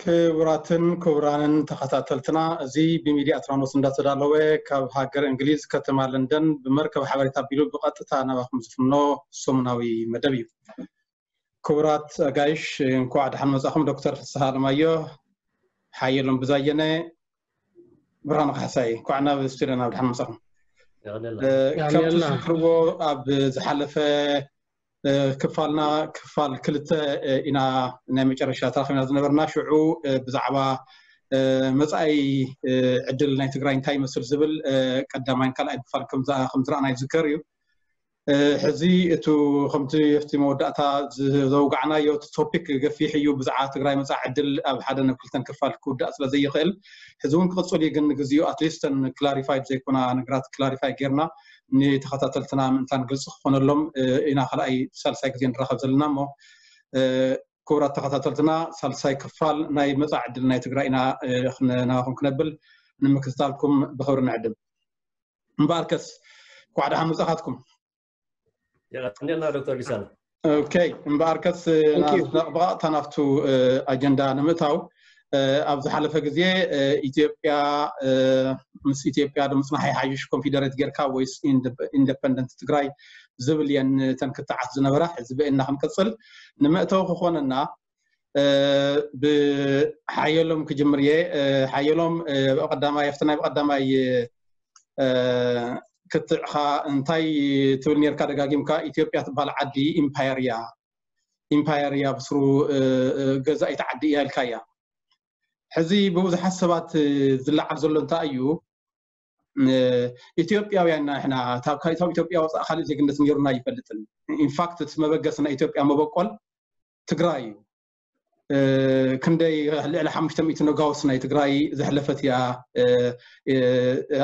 ክቡራትን ክቡራንን ተኸታተልትና፣ እዚ ብሚድያ ኣትራኖስ እንዳተዳለወ ካብ ሃገር እንግሊዝ ከተማ ለንደን ብመርከብ ሓበሬታ ኣቢሉ ብቐጥታ ናባኹም ዝፍኖ ሰሙናዊ መደብ እዩ። ክቡራት ኣጋይሽ፣ እንኳዕ ደሓን መጻኹም። ዶክተር ፍስሃ ኣለማዮ፣ ሓየሎም ብዛየነ፣ ብርሃኑ ካሕሳይ፣ እንኳዕ ናብ ስቱድዮና ብደሓን መጻኹም። ከምቲ ዝዝክርዎ፣ ኣብ ዝሓለፈ ክፋልና ክፋል ክልተ ኢና ናይ መጨረሻ ተራኺብና ዝነበርና። ሽዑ ብዛዕባ መጻኢ ዕድል ናይ ትግራይ እንታይ ይመስል ዝብል ቀዳማይን ካልኣይን ክፋል ከም ዝረኣና ይዝከር እዩ። ሕዚ እቱ ከምቲ ኣብቲ መወዳእታ ዘውጋዕናዮ እቲ ቶፒክ ገፊሕ እዩ። ብዛዕባ ትግራይ መጻኢ ዕድል ኣብ ሓደ ናብ ክልተን ክፋል ክውዳእ ስለ ዘይኽእል፣ ሕዚ እውን ክቕጽል እዩ። ግን ንግዚኡ ኣትሊስት ተን ክላሪፋይድ ዘይኮና ነገራት ክላሪፋይ ጌርና ንተኸታተልትና ምእንታን ግልፂ ክኾነሎም ኢና ካልኣይ ሳልሳይ ግዜ ንራኸብ ዘለና። እሞ ክቡራት ተኸታተልትና፣ ሳልሳይ ክፋል ናይ መጻኢ ዕድል ናይ ትግራይ ኢና ናባኹም ክነብል ንምክትታልኩም ብኽብሪ ንዕድም። እምበኣርከስ እንኳዕ ደሓን መጻኻትኩም። የቐንየልና ዶክተር ሊሳን። ኦኬ፣ እምበኣርከስ ብቐጥታ ናብቱ ኣጀንዳ ንምእታው፣ ኣብ ዝሓለፈ ግዜ ኢትዮጵያ ምስ ኢትዮጵያ ዶ ምጽናሕ ይሓይሽ፣ ኮንፊደሬት ጌርካ ወይስ ኢንደፐንደንት ትግራይ ዝብል እየን እተን ክትዓት ዝነበራ። ሕዚ ብእና ክንቅጽል፣ ንመእተዊ ክኾነና ብሓየሎም ክጅምር እየ። ሓየሎም፣ ብቐዳማይ ኣብቲ ናይ ብቐዳማይ ክትዕኻ እንታይ ትብል ኔርካ ደጋጊምካ? ኢትዮጵያ ትበሃል ዓዲ ኢምፓየር እያ፣ ኢምፓየር እያ፣ ብስሩ ገዛኢት ዓዲ እያ ኢልካ እያ። ሕዚ ብብዙሓት ሰባት ዝለዓል ዘሎ እንታይ እዩ? ኢትዮጵያውያን ኢና ንሕና፣ ካብ ኢትዮጵያ ወፃእ ካልእ ዜግነት ነይሩና ኣይፈልጥን። ኢንፋክት እቲ መበገሲ ናይ ኢትዮጵያ መበቆል ትግራይ እዩ። ክንደይ ልዕሊ ሓሙሽተ ሚእቲ ነጋውስ ናይ ትግራይ ዘሕለፈት እያ።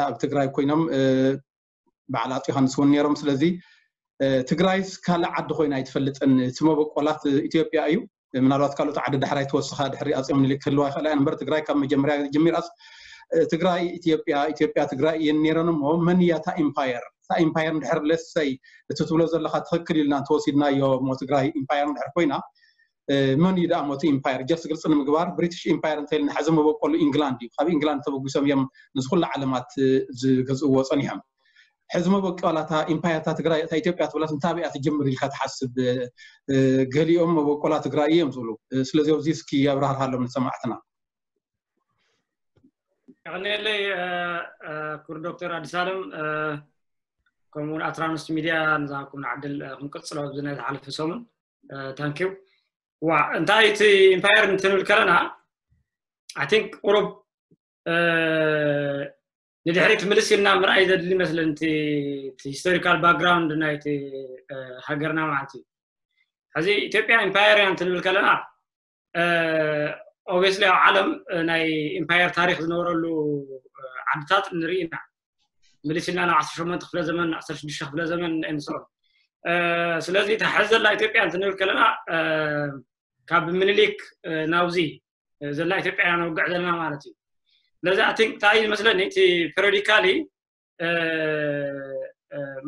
ኣብ ትግራይ ኮይኖም በዓል ኣፅ ዮሃንስ እውን ነይሮም። ስለዚ ትግራይስ ካልእ ዓዲ ኮይና ኣይትፈልጥን። እቲ መበቆላት ኢትዮጵያ እዩ። ምናልባት ካልኦት ዓዲ ዳሕራይ ተወስኻ ድሕሪ ኣፅ ምኒልክ ክህልዋ ይኽእላ እምበር ትግራይ ካብ መጀመርያ ጀሚራስ ትግራይ ኢትዮጵያ፣ ኢትዮጵያ ትግራይ እየን ነይረን። እሞ መን እያ እታ ኢምፓየር? እታ ኢምፓየር እንድሕር ለሰይ እቲ ትብሎ ዘለኻ ትኽክል ኢልና እንተወሲድናዮ እሞ ትግራይ ኢምፓየር እንድሕር ኮይና መን እዩ ደኣ ሞቲ ኢምፓየር? ጀስት ግልፂ ንምግባር ብሪቲሽ ኢምፓየር እንተኢልና ሕዚ መበቆሉ ኢንግላንድ እዩ። ካብ ኢንግላንድ ተበጊሶም እዮም ንዚ ኩሉ ዓለማት ዝገዝእዎ ፀኒሖም። ሕዚ መበቆላታ ኢምፓየርታ ትግራይ እታ ኢትዮጵያ ትብላት እንታበይ እያ ትጅምር ኢልካ ትሓስብ? ገሊኦም መበቆላ ትግራይ እዮም ዝብሉ። ስለዚ ኣብዚ እስኪ ኣብራርሃሎም ንሰማዕትና። የቐንየለይ ክቡር ዶክተር ኣዲስ ኣለም፣ ከምኡውን ኣትራኖስ ሚድያ ንዝሃብኩምና ዕድል ክንቅፅሎ ኣብዚ ናይ ዝሓለፈ ሰሙን። ታንኪዩ። ዋ እንታይ እቲ ኢምፓየር እንትንብል ከለና ኣይ ቲንክ ቁሩብ ንድሕሪት ምልስ ኢልና ምርኣይ ዘድሊ ይመስለኒ፣ እቲ ሂስቶሪካል ባክግራውንድ ናይቲ ሃገርና ማለት እዩ። ሕዚ ኢትዮጵያ ኢምፓየር እያ እንትንብል ከለና ኦብስሊ ኣብ ዓለም ናይ ኢምፓየር ታሪክ ዝነበረሉ ዓድታት ንርኢ ኢና። ምልስ ኢልና ናብ ዓሰርተ ሸሞንተ ክፍለ ዘመን፣ ዓሰርተ ሽዱሽተ ክፍለ ዘመን ንስኦም። ስለዚ እታ ሕዚ ዘላ ኢትዮጵያ እንትንብል ከለና ካብ ምኒልክ ናብዚ ዘላ ኢትዮጵያ ኢና ነውግዕ ዘለና ማለት እዩ። ስለዚ ኣይ ቲንክ እንታይ እዩ ዝመስለኒ እቲ ፐሪዮዲካሊ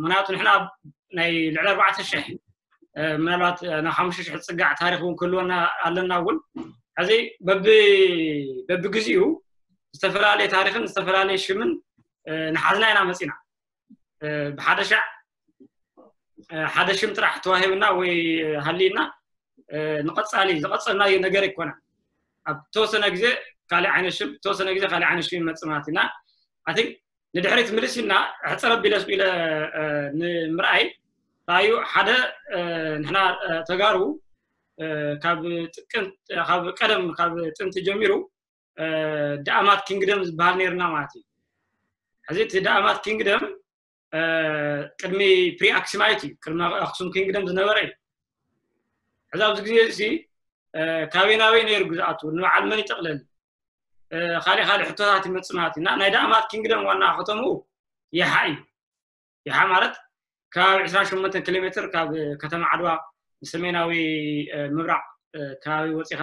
ምክንያቱ ንሕና ናይ ልዕሊ ኣርባዕተ ሽሕ ምናልባት ናብ ሓሙሽተ ሽሕ ዝፅጋዕ ታሪክ እውን ክህልወና ኣለና እውን። ሕዚ በቢ በቢግዜኡ ዝተፈላለየ ታሪክን ዝተፈላለየ ሽምን ንሓዝና ኢና መፂና። ብሓደ ሻዕ ሓደ ሽም ጥራሕ ተዋሂብና ወይ ሃሊና ንቐፃሊ ዝቐፀልናዮ ነገር ኣይኮነን። ኣብ ተወሰነ ግዜ ካልእ ዓይነት ሽም፣ ተወሰነ ግዜ ካልእ ዓይነት ሽም ይመፅእ ማለት ኢና። ኣይ ቲንክ ንድሕሪት ምልስ ኢልና ሕፅር ኣቢለ ስቕ ኢለ ንምርኣይ ራእዩ ሓደ ንሕና ተጋሩ ካብ ጥቅን ካብ ቀደም ካብ ጥንቲ ጀሚሩ ዳኣማት ኪንግደም ዝበሃል ነይርና ማለት እዩ። ሕዚ እቲ ዳኣማት ኪንግደም ቅድሚ ፕሪ ኣክሱማይት እዩ፣ ቅድሚ ኣክሱም ኪንግደም ዝነበረ እዩ። ሕዚ ኣብዚ ግዜ እዚ ካበይ ናበይ ነይሩ ግዝኣቱ፣ ንበዓል መን ይጠቕለል፣ ካልእ ካልእ ሕቶታት ይመፅእ ማለት እዩ። እና ናይ ዳኣማት ኪንግደም ዋና ከተምኡ የሓ እዩ። የሓ ማለት ካብ ዕስራን ሸሞንተን ኪሎ ሜትር ካብ ከተማ ዓድዋ ንሰሜናዊ ምብራቕ ከባቢ ወፂኻ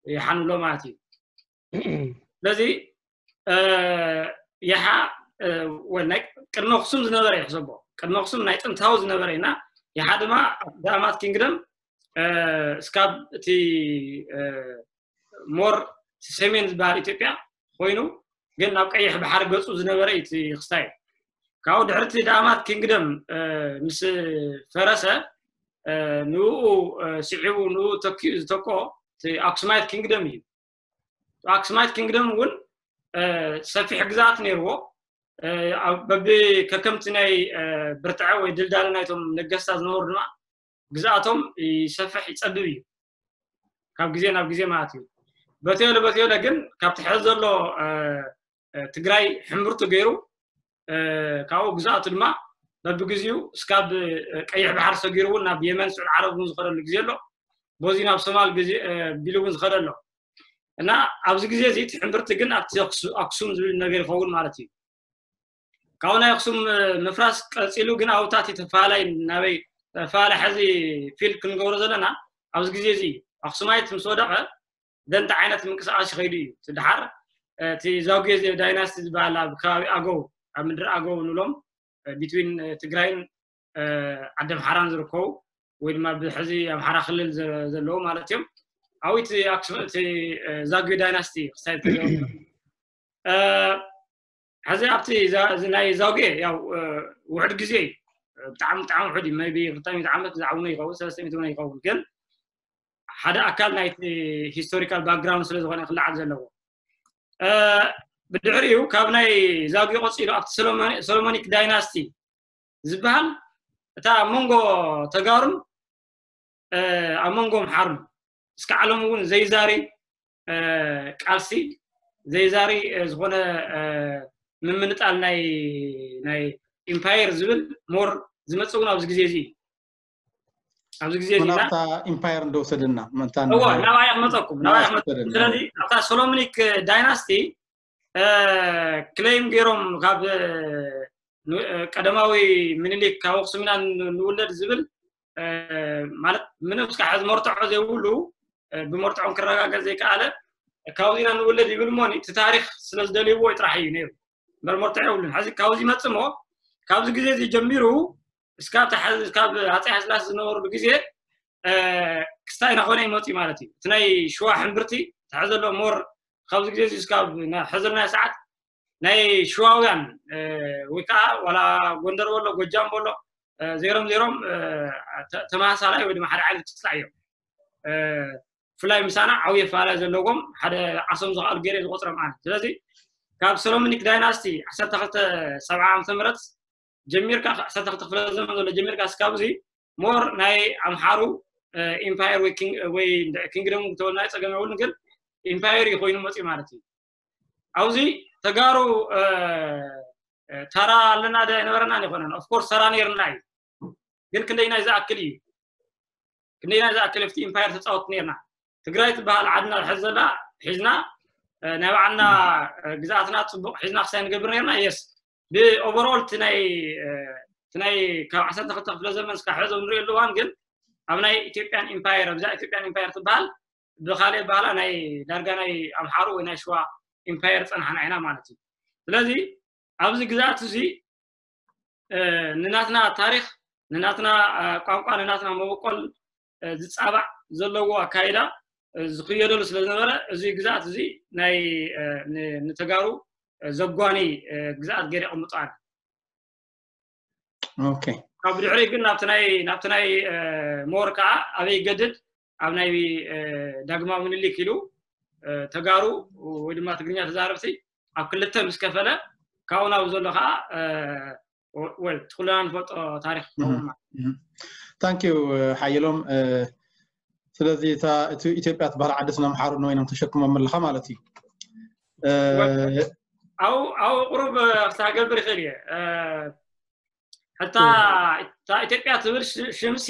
የሓ ንብሎ ማለት እዩ። ስለዚ የሓ ቅድሚ ኣክሱም ዝነበረ እዩ ሕሰቦ፣ ቅድሚ ኣክሱም ናይ ጥንታዊ ዝነበረ እና የሓ ድማ ዳኣማት ኪንግደም እስካብ እቲ ሞር እቲ ሰሜን ዝበሃል ኢትዮጵያ ኮይኑ ግን ናብ ቀይሕ ባሕሪ ገፁ ዝነበረ እዩ እቲ ክስታይ። ካብኡ ድሕርቲ ዳማት ኪንግደም ምስ ፈረሰ ንኡ ስዒቡ ንኡ ተኪኡ ዝተኮ ኣክሱማይት ኪንግደም እዩ። ኣክሱማይት ኪንግደም እውን ሰፊሕ ግዛት ነይርዎ። በቢ ከከምቲ ናይ ብርትዐ ወይ ድልዳለ ናይቶም ነገስታት ዝነበሩ ድማ ግዝኣቶም ይሰፍሕ ይፀብብ እዩ ካብ ግዜ ናብ ግዜ ማለት እዩ። በተየለ በተየለ ግን ካብቲ ሕዚ ዘሎ ትግራይ ሕምብርቱ ገይሩ ካብኡ ግዝኣቱ ድማ በብግዚኡ እስካብ ቀይሕ ባሕር ሰጊሩ እውን ናብ የመን ስዑድ ዓረብ እውን ዝኸደሉ ግዜ ኣሎ። በዚ ናብ ሶማል ግዜ ቢሉ እውን ዝኸደ ኣሎ። እና ኣብዚ ግዜ እዚ እቲ ሕምብርቲ ግን ኣብቲ ኣክሱም ዝብል ነገር ይኸውን ማለት እዩ። ካብኡ ናይ ኣክሱም ምፍራስ ቀፂሉ ግን ኣብታት ተፈላለይ ናበይ ተፈላለይ ሕዚ ፊል ክንገብሮ ዘለና ኣብዚ ግዜ እዚ ኣክሱማይት ምስ ወደቐ ደንተ ዓይነት ምንቅስቃስ ይኸይዱ እዩ። እቲ ድሓር እቲ ዛጉዌ ዳይናስቲ ዝበሃል ኣብ ከባቢ ኣገው ኣብ ምድሪ ኣገው ንብሎም ቢትዊን ትግራይን ዓዲ ኣምሓራን ዝርከቡ ወይ ድማ ብሕዚ ኣምሓራ ክልል ዘለዉ ማለት እዮም። ኣብቲ ኣክሱም እቲ ዛጉዌ ዳይናስቲ ክሳይ ሕዚ ኣብቲ ናይ ዛጉዌ ያው ውሕድ ግዜ እዩ። ብጣዕሚ ብጣዕሚ ውሕድ እዩ። ቢ ክልተ ሚእቲ ዓመት ዝዓውነ ይኸውን ሰለስተ ሚእቲ ይኸውን ግን ሓደ ኣካል ናይቲ ሂስቶሪካል ባክግራውንድ ስለ ዝኾነ ክለዓል ዘለዎ ብድሕሪኡ ካብ ናይ ዛጉዌ ቆፂሉ ኣብቲ ሶሎሞኒክ ዳይናስቲ ዝበሃል እታ ኣብ መንጎ ተጋሩን ኣብ መንጎ ኣምሓሩን እስከ ዓለም እውን ዘይዛሪ ቃልሲ ዘይዛሪ ዝኾነ ምምንጣል ናይ ናይ ኢምፓየር ዝብል ሞር ዝመፅእ እውን ኣብዚ ግዜ እዚ ኣብዚ ግዜ እዚ ናብታ ኢምፓየር እንደወሰደና መታን እዋ ናባያ ክመፀኩም ናባያ ክመፀኩም ስለዚ ኣብታ ሶሎሞኒክ ዳይናስቲ ክሌም ገይሮም ካብ ቀደማዊ ምኒልክ ካብ ኣክሱም ኢና ንውለድ ዝብል ማለት ምንም እስካ ሕዚ መርትዖ ዘይብሉ ብመርትዖም ክረጋገፅ ዘይከኣለ ካብዚ ኢና ንውለድ ይብል እሞ እቲ ታሪክ ስለ ዝደልይዎ ጥራሕ እዩ ነይሩ እምበር መርትዖ የብሉን ሕዚ ካብዚ ይመፅእ እሞ ካብዚ ግዜ እዚ ጀሚሩ እስካብ ካብ ኣፀይ ሃስላስ ዝነበሩሉ ግዜ ክስታይ እናኾነ ይመፅእ ማለት እዩ እቲ ናይ ሽዋ ሕምብርቲ ተሐ ዘሎ ሞር ካብዚ ግዜ እዚ እስካብ ሕዘልና ሰዓት ናይ ሽዋውያን ወይ ከዓ ዋላ ጎንደር በሎ ጎጃም በሎ ዜሮም ዜሮም ተመሳሳላይ ወይ ድማ ሓደ ዓይነት ክስታይ እዮም ብፍላይ ምሳና ዓብዪ ኣፈላለይ ዘለዎም ሓደ ዓሶም ዝኽኣሉ ገይረ ዝቆፅሮም ኣነ ስለዚ ካብ ሰሎሞኒክ ዳይናስቲ ዓሰርተ ክልተ ሰብዓ ዓመተ ምህረት ጀሚርካ ዓሰርተ ክልተ ክፍለ ዘመን ዘሎ ጀሚርካ እስካብ እዚ ሞር ናይ ኣምሓሩ ኢምፓየር ወይ ኪንግደም ተወልና ፀገም የብሉን ግን ኢምፓየር እዩ ኮይኑ መፅኡ ማለት እዩ ኣብዚ ተጋሩ ተራ ኣለና ዶ ኣይነበረናን ይኮነን ኦፍኮርስ ተራ ነይርና እዩ ግን ክንደይናይ ዝኣክል እዩ ክንደይናይ ዝኣክል ኣብቲ ኢምፓየር ተፃወት ነይርና ትግራይ ትበሃል ዓድና ዝሕዝ ዘላ ሒዝና ናይ ባዕልና ግዝኣትና ፅቡቅ ሒዝና ክሳይ ንገብር ነይርና የስ ብኦቨርኦል ናይ ናይ ካብ ዓሰርተ ክልተ ክፍለ ዘመን እስካ ሕዞ ንሪኦ ኣለዋን ግን ኣብ ናይ ኢትዮጵያን ኢምፓየር ኣብዛ ኢትዮጵያን ኢምፓየር ትበሃል ብካሊእ ባህላ ናይ ዳርጋ ናይ ኣምሓሩ ወይ ናይ ሽዋ ኢምፓየር ፀናሕና ኢና ማለት እዩ ስለዚ ኣብዚ ግዝኣት እዚ ንናትና ታሪክ ንናትና ቋንቋ ንናትና መበቆል ዝፃባዕ ዘለዎ ኣካይዳ ዝክየደሉ ስለ ዝነበረ እዚ ግዝኣት እዚ ናይ ንተጋሩ ዘጓኒ ግዝኣት ገይረ የቐምጦ ኣነ ካብ ድሕሪ ግን ናብቲ ናይ ናብቲ ናይ ሞር ከዓ ኣበይ ይገድድ ኣብ ናይ ዳግማዊ ምኒልክ ኢሉ ተጋሩ ወይ ድማ ትግርኛ ተዛረብቲ ኣብ ክልተ ምስ ከፈለ ካብኡ ናብ ዘሎ ከዓ ወል ኩልና ንፈልጦ ታሪክ ክኸውን ማለት እዩ። ታንኪዩ ሓየሎም። ስለዚ እታ እቲ ኢትዮጵያ ትበሃል ዓዲ ስለ ኣምሓሩ ንበይኖም ተሸክሞም ኣለኻ ማለት እዩ። ኣብኡ ኣብኡ ቁሩብ ክሳገብር ይኽእል እየ። ሕታ እታ ኢትዮጵያ ትብል ሽምሲ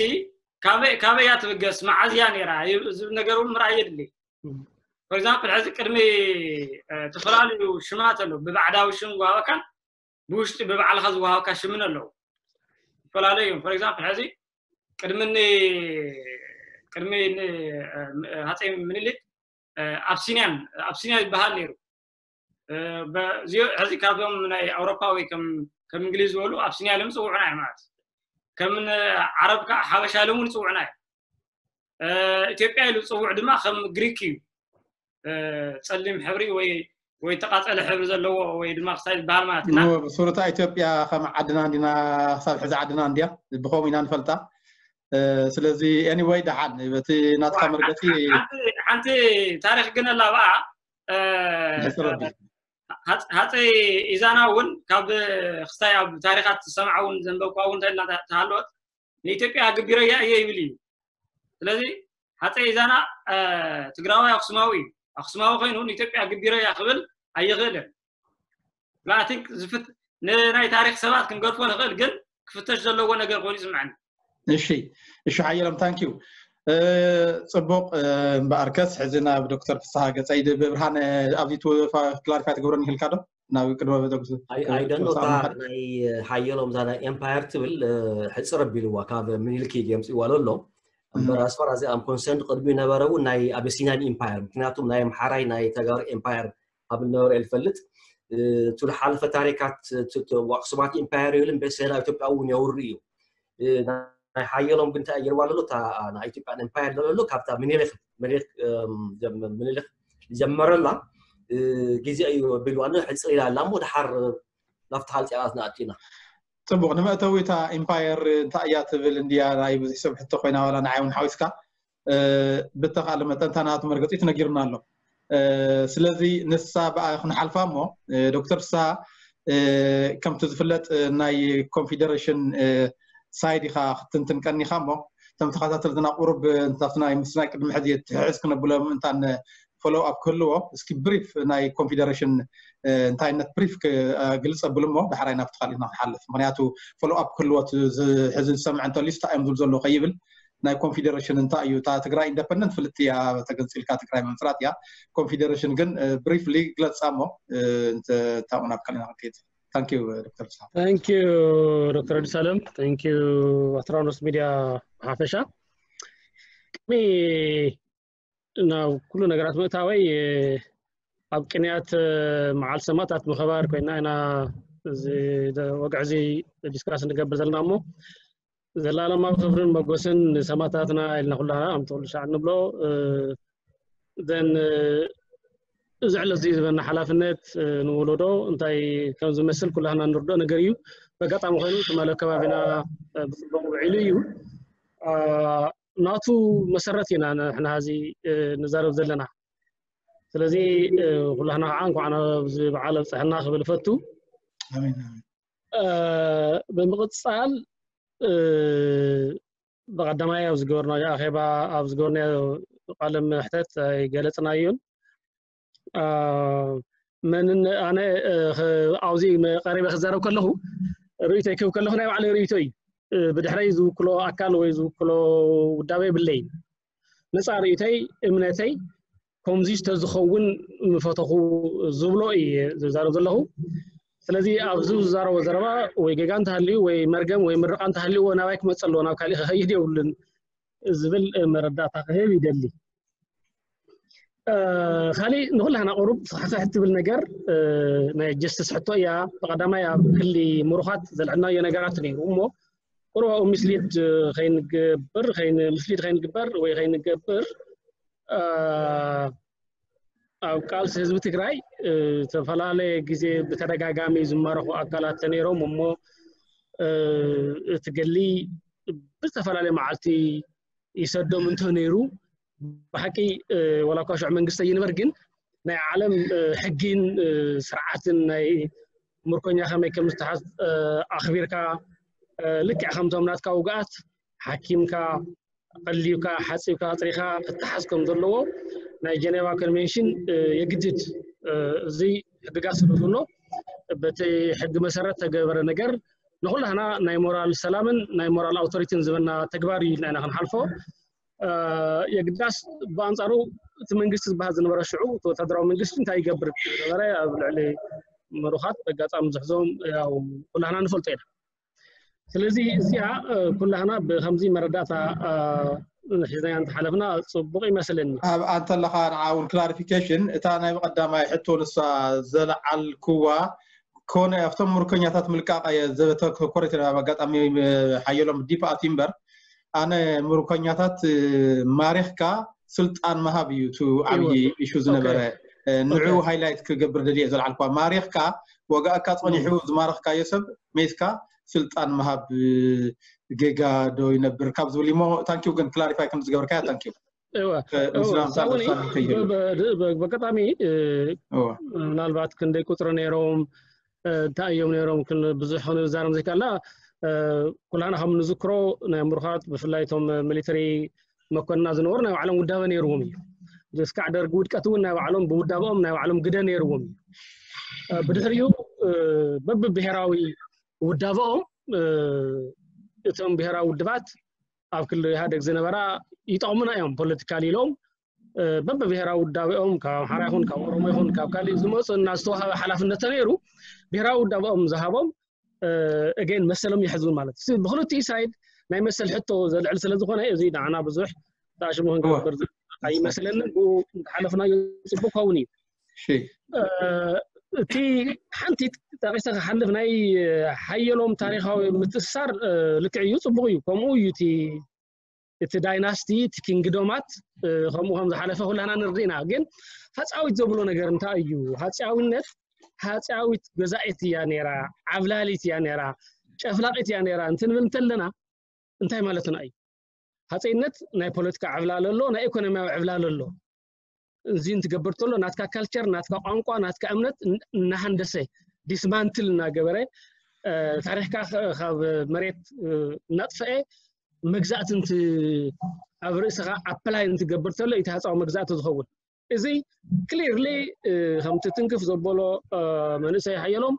ካበይ እያ ትብገስ መዓዝ እያ ነይራ ዝብል ነገር እውን ምርኣይ የድሊ for example ሕዚ ቅድሚ ዝተፈላለዩ ሽማት ኣለዉ ብባዕዳዊ ሽም ዝወሃበካን ብውሽጢ ብባዕልካ ዝወሃበካ ሽምን ኣለዉ ዝተፈላለዩ እዮም for example ሕዚ ቅድሚ ቅድሚ ሃፀይ ምኒልክ ኣብሲንያን ኣብሲንያ ይበሃል ነይሩ ሕዚ ካብዞም ናይ ኣውሮፓ ወይ ከም እንግሊዝ ዝበሉ ኣብሲንያ ኢሎም ዝፅውዑና እዮም ማለት ከም ዓረብ ከዓ ሓበሻ ኢሎም እውን ይፅውዑና እዮም ኢትዮጵያ ኢሉ ዝፅውዕ ድማ ከም ግሪክ እዩ እ፣ ጸሊም ሕብሪ ወይ፣ ወይ ተቓጸለ ሕብሪ ዘለዎ ወይ ድማ ክሳይ ዝበሃል ማለት እዩ። እና ኖ፣ ብሱሩታ ኢትዮጵያ ከም ዓድና እንዲና፣ ክሳብ ሕዚ ዓድና እንዲያ፣ ብኸምኡ ኢና ንፈልጣ። እ፣ ስለዚ anyway፣ ደሓን በቲ ናትካ ዋ፣ መርገጺ ሓንቲ፣ ሓንቲ ታሪኽ ግን ኣላ ብኣ፣ እ፣ ብሕጽር ኣቢል። ሃጽ-፣ ሃጸይ ኢዛና እውን ካብ ክስታይ ኣብ ታሪኻት ዝሰምዓ እውን ዘንበብኳ እውን እንተኢልና ተ-፣ ተሃለወት፣ ንኢትዮጵያ ግቢረያ እየ ይብል እዩ። ስለዚ ሃጸይ ኢዛና፣ እ፣ ትግራዋይ ኣክሱማዊ እዩ። ኣክሱማዊ ኮይኑ ንኢትዮጵያ ግቢረያ ክብል ኣይኽእልን። I think ዝፍት-፣ ንናይ ታሪኽ ሰባት ክንገድፎ ንኽእል፣ ግን ክፍተሽ ዘለዎ ነገር ኮይኑ ይስምዐኒ። እሺ፣ እሺ፣ ሓየሎም፣ thank you። እ፣ ጽቡቕ፣ እ፣ እምበኣርከስ ሕዚ ናብ ዶክተር ፍስሃ ገጸይ ድ-፣ ብብርሃን፣ እ፣ ኣብዚ ትወ-፣ ፋ-፣ ክላሪፋይ ትገብረኒ ይኽእልካ ዶ? ናብ ቅድመ ቤተ ክርስቲያን፣ I፣ I don't know፣ እታ ናይ ሓየሎም እዛ ናይ ኤምፓየር ትብል፣ እ፣ ሕጽር ኣቢልዋ ካብ ምኒልክ እዩ የምጽእዋ ዘሎ። እምበር፣ እም። As far as I'm concerned፣ ቅድሚ ነበረ እውን ናይ ኣቢሲኒያን ኢምፓየር፣ ምክንያቱም ናይ ኣምሓራይ ናይ ተጋሩ ኤምፓየር ኣብ ነበረ እየ ዝፈልጥ። እ፣ እቲ ዝሓለፈ ታሪካት፣ እ፣ ት-፣ ት-፣ ኣክሱማት ኢምፓየር ይብል እምበር፣ ሰሄን ኣብ ኢትዮጵያ እውን የውሪ እዩ። እ፣ ናይ ሓየሎም ግን እንታይ ገይርዋ ኣሎ? እታ ናይ ኢትዮጵያ ኤምፓየር ዘሎ ካብታ ምኒልክ፣ ምኒልክ፣ እም፣ ጀም-፣ ምኒልክ ዝጀመረላ፣ እ፣ ግዜ እዩ ኣቢልዋ ኣሎ፣ ሕጽር ኢላ ኣላ እሞ፣ ደሓር ናብቲ ካልእ ጨዋታ ንኣቱ ኢና። ጽቡቕ፣ ንመእተዊ እታ ኢምፓየር እንታይ እያ ትብል እንድያ ናይ ብዙሕ ሰብ ሕቶ ኮይና፣ ዋላ ንዓይ እውን ሓዊስካ፣ እ፣ ብተኻእለ መጠን እታ ናቱ መርገጺ ተነጊሩና ኣሎ። እ፣ ስለዚ ንሳ ብኣ ክንሓልፋ እሞ፣ እ፣ ዶክተር ፍስሃ፣ እ፣ ከምቲ ዝፍለጥ፣ እ፣ ናይ ኮንፌደሬሽን፣ እ፣ ሳይድ ኢኻ ክትንትን ቀኒኻ እሞ፣ እቶም ተኸታተልትና ቁሩብ፣ እ፣ እንታፍቲ ናይ ምስ ናይ ቅድሚ ሕዚ ትሕዝ ክነብሎም እንታን ፎሎው ኣፕ ክህልዎ፣ እስኪ ብሪፍ ናይ ኮንፌደሬሽን፣ እ፣ እንታይነት ብሪፍ ክ-፣ እ፣ ግልጽ ኣብሉ እሞ፣ ዳሕራይ ናብቲ ካልእ ኢና ክንሓልፍ። ምኽንያቱ ፎሎው ኣፕ ክህልዎ፣ እቲ ዝ-፣ ሕዚ ዝሰምዕ እንተልዩስ እንታይ እዮም ዝብሉ ዘለዉ ከይብል፣ ናይ ኮንፌደሬሽን እንታይ እዩ? እታ ትግራይ ኢንደፐንደንት ፍልጥቲ እያ፣ ተገንጺልካ ትግራይ ምምስራት እያ። ኮንፌደሬሽን ግን፣ እ፣ ብሪፍሊ ግለጻ እሞ፣ እ፣ እንተ-፣ እንታኡ ናብ ካልእ ኢና ክንከይድ። Thank you፣ ዶክተር ፍስሃ። Thank you፣ ዶክተር ኣዲስ ኣለም። Thank you፣ ኣትራኖስ ሚድያ ብሓፈሻ። ቅድሚ ናብ ኩሉ ነገራት ምእታወይ፣ እ፣ ኣብ ቅንያት፣ እ፣ መዓል ሰማእታት ምኽባር ኮይና ኢና እዚ ደ-፣ ወግዒ እዚ ዲስካስ እንገብር ዘለና እሞ፣ ዘላለማዊ ክብርን መጎስን ንሰማእታትና ኢልና ኩላና ከምቲ ኩሉ ሻዕ እንብሎ፣ እ፣ ዘን፣ እ፣ እዚ ዕለት እዚ ዝበና ሓላፍነት፣ እ፣ ንወለዶ እንታይ ከም ዝመስል ኩላህና እንርድኦ ነገር እዩ። በጋጣሚ ኮይኑ ትማሊ ኣብ ከባቢና፣ እ፣ ብጽቡቕ ውዒሉ እዩ። አ፣ ናቱ መሰረት ኢና ንሕና ሕዚ፣ እ፣ ንዛረብ ዘለና። ስለዚ፣ እ፣ ኩላህና ከዓ እንኳዕ ናብዚ በዓል ኣብፀሐና ክብል እፈቱ። ኣሜን፣ ኣሜን። እ፣ ብምቕፃል፣ እ፣ ብቐዳማይ ኣብ ዝገበርናዮ ኣኼባ፣ ኣብ ዝገበርናዮ ቃለ መሕተት ኣይገለፅናዮን። አ፣ መንን-፣ ኣነ፣ እ፣ ኸ-፣ ኣብዚ መ-፣ ቀሪበ ክዛረብ ከለኹ፣ ርእይቶይ ክህብ ከለኹ ናይ ባዕለይ ርእይቶ እዩ። እ፣ ብድሕረይ ዝውክሎ ኣካል ወይ ዝውክሎ ውዳበ የብለይን። ነፃ ርእይቶይ፣ እምነተይ፣ ከምዚ ተዝኸውን ምፈተኹ ዝብሎ እየ ዝዛረብ ዘለኹ። ስለዚ ኣብዚ ዝዛረቦ ዘረባ ወይ ጌጋ እንተሃልዩ ወይ መርገም ወይ ምርቓ እንተሃልዩዎ ናባይ ክመፅእ ኣለዎ፣ ናብ ካሊእ ክኸይድ የብሉን ዝብል መረዳእታ ክህብ ይደሊ። እ፣ ካሊእ ንኹላህና ቁሩብ ስሕስሕ ትብል ነገር፣ እ፣ ናይ ጀስትስ ሕቶ እያ። ብቐዳማይ ኣብ ክሊ ምሩኻት ዘልዕልናዮ ነገራት ነይሩ እሞ ቁሩብ ኣብኡ ሚስሊድ ከይንገብር፣ ከይን-፣ ሚስሊድ ከይንግበር ወይ ከይንገብር፣ እ፣ ኣብ ቃልሲ ህዝቢ ትግራይ፣ እ፣ ዝተፈላለየ ግዜ ብተደጋጋሚ ዝማረኹ ኣካላት ተነይሮም እሞ፣ እ፣ እቲ ገሊ ብዝተፈላለየ መዓልቲ ይሰዶም እንተነይሩ፣ ብሓቂ፣ እ፣ ዋላ እኳ ሽዑ መንግስቲ ኣይንበር፣ ግን ናይ ዓለም፣ እ፣ ሕጊን፣ እ፣ ስርዓትን ናይ ምርኮኛ ከመይ ከም ዝተሓዝ፣ እ፣ ኣኽቢርካ፣ እ፣ ልክዕ ከምቶም ናትካ ውግኣት ሓኪምካ፣ ቀልዩካ፣ ሓፂብካ፣ ኣፅሪኻ ክተሓዝ ከም ዘለዎ ናይ ጀኔቫ ኮንቬንሽን፣ እ፣ የግድድ። እ፣ እዚ ሕግጋት ስለ ዘሎ፣ በቲ ሕጊ መሰረት ተገበረ ነገር ንኹላህና ናይ ሞራል ሰላምን ናይ ሞራል ኣውቶሪቲን ዝበና ተግባር እዩ ኢልና ኢና ክንሓልፎ። እ፣ የግዳስ ብኣንጻሩ እቲ መንግስቲ ዝበሃል ዝነበረ ሽዑ፣ እቲ ወታደራዊ መንግስቲ እንታይ ይገብር ዝነበረ ኣብ ልዕሊ ምሩኻት በጋጣሚ ዝሕዞም ያው ኩላህና ንፈልጦ ኢና። ስለዚ እዚኣ፣ እ፣ ኩላህና ብከምዚ መረዳእታ፣ እ፣ ሒዝናያ እንተሓለፍና ጽቡቕ ይመስለኒ። ኣብ ኣንተ ኣለኻ ንዓ እውን ክላሪፊኬሽን፣ እታ ናይ ብቐዳማይ ሕቶ ንሳ ዘልዓልክዋ ኮነ ኣብቶም ምርኮኛታት ምልቃቕ እየ ዘተኮረት ኣብ ኣጋጣሚ፣ እ፣ ሓየሎም ዲፕ ኣትዩ እምበር፣ ኣነ ምርኮኛታት፣ እ፣ ማሪኽካ ስልጣን ምሃብ እዩ እቲ ዓብዪ ኢሹ ዝነበረ። ንዑ ሃይላይት ክገብር ደልየ ዘልዓልኳ፣ ማሪኽካ ወጋእካ ጸኒሑ ዝማረኽካዮ ሰብ ሜትካ ስልጣን ምሃብ ጌጋ ዶ ይነብር ካብ ዝብል እሞ፣ ታንኪዩ ግን ክላሪፋይ ከም ዝገበርካያ ታንኪዩ። በቀጣሚ ምናልባት ክንደይ ቁፅሪ ነይሮም፣ እንታይ እዮም ነይሮም፣ ብዙሕ ክንዛረም ዘይከኣልና፣ ኩላና ከም ንዝክሮ ናይ ምሩኻት ብፍላይ እቶም ሚሊተሪ መኮንና ዝነበሩ ናይ ባዕሎም ውዳበ ነይርዎም እዩ። እስካዕ ደርጊ ውድቀት እውን ናይ ባዕሎም ብውዳበኦም ናይ ባዕሎም ግደ ነይርዎም እዩ። ብድሕሪኡ በብብሔራዊ ውዳበኦም እቶም ብሔራዊ ውድባት ኣብ ክልል ኢህኣደግ ዝነበራ ይጠቕሙና እዮም ፖለቲካል ኢሎም በብብሔራዊ ውዳቤኦም ካብ ኣምሓራ ይኹን ካብ ኦሮሞ ይኹን ካብ ካልእ ዝመፁ እና ዝተዋሃበ ሓላፍነት ተነይሩ ብሔራዊ ውዳቤኦም ዝሃቦም እገን መሰሎም ይሕዙ ማለት እዩ። ብክልቲኡ ሳይድ ናይ መሰል ሕቶ ዘልዕል ስለ ዝኾነ እዚ ንዓና ብዙሕ ተኣሽሙ ክንገብር ኣይመስለንን። ብኡ እንተሓለፍናዮ ፅቡቅ ከውን እዩ። እቲ ሓንቲ ጠቂሰ ክሓልፍ ናይ ሓየሎም ታሪካዊ ምትእሳር ልክዕ እዩ፣ ፅቡቅ እዩ። ከምኡ እዩ እቲ እቲ ዳይናስቲ እቲ ኪንግዶማት ከምኡ ከም ዝሓለፈ ኩላና ንርድእና። ግን ሃፃዊት ዘብሎ ነገር እንታይ እዩ? ሃፃዊነት ሃፃዊት ገዛኢት እያ ነይራ፣ ዓብላሊት እያ ነይራ፣ ጨፍላቂት እያ ነይራ እንትንብል እንተለና እንታይ ማለትና እዩ? ሃፀይነት ናይ ፖለቲካ ዕብላል ኣሎ፣ ናይ ኢኮኖሚያዊ ዕብላል ኣሎ። እዚ እንትገብር ተሎ ናትካ ካልቸር፣ ናትካ ቋንቋ፣ ናትካ እምነት እናሃንደሰ ዲስማንትል እናገበረ ታሪክካ ካብ መሬት እናጥፈአ መግዛእቲ ኣብ ርእስኻ ኣፕላይ እንትገብር ተሎ እቲ ሃፃዊ መግዛእቲ ዝኸውን። እዚ ክሊርሊ ከምቲ ትንክፍ ዘበሎ መንእሰይ ሓየሎም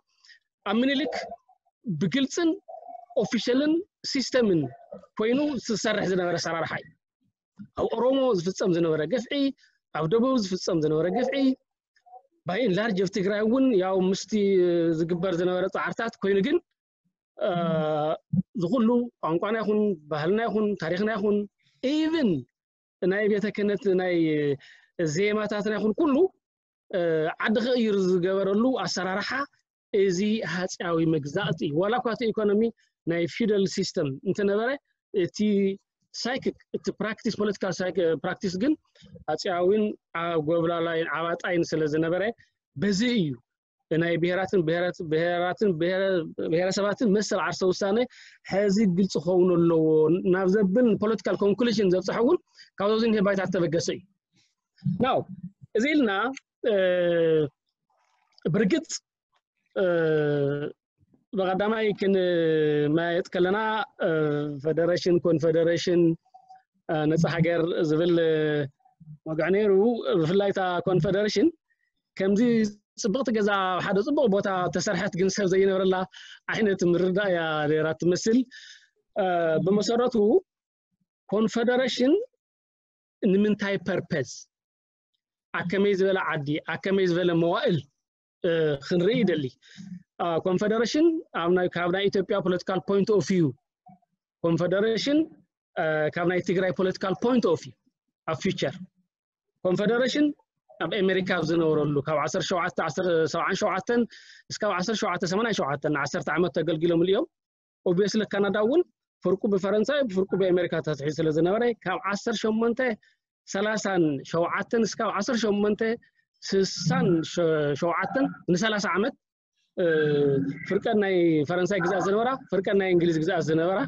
ኣብ ምኒልክ ብግልፅን ኦፊሻልን ሲስተምን ኮይኑ ዝሰርሕ ዝነበረ ኣሰራርሓ እዩ። ኣብ ኦሮሞ ዝፍፀም ዝነበረ ግፍዒ፣ ኣብ ደቡብ ዝፍፀም ዝነበረ ግፍዒ፣ ባይ ላርጅ ኣብ ትግራይ እውን ያው ምስቲ ዝግበር ዝነበረ ፃዕርታት ኮይኑ ግን ዝኩሉ ቋንቋና ይኹን ባህልና ይኹን ታሪክና ይኹን ኢቭን ናይ ቤተ ክህነት ናይ ዜማታትና ይኹን ኩሉ ዓዲ ክቕይር ዝገበረሉ ኣሰራርሓ እዚ ሃፅያዊ መግዛእቲ እዩ። ዋላ እኳ እቲ ኢኮኖሚ ናይ ፊውዳል ሲስተም እንተነበረ እቲ ሳይክክ እቲ ፕራክቲስ ፖለቲካል ፕራክቲስ ግን ሃፅያዊን ጎብላላይን ዓባጣይን ስለ ዝነበረ በዚ እዩ ናይ ብሄራትን ብሄራትን ብሄረሰባትን መሰል ዓርሰ ውሳነ ሕዚ ግልፂ ክኸውን ኣለዎ ናብ ዘብል ፖለቲካል ኮንክሉዥን ዘብፅሐ እውን ካብዚ ንሄ ባይታ ተበገሰ እዩ። ናው እዚ ኢልና ብርግፅ ብቐዳማይ ክንመያየጥ ከለና ፈደረሽን ኮንፈደረሽን ነፃ ሃገር ዝብል ወግዒ ነይሩ። ብፍላይ እታ ኮንፈደረሽን ከምዚ ፅብቕቲ ገዛ ኣብ ሓደ ፅቡቕ ቦታ ተሰርሐት ግን ሰብ ዘይነብረላ ዓይነት ምርዳእ እያ ነይራ ትመስል። ብመሰረቱ ኮንፈደረሽን ንምንታይ ፐርፐዝ ኣከመይ ዝበለ ዓዲ ኣከመይ ዝበለ መዋእል ክንርኢ ይደሊ። ኮንፈደረሽን ካብ ናይ ኢትዮጵያ ፖለቲካል ፖይንት ኦፍ ቪው ኮንፈደረሽን ካብ ናይ ትግራይ ፖለቲካል ፖይንት ኦፍ ቪው ኣብ ፊቸር ኮንፈደረሽን ኣብ ኣሜሪካ ኣብ ዝነበረሉ ካብ ዓሰርተ ሸውዓተ ሰብዓን ሸውዓተን እስካብ ዓሰርተ ሸውዓተ ሰማንያን ሸውዓተን ዓሰርተ ዓመት ተገልጊሎም እዮም። ኦብቪየስሊ ካናዳ እውን ፍርቁ ብፈረንሳይ ፍርቁ ብኣሜሪካ ተትሒዙ ስለ ዝነበረ ካብ ዓሰርተ ሸሞንተ ሰላሳን ሸውዓተን እስካብ ዓሰርተ ሸሞንተ ስሳን ሸውዓተን ንሰላሳ ዓመት ፍርቀን ናይ ፈረንሳይ ግዝኣት ዝነበራ ፍርቀን ናይ እንግሊዝ ግዝኣት ዝነበራ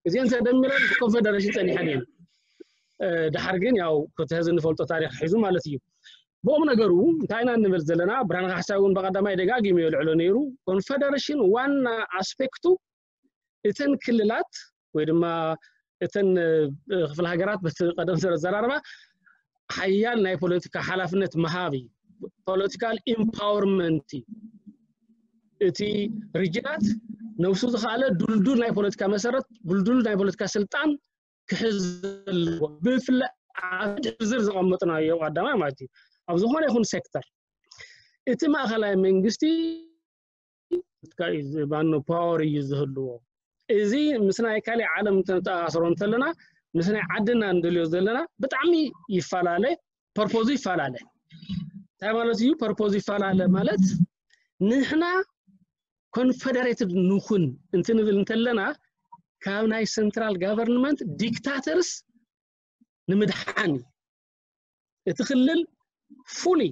እዚአን ተደሚረን ብኮንፌደሬሽን ፀኒሐን እየን። ድሓር ግን ያው ክተህዝ እንፈልጦ ታሪክ ሒዙ ማለት እዩ። ብኦም ነገሩ እንታይ ኢና እንብል ዘለና? ብርሃነ ካሕሳይ እውን ብቀዳማይ ደጋጊሙ የልዕሎ ነይሩ። ኮንፌደሬሽን ዋና ኣስፔክቱ እተን ክልላት ወይ ድማ እተን ክፍለ ሃገራት በቲ ቀደም ስለ ዘራርባ ሓያል ናይ ፖለቲካ ሓላፍነት ምሃብ እዩ። ፖለቲካል ኢምፓወርመንት እዩ። እቲ ሪጅናት ነብሱ ዝኸኣለ ዱልዱል ናይ ፖለቲካ መሰረት ዱልዱል ናይ ፖለቲካ ስልጣን ክሕዝ ዘለዎ ብፍላይ ኣብ ዝርዝር ዘቐመጥናዮ ቀዳማይ ማለት እዩ። ኣብ ዝኾነ ይኹን ሴክተር እቲ ማእኸላይ መንግስቲ ማኖ ፓወር እዩ ዝህልዎ። እዚ ምስ ናይ ካሊእ ዓለም ተኣስሮ እንተለና ምስ ናይ ዓድና እንደልዮ ዘለና ብጣዕሚ ይፈላለ፣ ፐርፖዙ ይፈላለ። እንታይ ማለት እዩ ፐርፖዙ ይፈላለ ማለት? ንሕና ኮንፌደሬትድ ንኹን እንትንብል እንተለና ካብ ናይ ሰንትራል ጋቨርንመንት ዲክታተርስ ንምድሓን እዩ። እቲ ክልል fully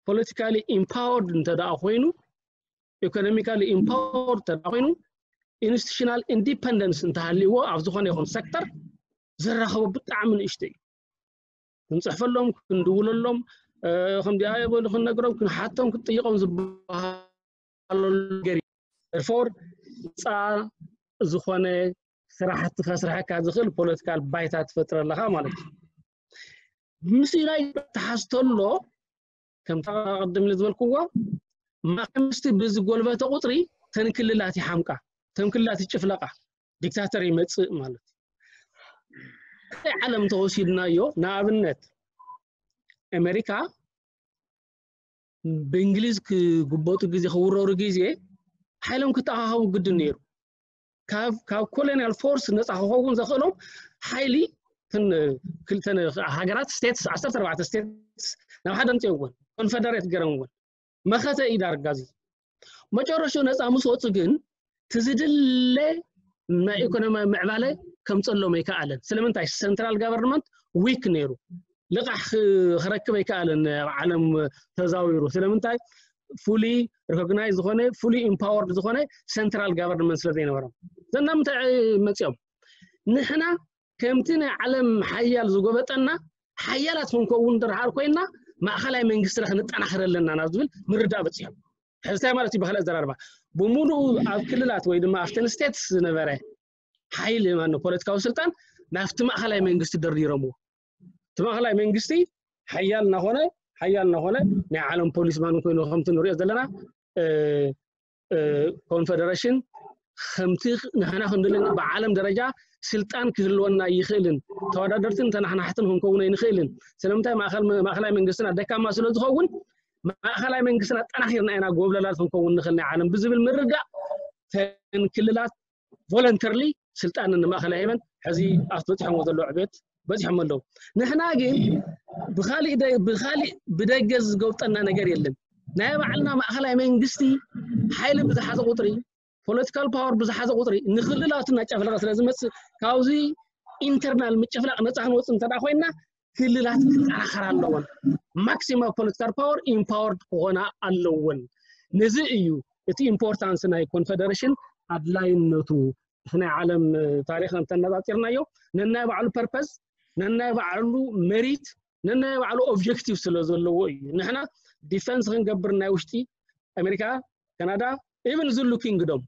politically empowered እንተ ደኣ ኮይኑ፣ economically empowered እንተ ደኣ ኮይኑ፣ institutional independence እንተሃልይዎ ኣብ ዝኾነ ይኹን ሴክተር ዝራኸቦ ብጣዕሚ ንእሽቶ እዩ። ክንፅሕፈሎም፣ ክንድውለሎም፣ ከምዚኣ የበሉ ክንነግሮም፣ ክንሓቶም፣ ክትጥይቆም ዝበሃለሉ ነገር እዩ። Therefore ነፃ ዝኾነ ስራሕቲ ከስርሐካ ዝኽእል ፖለቲካል ባይታ ትፈጥር ኣለኻ ማለት እዩ። ምስ ኢራን ተሓዝተሎ ከምታ ቅድም ዝበልክዎ ማእከል መንግስቲ ብዝጎልበተ ቁፅሪ ተንክልላት ይሓምቃ፣ ተንክልላት ይጭፍለቃ፣ ዲክታተር ይመፅእ ማለት እዩ። ዓለም ተወሲድናዮ ንኣብነት ኣሜሪካ ብእንግሊዝ ክጉበጡ ግዜ ክውረሩ ግዜ ሓይሎም ክተኣኻኸቡ ግድን ነይሩ። ካብ ካብ ኮሎኒያል ፎርስ ነፃ ክኸውን ዘኽእሎም ሓይሊ ክልተ ሃገራት ስቴትስ ዓሰርተ ኣርባዕተ ስቴትስ ናብ ሓደ ኣምፅኦወን ኮንፈደሬት ገረምወን መኸተ እዩ ዳርጋ እዚ። መጨረሽኡ ነፃ ምስ ወፁ ግን ትዝድለ ናይ ኢኮኖሚያዊ ምዕባለ ከምፀሎም ኣይከኣለን። ስለምንታይ? ሰንትራል ጋቨርንመንት ዊክ ነይሩ፣ ልቓሕ ክረክብ ኣይከኣለን። ኣብ ዓለም ተዛዊሩ ስለምንታይ? fully recognize ዝኾነ fully empowered ዝኾነ ሰንትራል ጋቨርንመንት ስለ ዘይነበሮም ዘና ምንታይ መፅኦም ንሕና ከምቲ ናይ ዓለም ሓያል ዝጎበጠና ሓያላት ክንከውን ድርሃር ኮይና ማእኸላይ መንግስትና ክንጠናኸር ኣለና ናብ ዝብል ምርዳእ በፂሖም። ሕዝታይ ማለት እዩ ብካልእ ኣዘራርባ ብሙሉኡ ኣብ ክልላት ወይ ድማ ኣብተን ስቴትስ ዝነበረ ሓይሊ ማን ፖለቲካዊ ስልጣን ናብቲ ማእኸላይ መንግስቲ ደርዲሮምዎ። እቲ ማእኸላይ መንግስቲ ሓያል እናኾነ ሓያል እናኾነ ናይ ዓለም ፖሊስ ማን ኮይኑ ከምቲ ንሪኦ ዘለና ኮንፈደሬሽን ከምቲ ንሕና ክንድልን ብዓለም ደረጃ ስልጣን ክህልወና ይኽእልን ተወዳደርትን ተናሕናሕትን ክንከውን ኣይንኽእልን። ስለምንታይ? ማእኸላይ መንግስትና ደካማ ስለ ዝኸውን ማእኸላይ መንግስትና ጠናኺርና ኢና ጎብለላት ክንከውን ንኽእል ናይ ዓለም ብዝብል ምርዳእ ተን ክልላት ቮለንተርሊ ስልጣን ንማእኸላይ ሂበን ሕዚ ኣብቲ በፂሖምዎ ዘለዉ ዕቤት በፂሖም ኣለዉ። ንሕና ግን ብኻሊእ ብኻሊእ ብደገ ዝገብጠና ነገር የለን። ናይ ባዕልና ማእኸላይ መንግስቲ ሓይሊ ብዝሓዘ ቁፅሪ ፖለቲካል ፓወር ብዝሓዘ ቁፅሪ ንክልላቱ እናጨፍለቐ ስለ ዝመፅእ ካብዚ ኢንተርናል ምጭፍላቕ ነፃ ክንወፅእ እንተ ኮይንና ክልላት ክጠናኸራ ኣለወን። ማክሲማም ፖለቲካል ፓወር ኢምፓወርድ ክኾና ኣለወን። ነዚ እዩ እቲ ኢምፖርታንስ ናይ ኮንፈደሬሽን ኣድላይነቱ። እቲ ናይ ዓለም ታሪኽ እንተነፃፂርናዮ ነናይ ባዕሉ ፐርፐስ፣ ነናይ ባዕሉ ሜሪት፣ ነናይ ባዕሉ ኦብጀክቲቭ ስለ ዘለዎ እዩ። ንሕና ዲፈንስ ክንገብር ናይ ውሽጢ ኣሜሪካ፣ ካናዳ፣ ኢቨን ዝሉ ኪንግዶም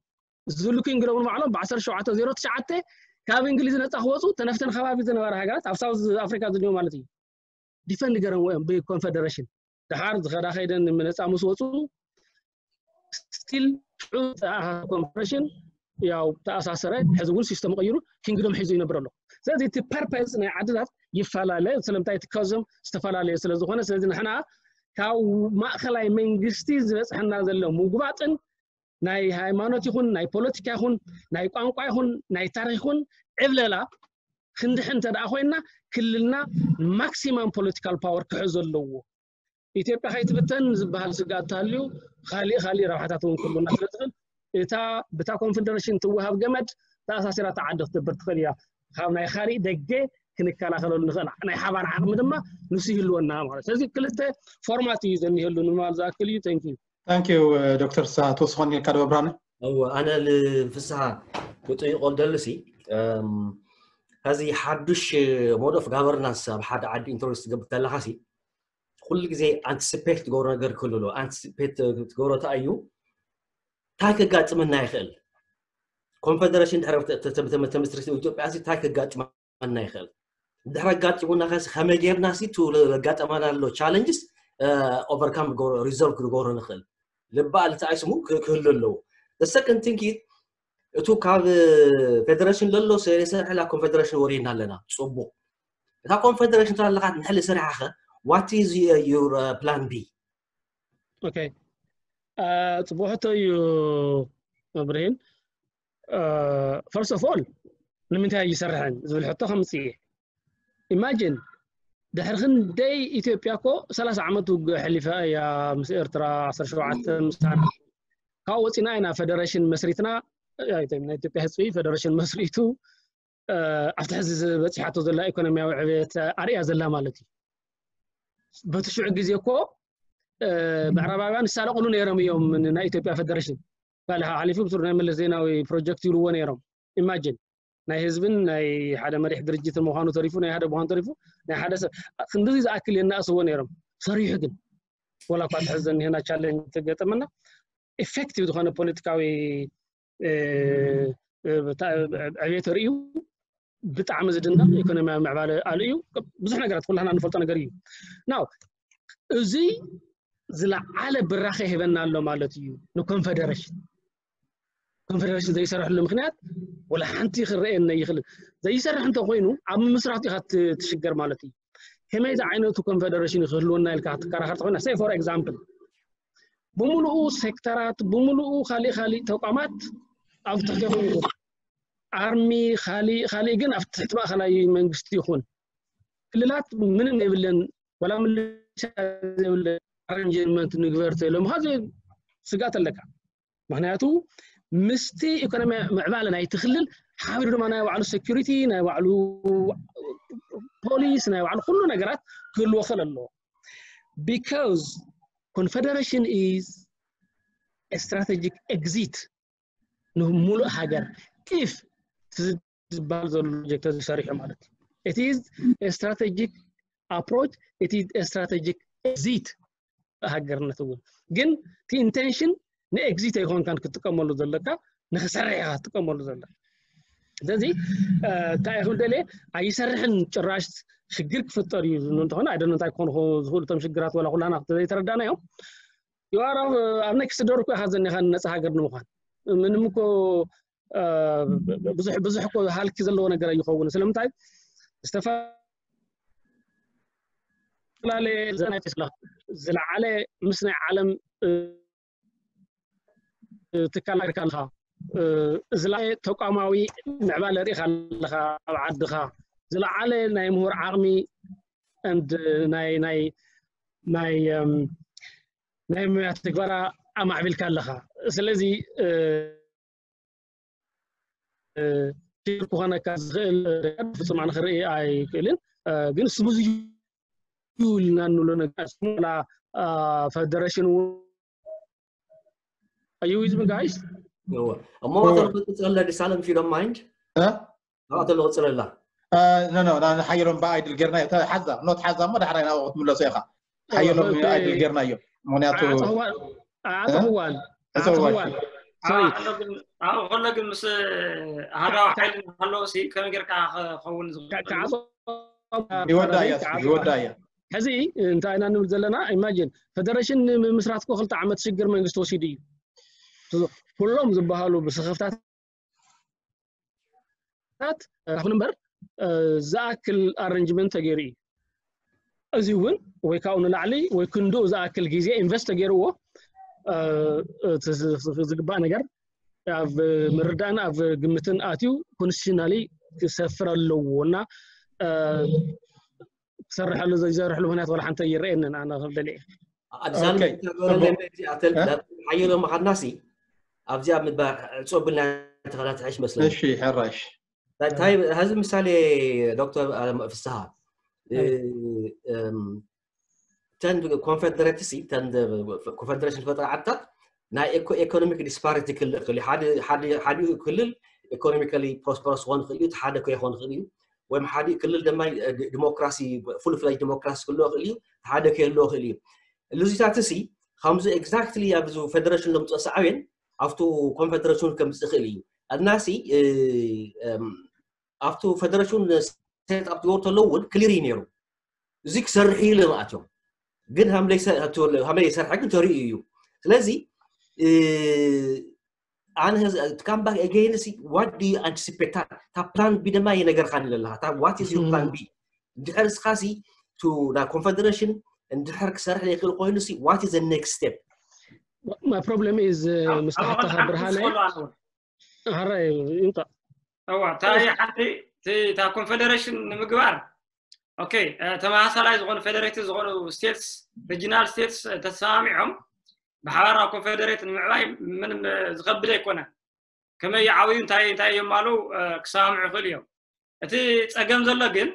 ዝሉ ኪንግዶም ንባዕሎም ብ1709 ካብ እንግሊዝ ነፃ ክወፁ ተነፍተን ከባቢ ዝነበረ ሃገራት ኣብ ሳውዝ ኣፍሪካ ዝኒኦ ማለት እዩ ዲፈንድ ገረምዎ እዮም ብኮንፈደሬሽን። ድሓር ዝኸዳ ከይደን ነፃ ምስ ወፁ ስቲል ኮንፈደሬሽን ያው ተኣሳሰረ። ሕዚ እውን ሲስተም ቀይሩ ኪንግዶም ሒዙ ይነብር ኣሎ። ስለዚ እቲ ፐርፐስ ናይ ዓድታት ይፈላለ ስለምንታይ እቲ ከዞም ዝተፈላለየ ስለ ዝኾነ ስለዚ ንሕና ካብ ማእኸላይ መንግስቲ ዝበፅሐና ዘሎ ምጉባጥን ናይ ሃይማኖት ይኹን ናይ ፖለቲካ ይኹን ናይ ቋንቋ ይኹን ናይ ታሪክ ይኹን ዕብለላ ክንድሕን እንተ ደኣ ኮይና ክልልና ማክሲማም ፖለቲካል ፓወር ክሕዞ ኣለዎ። ኢትዮጵያ ከይትብተን ዝበሃል ስግኣት ተሃልዩ ካሊእ ካሊእ ረብሓታት እውን ክህልወና ስለ ዝኽእል እታ ብታ ኮንፈደሬሽን ትወሃብ ገመድ ተኣሳሲራ እታ ዓዲ ክትነብር ትኽእል እያ። ካብ ናይ ካሊእ ደገ ክንከላኸለሉ ንኽእል ናይ ሓባር ዓቕሚ ድማ ንሱ ይህልወና ማለት ስለዚ ክልተ ፎርማት እዩ ዘኒሀሉ ንምባል ዝኣክል እዩ። Thank you። Thank you ዶክተር ፍስሃ ትወስኾን ኢልካ ዶ ኣብርሃነ? እወ ኣነ ንፍስሃ ክጥይቆ ደልሲ ከዚ ሓዱሽ mode of governance ኣብ ሓደ ዓዲ ኢንትሮዲስ ትገብር ተለካ ሲ ኩሉ ግዜ ኣንቲስፔት ትገብሮ ነገር ክህሉ ኣሎ። ኣንቲስፔት ትገብሮ እንታይ እዩ? እንታይ ከጋጥመና ይኽእል? ኮንፈደሬሽን ድሕሪ ተመስሪት ኢትዮጵያ ሲ እንታይ ከጋጥመና ይኽእል? ድሕሪ ኣጋጢሙና ከስ ከመይ ጌርና ሲ ቱ ዘጋጠመና ኣሎ ቻለንጅስ ኦቨርካም ሪዞልቭ ክንገብሮ ንኽእል? ልባል እንታይ ስሙ ክህሉ ኣለዎ። The second thing is እቱ ካብ ፌደሬሽን ለሎ ዘይሰርሐላ ኮንፌደሬሽን ወሪድና ኣለና። ፅቡቅ እታ ኮንፌደሬሽን ተላለካ ንሕሊ ሰሪሓኸ what is your plan B? ኦኬ ፅቡቅ ሕቶ እዩ እብርሂም። First of all ንምንታይ ይሰርሐን ዝብል ሕቶ ከምፅእ እየ። ኢማጂን ድሕሪ ክንደይ ኢትዮጵያ እኮ ሰላሳ ዓመት ውግእ ኣሕሊፋ እያ ምስ ኤርትራ ዓሰርተ ሸውዓተ ምሳና ካብኡ ወፂና ኢና ፌደሬሽን መስሪትና ናይ ኢትዮጵያ ህዝቢ ፌደሬሽን መስሪቱ ኣብቲ ሕዚ ዝበፂሓቶ ዘላ ኢኮኖሚያዊ ዕብየት ኣርእያ ዘላ ማለት እዩ። በቲ ሽዑ ግዜ እኮ ምዕራባውያን ይሳለቕሉ ነይሮም እዮም። ናይ ኢትዮጵያ ፌደሬሽን ካልእ ሓሊፉ ብሱር ናይ መለስ ዜናዊ ፕሮጀክት ይብልዎ ነይሮም። ኢማጂን ናይ ህዝብን ናይ ሓደ መሪሕ ድርጅትን ምዃኑ ተሪፉ፣ ናይ ሓደ ምዃኑ ተሪፉ፣ ናይ ሓደ ሰብ ክንድዚ ዝኣክል የናእስዎ ነይሮም። ሰሪሑ ግን ወላ እኳ ትሕዘኒ ቻለንጅ ተገጠመና፣ ኢፌክቲቭ ዝኾነ ፖለቲካዊ ዕብየት ርእዩ፣ ብጣዕሚ ዝድነቕ ኢኮኖሚያዊ ምዕባለ ኣልእዩ። ብዙሕ ነገራት ኩላህና ንፈልጦ ነገር እዩ። ናው እዚ ዝለዓለ ብራኸ ይህበና ኣሎ ማለት እዩ ንኮንፌደሬሽን። ኮንፌደሬሽን ዘይሰርሕሉ ምክንያት ወላ ሓንቲ ክረኤን ይኽእል። ዘይሰርሕ እንተኮይኑ ኣብ ምስራት ኢኻ ትሽገር ማለት እዩ። ከመይ ዝዓይነቱ ኮንፌደሬሽን ክህልወና ኢልካ ትከራኸር ተኮይና፣ say for example ብምሉኡ ሴክተራት፣ ብምሉኡ ካሊእ ካሊእ ተቋማት ኣብ ትሕቲ ይኹን፣ ኣርሚ፣ ካሊእ ካሊእ ግን ኣብ ትሕቲ ማእኸላይ መንግስቲ ይኹን፣ ክልላት ምንም የብለን። ወላ ምልሻ ዘይብለን ኣረንጅመንት ንግበር ተሎም ካ ስጋት ኣለካ። ምክንያቱ ምስቲ ኢኮኖሚ ምዕባለ ናይቲ ክልል ሓቢሩ ድማ ናይ ባዕሉ ሴኩሪቲ፣ ናይ ባዕሉ ፖሊስ፣ ናይ ባዕሉ ኩሉ ነገራት ክህልዎ ክእል ኣለዎ። Because confederation is a strategic exit ንምሉእ ሃገር። If ዝበሃል ዘሎ ፕሮጀክት ተሰሪሑ ማለት እዩ። It is a strategic approach, it is a strategic exit ሃገርነት እውን። ግን እቲ ኢንቴንሽን ንኤግዚት ኣይኮንካን ክትጥቀመሉ ዘለካ፣ ንክሰርሕ ኢኻ ክትጥቀመሉ ዘለካ። ስለዚ እንታይ ኢኹም ደልየ ኣይሰርሕን፣ ጭራሽ ሽግር ክፍጠር እዩ ዝብሉ እንተኾነ፣ ኣይደነ እንታይ ክኾኑ ዝኽእሉ እቶም ሽግራት፣ ወላ ኩላና ዘይተረዳናዮም። You are ኣብ ኔክስት ዶር እኮ ኢኻ ዘኒኻ ነፃ ሃገር ንምዃን። ምንም እኮ ብዙሕ ብዙሕ እኮ ሃልኪ ዘለዎ ነገር ኣይኸውን። ስለምንታይ? ዝተፈላለየ ዝለዓለ ምስ ናይ ዓለም ትካል ሪካ ኣለኻ። ዝለዓለ ተቋማዊ ምዕባለ ሪኢካ ኣለኻ ኣብ ዓድኻ። ዝለዓለ ናይ ምሁር ዓቕሚ and ናይ ናይ ናይ ናይ ሞያ ትግበራ ኣማዕቢልካ ኣለኻ። ስለዚ ክኾነካ ዝኽእል ፍጹም ኣነ ክርኢ ኣይክእልን። ግን ስሙዝ እዩ ኢልና እንብሎ ነገር ስሙላ ፌደሬሽን እውን እዩ። Is me guys? እሞ ተሎ ክትፅለ ዲሳለም ፊ ዶንት ማይንድ ተሎ ክትፅለላ። ኖ ኖ ንሓየሎም ብኣይድል ጌርና ሓዛ ኖት ሓዛ እሞ ዳሕራይ ናብኡ ክትምለሶ ኢኻ። ሓየሎም ኣይድል ጌርናዮ። ምክንያቱ ኣዕፀኽዋል ኣዕፀኽዋል ኣብኡ ከሎ ግን ምስ ኣሃዳዊ ሓይሊ ሃለዎ ሲ ከመይ ጌርካ ክኸውን ዝኽእል? ይወዳ እያ ይወዳ እያ። ሕዚ እንታይ ኢና ንብል ዘለና? ኢማጂን ፌደሬሽን ንምምስራት እኮ ክልተ ዓመት ሽግር መንግስቲ ወሲዱ እዩ። ኩሎም ዝበሃሉ ብስኽፍታት ይኹን እምበር ዝኣክል ኣረንጅመንት ተገይሩ እዩ። እዚ እውን ወይ ካብኡ ንላዕሊ ወይ ክንድኡ ዝኣክል ግዜ ኢንቨስት ተገይርዎ ዝግባእ ነገር ኣብ ምርዳእን ኣብ ግምትን ኣትዩ ኮንስቲቱሽናሊ ክሰፍር ኣለዎ እና ክሰርሐሉ ዘይሰርሕሉ ምክንያት ዋላ ሓንቲ ይረአየንን ኣነ ክብል ደልየ። ኣዲሳን ሓየሎ መኻድናሲ ኣብዚኣ ምባ ዕፅወ ብልና ተኸታተሐሽ መስለኒ። እሺ ሕራሽ ታይ ሀዚ ምሳሌ ዶክተር ፍስሃ ተን ኮንፌደሬትሲ ተን ኮንፌደሬሽን ፈጠራ ዓድታት ናይ ኢኮኖሚክ ዲስፓሪቲ ክልእ ክእል ሓደ ክልል ኢኮኖሚካሊ ፕሮስፐረስ ክኾን ክእል እዩ ሓደ ከይኾን ክእል እዩ ወይም ሓደ ክልል ድማ ዲሞክራሲ ፉል ፍለጅ ዲሞክራሲ ክልእ ክእል እዩ ሓደ ከየልዎ ክእል እዩ ልዚታት ሲ ከምዚ ኤግዛክትሊ ኣብዚ ፌደሬሽን ለምፅኦ ሰዓብን ኣብቱ ኮንፌደሬሽን ከምፅእ ክእል እዩ ኣድናሲ ኣብቱ ፌደሬሽን ሴት ኣፕ ትገብሩ ተለዉ እውን ክሊር እዩ ነይሩ እዚ ክሰርሕ እዩ ለምኣትዮም ግን ሃመይ ይሰርሐ ግን ተሪኡ እዩ ስለዚ ኣነ come back again ሲ what do you anticipate እታ plan B ድማ የነገርካኒ ዘለካ what is your plan B እንድሕር እስኻሲ ናብ ኮንፌደሬሽን እንድሕር ክሰርሕ ዘይክእል ኮይኑ ሲ what is the next step My problem is ምስ ሓተኻ ብርሃነ ሕራይ ይምጣእ እዋ እታ ሓንቲ እታ ኮንፌደሬሽን ንምግባር ኦኬ ተመሳሳላይ ዝኾኑ ፌደሬትድ ዝኾኑ ስቴትስ ሪጂናል ስቴትስ ተሰማሚዖም ብሓባር ናብ ኮንፌደሬት ንምዕባይ ምንም ዝኸብድ ኣይኮነን ከመይ ይዓብዩ እንታይ እንታይ የማሉ ክሰማምዑ ይኽእሉ እዮም እቲ ፀገም ዘሎ ግን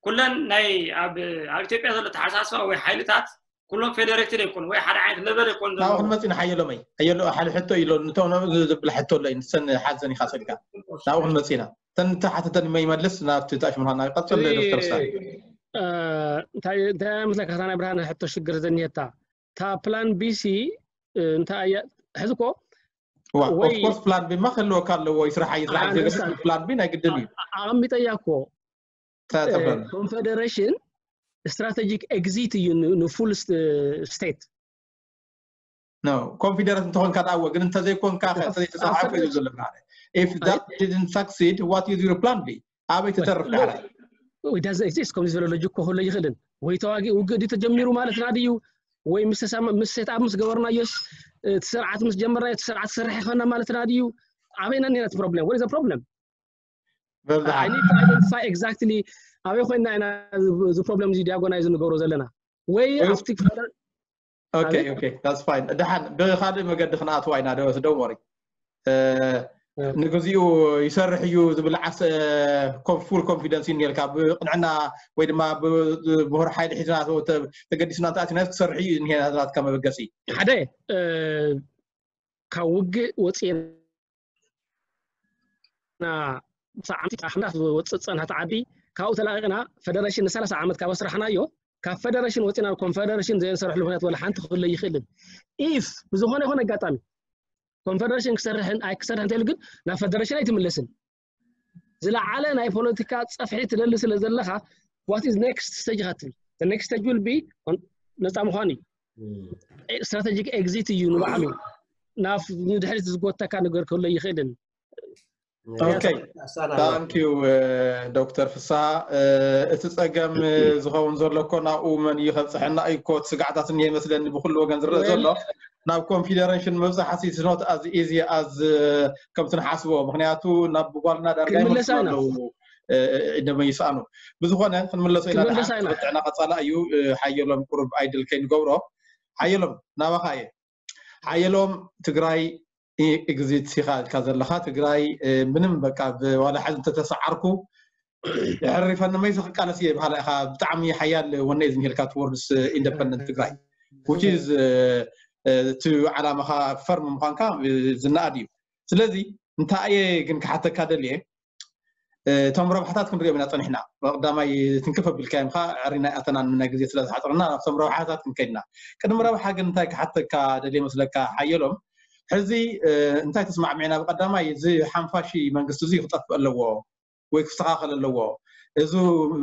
ኩለን ናይ ኣብ ኣብ ኢትዮጵያ ዘሎ ተሓሳስባ ወይ ሓይልታት ኩሎም ፌደሬትድ ኣይኮኑ ወይ ሓደ ዓይነት ለበል ኣይኮኑ ናብኡ ክንመፅ ኢና። ሓየሎመይ ሓየሎ ሓደ ሕቶ ኢሎ ንተውነ ዝብል ሕቶ ኣሎ እዩ ንሰን ሓዘን ኢኻ ሰልካ ናብኡ ክንመፅ ኢና። ተን ተሓተተን መይመልስ ናብቲ ታሽ ምዃና ይቐፅል ዶክተር ሳ እንታይ እንታይ መስለካ ናይ ብርሃን ሕቶ ሽግር ዘኒየታ ታ ፕላን ቢሲ እንታይ እያ ሕዚ እኮ ኦፍኮርስ ፕላን ቢ ማ ክህልወካ ኣለዎ። ይስራሕ ይስራሕ ፕላን ቢ ናይ ግድን እዩ። ኣቐሚጠያ እኮ ኮንፌደሬሽን ስትራቴጂክ ኤግዚት እዩ ንፉል ስቴት ኮንፊደረንት እንተኾንካ ዳኣወ ግን እንተዘይኮንካ ተሰሓፈ እዩ ዘሎ if that didn't succeed what is your plan B ኣበይ ትተርፍ ዳሕራይ ከምዚ ዝበለ ሎጂክ ክህሎ ይኽእልን ወይ ተዋጊ ውግእ ድዩ ተጀሚሩ ማለትና ድዩ ወይ ምስ ሴት ኣፕ ምስ ገበርናዮስ እቲ ስርዓት ምስ ጀመርናዮ እቲ ስርዓት ክሰርሕ ይኸና ማለትና ድዩ ኣበይና ኔራ እቲ ፕሮብለም ወደ ፕሮብለም በብዝሓ identify exactly ኣበይ ኮይና ኢና እዚ ፕሮብለም እዚ ዲያጎናይዝ ንገብሮ ዘለና ወይ ኣብቲ okay okay that's fine ደሓን ብካልእ መገዲ ክንኣትዋ ኢና ዶ don't worry ንግዚኡ ይሰርሕ እዩ ዝብል ዓርሰ ፉል ኮንፊደንስ እዩ ነልካ ብቅንዕና ወይ ድማ ብምሁር ሓይሊ ሒዝና ተገዲስና ተኣቲና ክሰርሕ እዩ ናትካ መበገሲ ሓደ ካብ ውግእ ወፂና ብሰዓምቲ ሓምዳት ዝወፅእ ፀንሐት ዓዲ ካብኡ ተላቂቕና ፈደሬሽን ንሰላሳ ዓመት ካብ ኣስራሕናዮ ካብ ፈደሬሽን ወፂና ኮንፈደሬሽን ዘየንሰርሕሉ ምክንያት ወላ ሓንቲ ክህሎ ይኽእልን ኢፍ ብዝኾነ ይኾነ ኣጋጣሚ ኮንፈደሬሽን ክሰርሕን ኣይክሰርሕ እንተኢሉ ግን ናብ ፈደሬሽን ኣይትምለስን ዝለዓለ ናይ ፖለቲካ ፀፍሒ ትደሊ ስለ ዘለካ what is next stage ኢካ ትብል next stage will be ነፃ ምኳን እዩ ስትራቴጂክ ኤግዚት እዩ ንባዕሉ ናብ ንድሕሪት ዝጎተካ ነገር ክህሎ ይኽእልን ዶክተር ፍስሃ እቲ ፀገም ዝኸውን ዘሎ እኮ ናብኡ መን እዩ ከብፅሐና እዩ እኮ ስጋዕታት እኒሀ ይመስለኒ ብኩሉ ወገን ዝረአ ዘሎ ናብ ኮንፊደሬሽን ምብፃሕ is not as easy as ከምቲ ንሓስቦ ምክንያቱ ናብ ጓልና ዳርጋ ይመልሱ ኣለዉ ደመ ይስኣኑ ብዝኾነ ክንምለሶ ኢና ጥዕና ቀፃላ እዩ ሓየሎም ቁሩብ ኣይድል ከይንገብሮ ሓየሎም ናባኻ እየ ሓየሎም ትግራይ ኤግዚት ኢኻ ኢልካ ዘለኻ ትግራይ ምንም በቃ ዋላ ሕዚ እንተተሰዓርኩ ሕሪፈኒ መይሰ ክቃለስ እየ በሃላ ኢኻ ብጣዕሚ ሓያል ወነ እዩ ዝኒሄልካ towards independent ትግራይ which is እቲ ዓላማኻ ፈርም ምዃንካ ዝነኣድ እዩ ስለዚ እንታይ እየ ግን ክሓተካ ደልየ እቶም ረብሓታት ክንሪኦም ኢና ፀኒሕና ቀዳማይ ትንክፍ ኣቢልካዮም ከዓ ዕሪና ኣተናን ናይ ግዜ ስለ ዝሓፀረና ናብቶም ረብሓታት ክንከይድና ቅድሚ ረብሓ ግን እንታይ ክሓተካ ደልየ መስለካ ሓየሎም ሕዚ እንታይ ተስማዕሚዕና ብቀዳማይ እዚ ሓምሳ ሺህ መንግስቲ እዚ ክጠፍእ ኣለዎ ወይ ክስተኻኸል ኣለዎ እዚ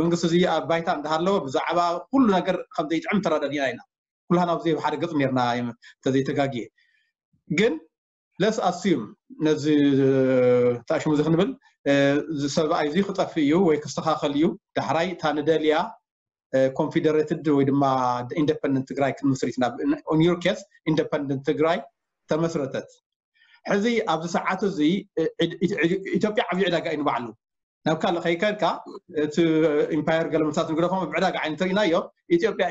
መንግስቲ እዚ ኣብ ባይታ እንዳሃለወ ብዛዕባ ኩሉ ነገር ከም ዘይጥዕም ተረዳዲና ኢና ኩላህና ኣብ ዘይብ ሓደ ገፅ ነርና ተዘይተጋግየ ግን let's assume ነዚ ተኣሽሙ እዚ ክንብል ሰብኣይ እዚ ክጠፍእ እዩ ወይ ክስተኻኸል እዩ ዳሕራይ እታ ንደልያ ኮንፊደሬትድ ወይ ድማ ኢንደፐንደንት ትግራይ ክንምስሪት ናብ on your case ኢንደፐንደንት ትግራይ ተመስረተት ሕዚ ኣብዚ ሰዓት እዚ ኢትዮጵያ ዓብዪ ዕዳጋ እዩ ንባዕሉ ናብ ካልእ ከይከድካ እቲ ኢምፓየር ገለመሳት ንግደፎም ብዕዳጋ ዓይነት ርኢናዮ ኢትዮጵያ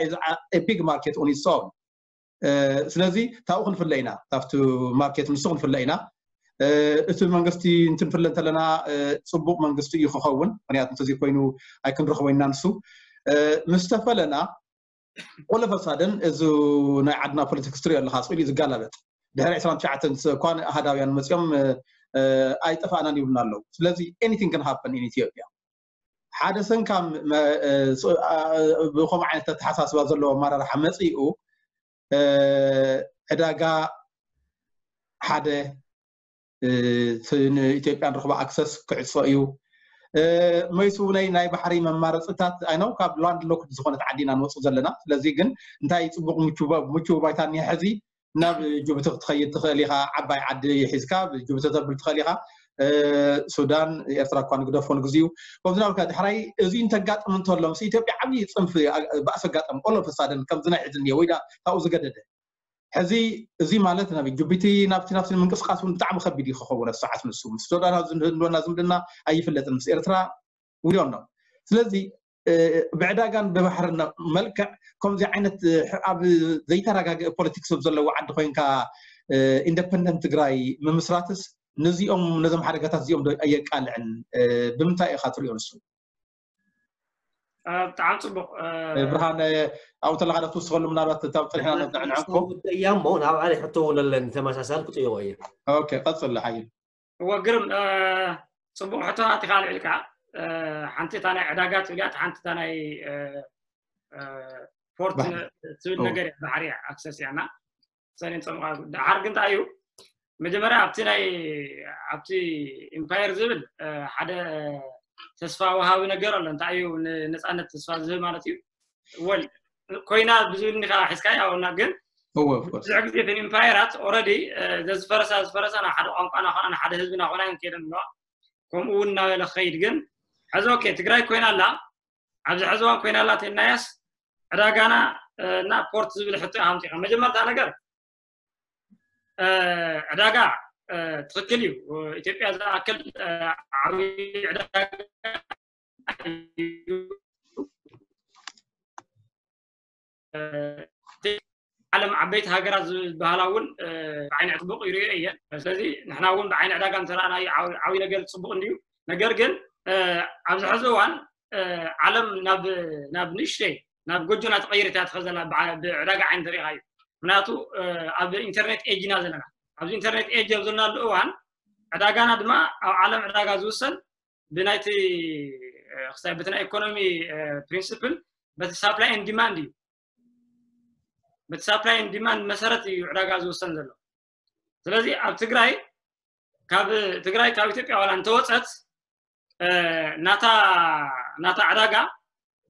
big market on its own ስለዚ ታብኡ ክንፍለ ኢና ካብቲ ማርኬት ንሱ ክንፍለ ኢና እቲ መንግስቲ እንትንፍለ እንተለና ፅቡቅ መንግስቲ እዩ ክኸውን ምክንያቱ እንተዘይ ኮይኑ ኣይክንረኽቦ ኢና ንሱ ምስ ተፈለና all of a sudden እዚ ናይ ዓድና ፖለቲክስ ትሪኦ ኣለካ ስኢሉ ዝጋላበጥ ድሕሪ ዕስራን ትሽዓተን እኳ ኣሃዳውያን መፂኦም ኣይጠፋእናን ይብሉና ኣለዉ ስለዚ anything can happen in Ethiopia ሓደ ሰንካም ብከምኡ ዓይነት ኣተሓሳስባ ዘለዎ ኣመራርሓ መፂኡ ዕዳጋ ሓደ ንኢትዮጵያ ንረኽቦ ኣክሰስ ክዕፆ እዩ መይሱ ናይ ናይ ባሕሪ መማረፅታት ኣይነው ካብ ላንድ ሎክድ ዝኾነት ዓዲ ኢና ንወፅእ ዘለና ስለዚ ግን እንታይ ፅቡቅ ምቹው ባይታ እኒሀ ሕዚ ናብ ጅቡቲ ክትኸይድ ትኽእል ኢኻ ዓባይ ዓዲ ሒዝካ ጅቡቲ ተብል ትኽእል ኢኻ ሱዳን ኤርትራ እኳ ንግደፎ ንግዚኡ ከምዚ ናብልካ ድሕራይ እዚ እንተጋጥም እንተሎ ምስ ኢትዮጵያ ዓብዪ ፅንፊ ባእሲ ኣጋጠም ቆሎ ፈሳደን ከምዚ ናይ ሕዚ እኒኦ ወይ ካብኡ ዝገደደ ሕዚ እዚ ማለት ናብ ጅቡቲ ናብቲ ናብቲ ንምንቅስቃስ እውን ብጣዕሚ ከቢድ እዩ ክኸውን ሰዓት ንሱ ምስ ሱዳን ዝህልወና ዝምድና ኣይፍለጥን ምስ ኤርትራ ውዲኦም ነው ስለዚ ብዕዳጋን ብባሕርን መልክዕ ከምዚ ዓይነት ኣብ ዘይተረጋግአ ፖለቲክስ ኣብ ዘለዎ ዓዲ ኮይንካ ኢንደፐንደንት ትግራይ ምምስራትስ ነዚኦም ነዞም ሓደጋታት እዚኦም ዶ ኣየቃልዕን ብምንታይ ኢካ ትሪኦ ንሱ ብጣዕሚ ፅቡቅ። ብርሃን ኣብኡ ተለካ ዶ ትውስኸሉ? ምናልባት እታ ፀኒሕና ነዕንዕንኮ እያ እሞ ናብ ኣነ ሕቶ እውን ኣለኒ ተመሳሳሊ ክጥይቆ እየ። ቀፅል ሓይል። እወ ግርም፣ ፅቡቅ ሕቶታት ኢካ ኣልዒልካ። ሓንቲ እታ ናይ ዕዳጋ ትብል እያ፣ ሓንቲ እታ ናይ ፖርት ትብል ነገር እያ፣ ባሕሪ እያ፣ ኣክሰስ እያ። እና ሰኔን ፀምቃ ደሓር ግን እንታይ እዩ መጀመርያ ኣብቲ ናይ ኣብቲ ኢምፓየር ዝብል ሓደ ተስፋ ወሃቢ ነገር ኣሎ። እንታይ እዩ ንነፃነት ተስፋ ዝህብ ማለት እዩ። ወል ኮይና ብዝብል ኒካ ሒዝካ ያውና ግን ብዙሕ ግዜ እተን ኢምፓየራት ኦረዲ ዘዝፈረሳ ዝፈረሳ ናብ ሓደ ቋንቋና ኮና ንሓደ ህዝብና ኮና ከይደን ኣለዋ። ከምኡ እውን እናበለ ክኸይድ ግን ሕዚ ኦኬ ትግራይ ኮይና ኣላ፣ ኣብዚ ሕዚ እዋን ኮይና ኣላ ተናያስ ዕዳጋና እና ፖርት ዝብል ሕቶ ሃምፂኻ መጀመርታ ነገር ዕዳጋ ትኽክል እዩ። ኢትዮጵያ ዝኣክል ዓብዪ ዕዳጋ ዓለም ዓበይቲ ሃገራት ዝበሃላ እውን ብዓይኒ ፅቡቅ ይሪኦ እየን። ስለዚ ንሕና እውን ብዓይኒ ዕዳጋ እንተረኣናዮ ዓብዪ ነገር ፅቡቅ እንድዩ። ነገር ግን ኣብዚ ሕዚ እዋን ዓለም ናብ ንእሽተይ ናብ ጎጆ እናተቐየረት እያ ትኸዘላ ብዕዳጋ ዓይኒ ተሪኢኻ እዩ። ምክንያቱ ኣብ ኢንተርኔት ኤጅ ኢና ዘለና። ኣብዚ ኢንተርኔት ኤጅ ኣብ ዘለናሉ እዋን ዕዳጋና ድማ ኣብ ዓለም ዕዳጋ ዝውሰን ብናይቲ ክሳይ በቲ ናይ ኢኮኖሚ ፕሪንስፕል በቲ ሳፕላይ ን ዲማንድ እዩ። በቲ ሳፕላይ ን ዲማንድ መሰረት እዩ ዕዳጋ ዝውሰን ዘሎ። ስለዚ ኣብ ትግራይ ካብ ትግራይ ካብ ኢትዮጵያ ዋላ እንተወፀት ናታ ናታ ዕዳጋ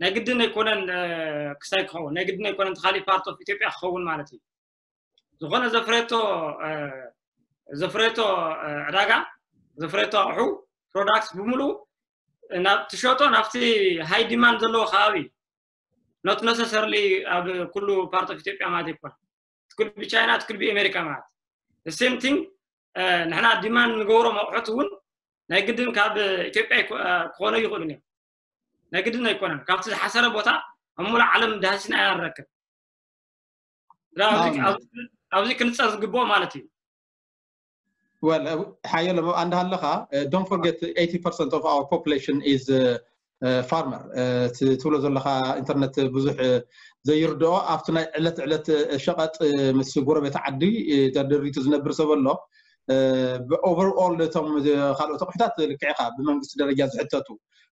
ናይ ግድን ኣይኮነን ክሳይ ክኸውን ናይ ግድን ኣይኮነን ተካሊእ ፓርት ኦፍ ኢትዮጵያ ክኸውን ማለት እዩ። ዝኾነ ዘፍረቶ ዘፍረቶ ዕዳጋ ዘፍረቶ ኣቑሑ ፕሮዳክትስ ብምሉ ናብ ትሸጦ ናብቲ ሃይ ዲማንድ ዘለዎ ከባቢ not necessarily ኣብ ኩሉ ፓርት ኦፍ ኢትዮጵያ ማለት ይኮን ትኩል ብቻይና ትኩል ብኤሜሪካ ማለት ሴም ቲንግ ንሕና ዲማንድ ንገብሮም ኣቑሑት እውን ናይ ግድን ካብ ኢትዮጵያ ክኾነ ይኽእሉን እዮም። ናይ ግድን ኣይኮነን ካብቲ ዝሓሰረ ቦታ ኣብ ሙሉእ ዓለም ዳህሲና ኢና ንረክብ። ኣብዚ ክንፀር ዝግብኦ ማለት እዩ። Well ሓየሎም ኣብኣ እንዳሃለኻ don't forget eighty percent of our population is farmer ትብሎ ዘለኻ ኢንተርነት ብዙሕ ዘይርድኦ ኣብቲ ናይ ዕለት ዕለት ሸቐጥ ምስ ጎረቤት ዓዲ ተደሪቱ ዝነብር ሰብ ኣሎ። ብኦቨርኦል እቶም ካልኦት ኣቑሑታት ልክዕኻ ብመንግስቲ ደረጃ ዝሕተቱ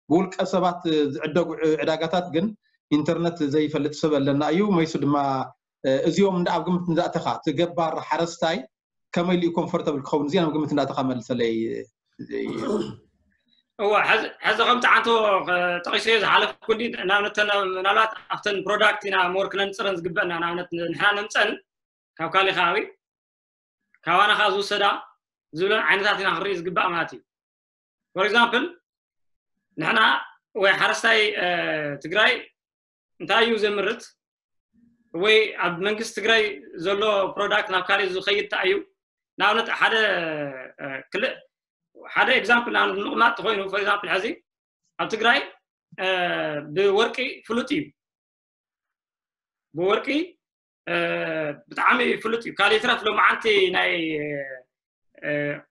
ብውልቀ ሰባት ዝዕደጉ ዕዳጋታት ግን ኢንተርነት ዘይፈልጥ ሰብ ኣለና እዩ። መይሱ ድማ እዚኦም እንደ ኣብ ግምት እንዳእተኻ እቲ ገባር ሓረስታይ ከመይ ኢሉ ኮምፎርተብል ክኸውን እዚኣ ኣብ ግምት እንዳእተኻ መልሰለይ። እዋ ሕዚ ከምቲ ዓንቶ ጠቂሰዮ ዝሓለፍኩ እንዲ ንኣብነት ምናልባት ኣብተን ፕሮዳክት ኢና ሞር ክነንፅረን ዝግበእና ንኣብነት ንሕና ነምፀን ካብ ካሊእ ከባቢ ካባና ከዓ ዝውሰዳ ዝብለን ዓይነታት ኢና ክንርኢ ዝግባእ ማለት እዩ። ፎር ኤግዛምፕል ንሕና ወይ ሓረስታይ ትግራይ እንታይ እዩ ዘምርት ወይ ኣብ መንግስቲ ትግራይ ዘሎ ፕሮዳክት ናብ ካልእ ዝኸይድ እንታይ እዩ? ንኣብነት ሓደ ክልእ ሓደ ኤግዛምፕል ንኣብነት ንምቕማጥ ተኮይኑ ፎር ኤግዛምፕል ሕዚ ኣብ ትግራይ ብወርቂ ፍሉጥ እዩ። ብወርቂ ብጣዕሚ ፍሉጥ እዩ። ካልእ ይትረፍ ሎማዓንቲ ናይ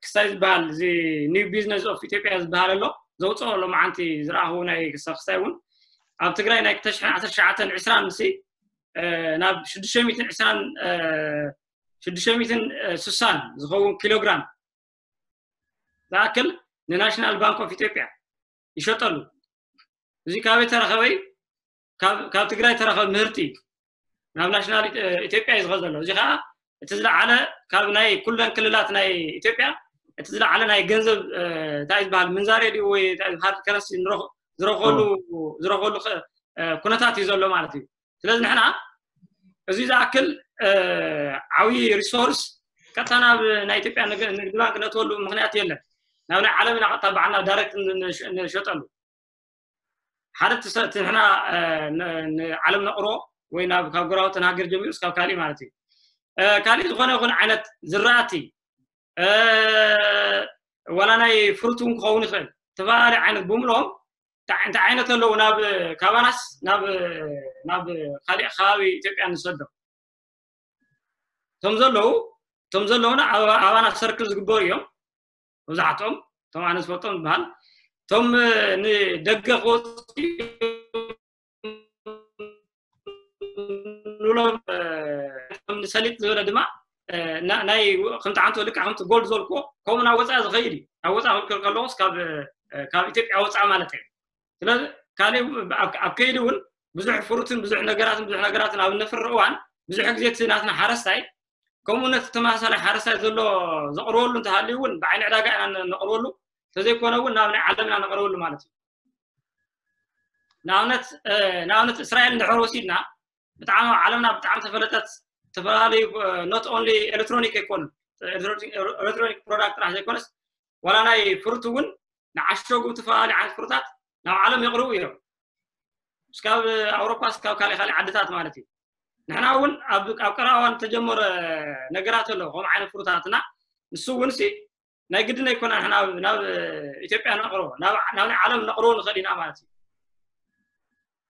ክስታይ ዝበሃል እዚ ኒው ቢዝነስ ኦፍ ኢትዮጵያ ዝበሃል ኣሎ ዘውፅኦ ሎማዓንቲ ዝረኣኹ ናይ ክስታይ እውን ኣብ ትግራይ ናይ ክልተ ሽሕን ዓሰርተ ትሽዓተን ዕስራን ምስ ናብ ሽዱሽተ ሚእትን ዕስራን ሽዱሽተ ሚእትን ስሳን ዝኸውን ኪሎግራም ዝኣክል ንናሽናል ባንክ ኦፍ ኢትዮጵያ ይሸጠሉ። እዚ ካበይ ተረኸበይ? ካብ ትግራይ ተረኸብ ምህርቲ እዩ ናብ ናሽናል ኢትዮጵያ እዩ ዝኸ ዘሎ። እዚ ከዓ እቲ ዝለዓለ ካብ ናይ ኩለን ክልላት ናይ ኢትዮጵያ እቲ ዝለዓለ ናይ ገንዘብ እንታይ ዝበሃል ምንዛሬ ድዩ ወይ ሃርድ ከረንሲ ዝረኸሉ ዝረኸሉ ኩነታት እዩ ዘሎ ማለት እዩ። ስለዚ ንሕና እዚ ዝኣክል ዓብዪ ሪሶርስ ቀጥታ ናብ ናይ ኢትዮጵያ ንግዲ ባንክ ነእትወሉ ምክንያት የለን። ናብ ናይ ዓለም ኢና ቀጥታ ባዕልና ዳይሬክት ንሸጠሉ ሓደ እቲ ንሕና ንዓለም ነቕሮ ወይ ናብ ካብ ጎረባብቲ ሃገር ጀሚሩ እስካብ ካሊእ ማለት እዩ። ካሊእ ዝኾነ ይኹን ዓይነት ዝራእቲ ዋላ ናይ ፍሩት እውን ክኸውን ይኽእል ዝተፈላለዩ ዓይነት ብምሎም እንታይ ዓይነት ኣለዉ ናብ ካባናስ ናብ ናብ ካሊእ ከባቢ ኢትዮጵያ ንሰዶ እቶም ዘለዉ እቶም ዘለዉና ኣባና ሰርክል ዝግበሩ እዮም። መብዛሕትኦም እቶም ኣነ ዝፈልጦም ዝበሃል እቶም ንደገ ክወፅኡ ሰሊጥ ዝበለ ድማ ናይ ከምቲ ዓንቶ ልክዕ ከምቲ ጎልድ ዘልክዎ ከምኡ ናብ ወፃኢ ዝኸይድ እዩ። ናብ ወፃኢ ክልክል ከለዎስ ካብ ኢትዮጵያ ወፃኢ ማለት እዩ። ስለዚ ካልእ ኣብ ከይዲ እውን ብዙሕ ፍሩትን ብዙሕ ነገራትን ብዙሕ ነገራትን ኣብ ነፍሪ እዋን ብዙሕ ግዜ እቲ ናትና ሓረስታይ ከምኡ ነቲ ተመሳሳሊ ሓረስታይ ዘሎ ዘቕርበሉ እንተሃልዩ እውን ብዓይኒ ዕዳጋ ኢና ነቕርበሉ፣ ተዘይኮነ እውን ናብ ናይ ዓለም ኢና ነቕርበሉ ማለት እዩ። ንኣብነት ንኣብነት እስራኤል እንድሕር ወሲድና ብጣዕሚ ኣብ ዓለምና ብጣዕሚ ተፈለጠት ዝተፈላለዩ not only electronic ኣይኮኑን፣ electronic product ጥራሕ ዘይኮነስ ዋላ ናይ ፍሩት እውን ንዓሸጉ ዝተፈላለዩ ዓይነት ፍሩታት ናብ ዓለም የቕርቡ እዮም። እስካብ ኣውሮፓ እስካብ ካልእ ካልእ ዓድታት ማለት እዩ። ንሕና እውን ኣብ ቀረባ እዋን ተጀመረ ነገራት ኣሎ ከምኡ ዓይነት ፍሩታትና ንሱ እውን ሲ ናይ ግድን ኣይኮና ናብ ናብ ኢትዮጵያ ነቕርቦ ናብ ናይ ዓለም ነቕርቦ ንኽእል ኢና ማለት እዩ።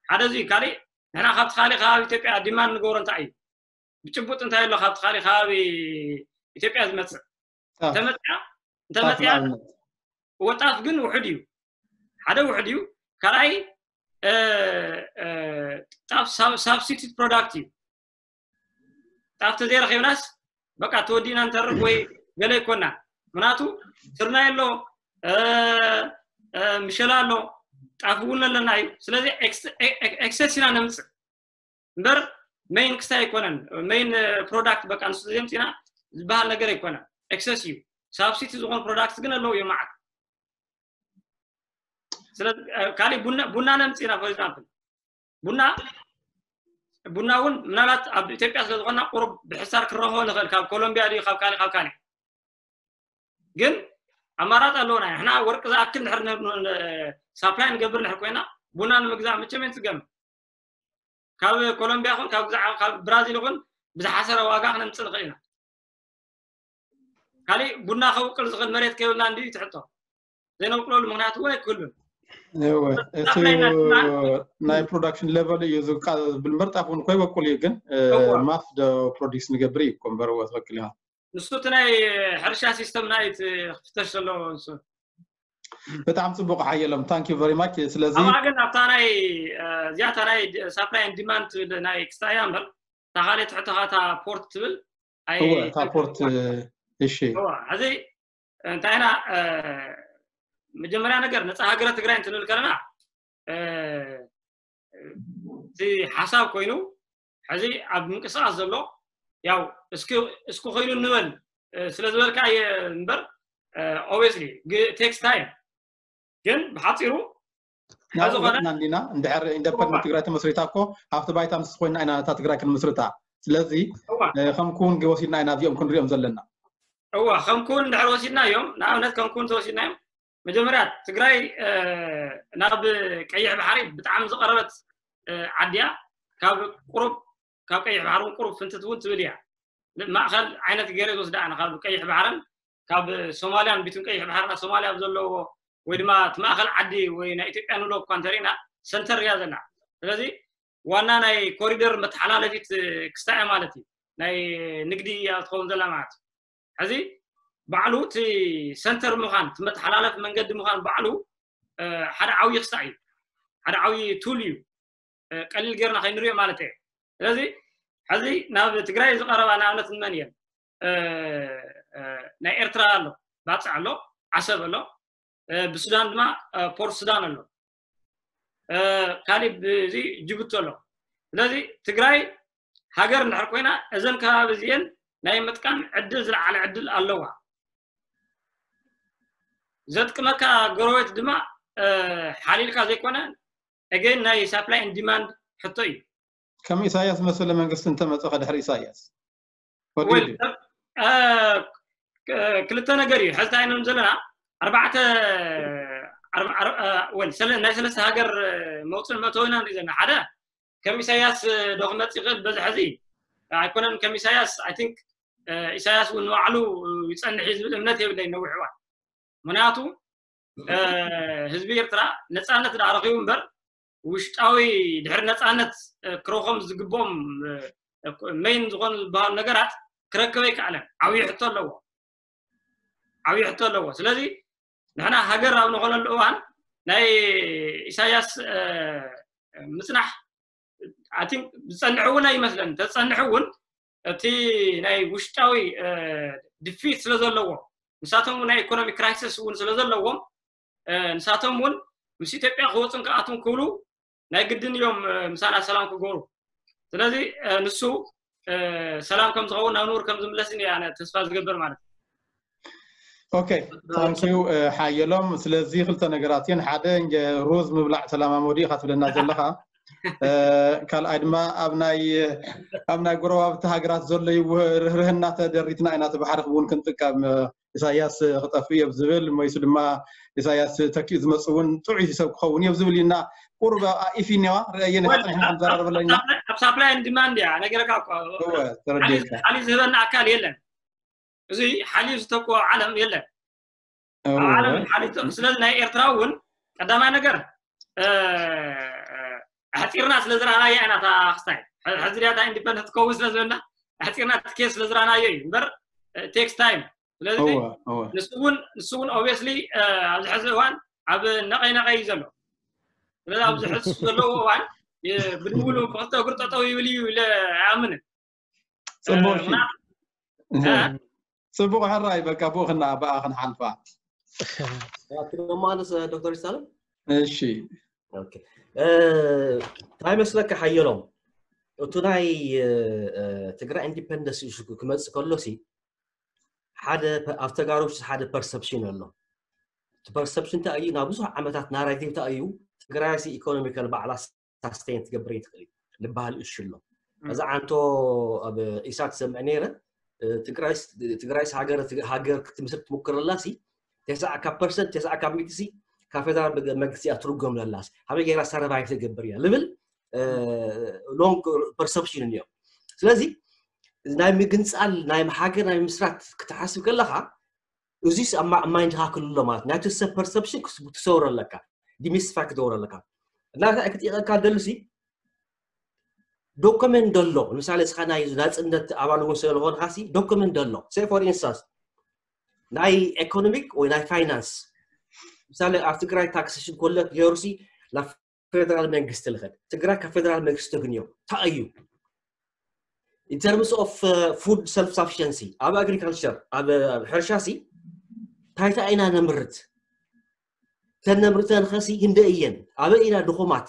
ሓደ እዚ ካልእ ንሕና ካብቲ ካልእ ከባቢ ኢትዮጵያ ዲማንድ ንገብሮ እንታይ እዩ? ብጭቡጥ እንታይ ኣሎ ካብቲ ካልእ ከባቢ ኢትዮጵያ ዝመፅእ እንተመፅያ እንተመፅያ ወጣፍ ግን ውሑድ እዩ። ሓደ ውሑድ እዩ። ካልኣይ ጣፍ ሳብስቲቱት ፕሮዳክት እዩ። ጣፍ ተዘይረኺብናስ በቃ ተወዲእና ንተርፍ ወይ ገለ ኣይኮናን። ምክንያቱ ስርናይ ኣሎ፣ ምሸላ ኣሎ፣ ጣፍ እውን ኣለና እዩ። ስለዚ ኤክሰስ ኢና ነምፅእ እምበር ሜይን ክስታይ ኣይኮነን። ሜይን ፕሮዳክት በቃ ንሱ ዘምፅና ዝበሃል ነገር ኣይኮነን። ኤክሰስ እዩ። ሳብሲቲ ዝኾኑ ፕሮዳክት ግን ኣለዉ እዮም መዓት። ስለዚ ካልእ ቡና ነምፅና for example ቡና ቡና እውን ምናልባት ኣብ ኢትዮጵያ ስለዝኾና ቁሩብ ብሕሳር ክረኽቦ ንኽእል ካብ ኮሎምቢያ ድዩ ካብ ካልእ ካብ ካልእ ግን ኣማራፂ ኣለውና። ንሕና ወርቂ ዝኣክል ድሕር ሳፕላይ ንገብር ንሕር ኮይና ቡና ንምግዛእ መቸም ንፅገም ካብ ኮሎምቢያ ኹን ካብ ግዛዕ ካብ ብራዚል ኹን ብዝሓሰረ ዋጋ ክነምፅእ ንኽእል ኢና። ካልእ ቡና ከውቅል ዝኽእል መሬት ከይብልና እንድዩ ትሕቶ ዘይነውቅለሉ ምክንያት እውን ኣይክህሉን። እቲ ናይ ፕሮዳክሽን ሌቨል እዩ ዝብል እምበር ጣፍ እውን ኮይበቁል እዩ ግን ማስ ዶ ፕሮዲክስ ንገብር እዩ እኮ እምበር ትኽክል ኢኻ። ንሱ እቲ ናይ ሕርሻ ሲስተም ናይ ክፍተሽ ዘለዎ ንሱ ብጣዕሚ ፅቡቅ ሓየሎም thank you very much። ስለዚ ኣብኣ ግን ኣብታ ናይ እዚኣታ ናይ ሳፕላይ ዲማንድ ትብል ናይ ክስታያ እምበር እታ ካልእ ትሕተኻ እታ ፖርት ትብል እታ ፖርት እሺ ሕዚ እንታይ ኢና መጀመርያ ነገር ነፃ ሃገረ ትግራይ እንትንብል ከለና እቲ ሓሳብ ኮይኑ ሕዚ ኣብ ምንቅስቃስ ዘሎ ያው እስኪ ኮይኑ ንበል ስለ ዝበልካ እየ እምበር obviously takes time ግን ብሓፂሩ ናብና እንዲና እንድሕር ኢንደፐንደንት ትግራይ ተመስሪታ እኮ ኣብቲ ባይታ ምስ ኮይና ኢና እታ ትግራይ ክንምስርታ። ስለዚ ከም ክውን ወሲድና ኢና እዚኦም ክንሪኦም ዘለና። እዋ ከም ክውን እንድሕር ወሲድና እዮም ንኣብነት ከም ክውን ተወሲድና እዮም መጀመርያ ትግራይ ናብ ቀይሕ ባሕሪ ብጣዕሚ ዝቀረበት ዓድያ ካብ ቁሩብ ካብ ቀይሕ ባሕሪ እውን ቁሩብ ፍንትት እውን ትብል እያ። ማእኸል ዓይነት ገይረ ዝወስዳ ኣነ ካብ ቀይሕ ባሕርን ካብ ሶማልያን ቢቱን ቀይሕ ባሕርና ሶማልያ ኣብ ዘለዎ ወይ ድማ እቲ ማእኸል ዓዲ ወይ ናይ ኢትዮጵያ ንብሎ እኳ እንተሪእና ሰንተር እያ ዘላ። ስለዚ ዋና ናይ ኮሪደር መተሓላለፊት ክስታይ ማለት እዩ ናይ ንግዲ እያ ትኸውን ዘላ ማለት እዩ። ሕዚ ባዕሉ እቲ ሰንተር ምዃን እቲ መተሓላለፊ መንገዲ ምዃን ባዕሉ ሓደ ዓብዪ ክስታይ እዩ። ሓደ ዓብዪ ቱል እዩ። ቀሊል ጌርና ከይንሪኦ ማለት እየ። ስለዚ ሕዚ ናብ ትግራይ ዝቐረባ ንኣብነት ንመን እየን? ናይ ኤርትራ ኣሎ፣ ባፅዕ ኣሎ፣ ዓሰብ ኣሎ፣ ብሱዳን ድማ ፖርት ሱዳን ኣሎ፣ ካሊእ ብዚ ጅቡቲ ኣሎ። ስለዚ ትግራይ ሃገር እንድሕር ኮይና እዘን ከባቢ እዚአን ናይ ምጥቃም ዕድል ዝለዓለ ዕድል ኣለዋ። ዘጥቅመካ ጎረቤት ድማ ሓሊልካ ዘይኮነ again ናይ supply and demand ሕቶ እዩ። ከም ኢሳያስ መሰለ መንግስቲ እንተመፀ ከድሕር ኢሳያስ ክልተ ነገር እዩ ሕዚ እንታይ ኢና ዘለና ኣርባዕተ ናይ ሰለስተ ሃገር መውፅን መእተዊ ኢና ንርኢ ዘለና ሓደ ከም ኢሳያስ ዶ ክመፅ ይኽእል በዚ ሕዚ ኣይኮነን ከም ኢሳያስ I think ኢሳያስ እውን ንባዕሉ ይፀንሕ እዩ ዝብል እምነት የብለይ ነዊሕ እዋን ምክንያቱ ህዝቢ ኤርትራ ነፃነት ዳ ረኺቡ እምበር ውሽጣዊ ድሕሪ ነፃነት ክረኾም ዝግብኦም መይን ዝኾኑ ዝበሃሉ ነገራት ክረክብ ኣይከኣለን። ዓብዪ ሕቶ ኣለዎ፣ ዓብዪ ሕቶ ኣለዎ። ስለዚ ንሕና ሃገር ኣብ ንኾነሉ እዋን ናይ ኢሳያስ ምፅናሕ I think ዝፀንሕ እውን ኣይመስለን። ተፀንሕ እውን እቲ ናይ ውሽጣዊ ድፊት ስለ ዘለዎ ንሳቶም ናይ ኢኮኖሚ ክራይሲስ እውን ስለ ዘለዎም ንሳቶም እውን ምስ ኢትዮጵያ ክወፁን ክኣትውን ክብሉ ናይ ግድን እዮም ምሳና ሰላም ክገብሩ። ስለዚ ንሱ ሰላም ከም ዝኸውን ናብ ንቡር ከም ዝምለስን እየ ኣነ ተስፋ ዝገብር ማለት እዩ። ኦኬ ታንኪዩ ሓየሎም። ስለዚ ክልተ ነገራት እየን። ሓደ ሩዝ ምብላዕ ተለማመዱ ኢኻ ትብለና ዘለኻ። ካልኣይ ድማ ኣብ ናይ ኣብ ናይ ጎረባብቲ ሃገራት ዘሎ ርህርህና ተደሪትና ኢና እቲ ባሕሪ ክውን ክንጥቀም ኢሳያስ ክጠፍእ እዮ ዝብል መይሱ ድማ ኢሳያስ ተኪኡ ዝመፅ እውን ጥዑይ ሰብ ክኸውን እዮ ዝብል ኢና። ቁሩብ ኢፊ እኒዋ ርእየ ነካ ፀኒሕና ክንዘራረበለና ኣብ ሳፕላይ ን ዲማንድ እያ ነገረካ። ተረዲእካ። ሓሊ ዝህበና ኣካል የለን። እዚ ሓልዩ ዝተክኦ ዓለም የለን። ኣብ ዓለም ሓልዩ ስለዚ ናይ ኤርትራ እውን ቀዳማይ ነገር ኣሕፂርና ስለ ዝረኣናያ ኢና። እታ ክስታይ ሕዚ ድያ እታ ኢንዲፐንደንት ትከውን ስለ ዝበልና ኣሕፂርና ትኬት ስለ ዝረኣናዮ እዩ እምበር ቴክስ ታይም። ስለዚ ንሱ እውን ንሱ እውን ኦብስሊ ኣብዚ ሕዚ እዋን ኣብ ነቀይ ነቀይ እዩ ዘሎ። ስለዚ ኣብዚ ሕዚ ዘለዎ እዋን ብድውሉ ብክልተ እግሩ ጠጠው ይብል እዩ ኢለ ኣይኣምንን። ፅቡቅ እሺ። ፅቡቅ ሕራይ በቃ ብኡ ክና ብኣ ክንሓልፋ። ኣትማንስ ዶክተር ይሳለም እሺ እንታይ መስለካ ሓየሎም፣ እቱ ናይ ትግራይ ኢንዲፐንደንስ ኢሹ ክመፅእ ከሎ ሲ ሓደ ኣብ ተጋሩ ሓደ ፐርሰፕሽን ኣሎ። እቲ ፐርሰፕሽን እንታይ እዩ? ናብ ብዙሕ ዓመታት ናራቲቭ እንታይ እዩ? ትግራይ ሲ ኢኮኖሚካል ባዕላ ሳስቴን ትገብር ይትኽእል እዩ ዝበሃል እሹ ኣሎ። እዚ ዓንቶ ኣብ ኢሳት ሰምዕ ነይረ። ትግራይስ ሃገር ክትምስርት ትሙክር ኣላ ሲ ተስዓ ካብ ፐርሰንት ተስዓ ካብ ሚእቲ ሲ ካብ ፌደራል መንግስቲ እያ ትርጎም ዘላ። ሃበይ ገይራ ሰርቫይቭ ትገብር እያ ልብል ሎንግ ፐርሰፕሽን እኒኦ። ስለዚ ናይ ምግንፃል ናይ ሃገር ናይ ምስራት ክትሓስብ ከለካ እዚስ ኣብ ማይንድካ ክልሎ ማለት ናይቲ ሰብ ፐርሰፕሽን ትሰውሮ ኣለካ፣ ዲሚስቲፋይ ክትገብሮ ኣለካ። እና እንታይ ክጥይቀካ ደሉ ሲ ዶክመንት ደሎ ንምሳሌ እስኻ ናይ ናፅነት ኣባል እውን ስለዝኾንካ ሲ ዶክመንት ደሎ ሴ ፎር ኢንስታንስ ናይ ኢኮኖሚክ ወይ ናይ ፋይናንስ ምሳሌ ኣብ ትግራይ ታክስሽን ኮለክት ገይሩ ሲ ናብ ፌደራል መንግስቲ ልኸድ ትግራይ ካብ ፌደራል መንግስቲ ተግንዮ እንታይ እዩ in terms of food self sufficiency ኣብ ኣግሪካልቸር ኣብ ሕርሻ ሲ ታይታ ኢና ነምርት ተነምርተን ኸሲ ህንደ እየን ኣበይ ኢና ድኹማት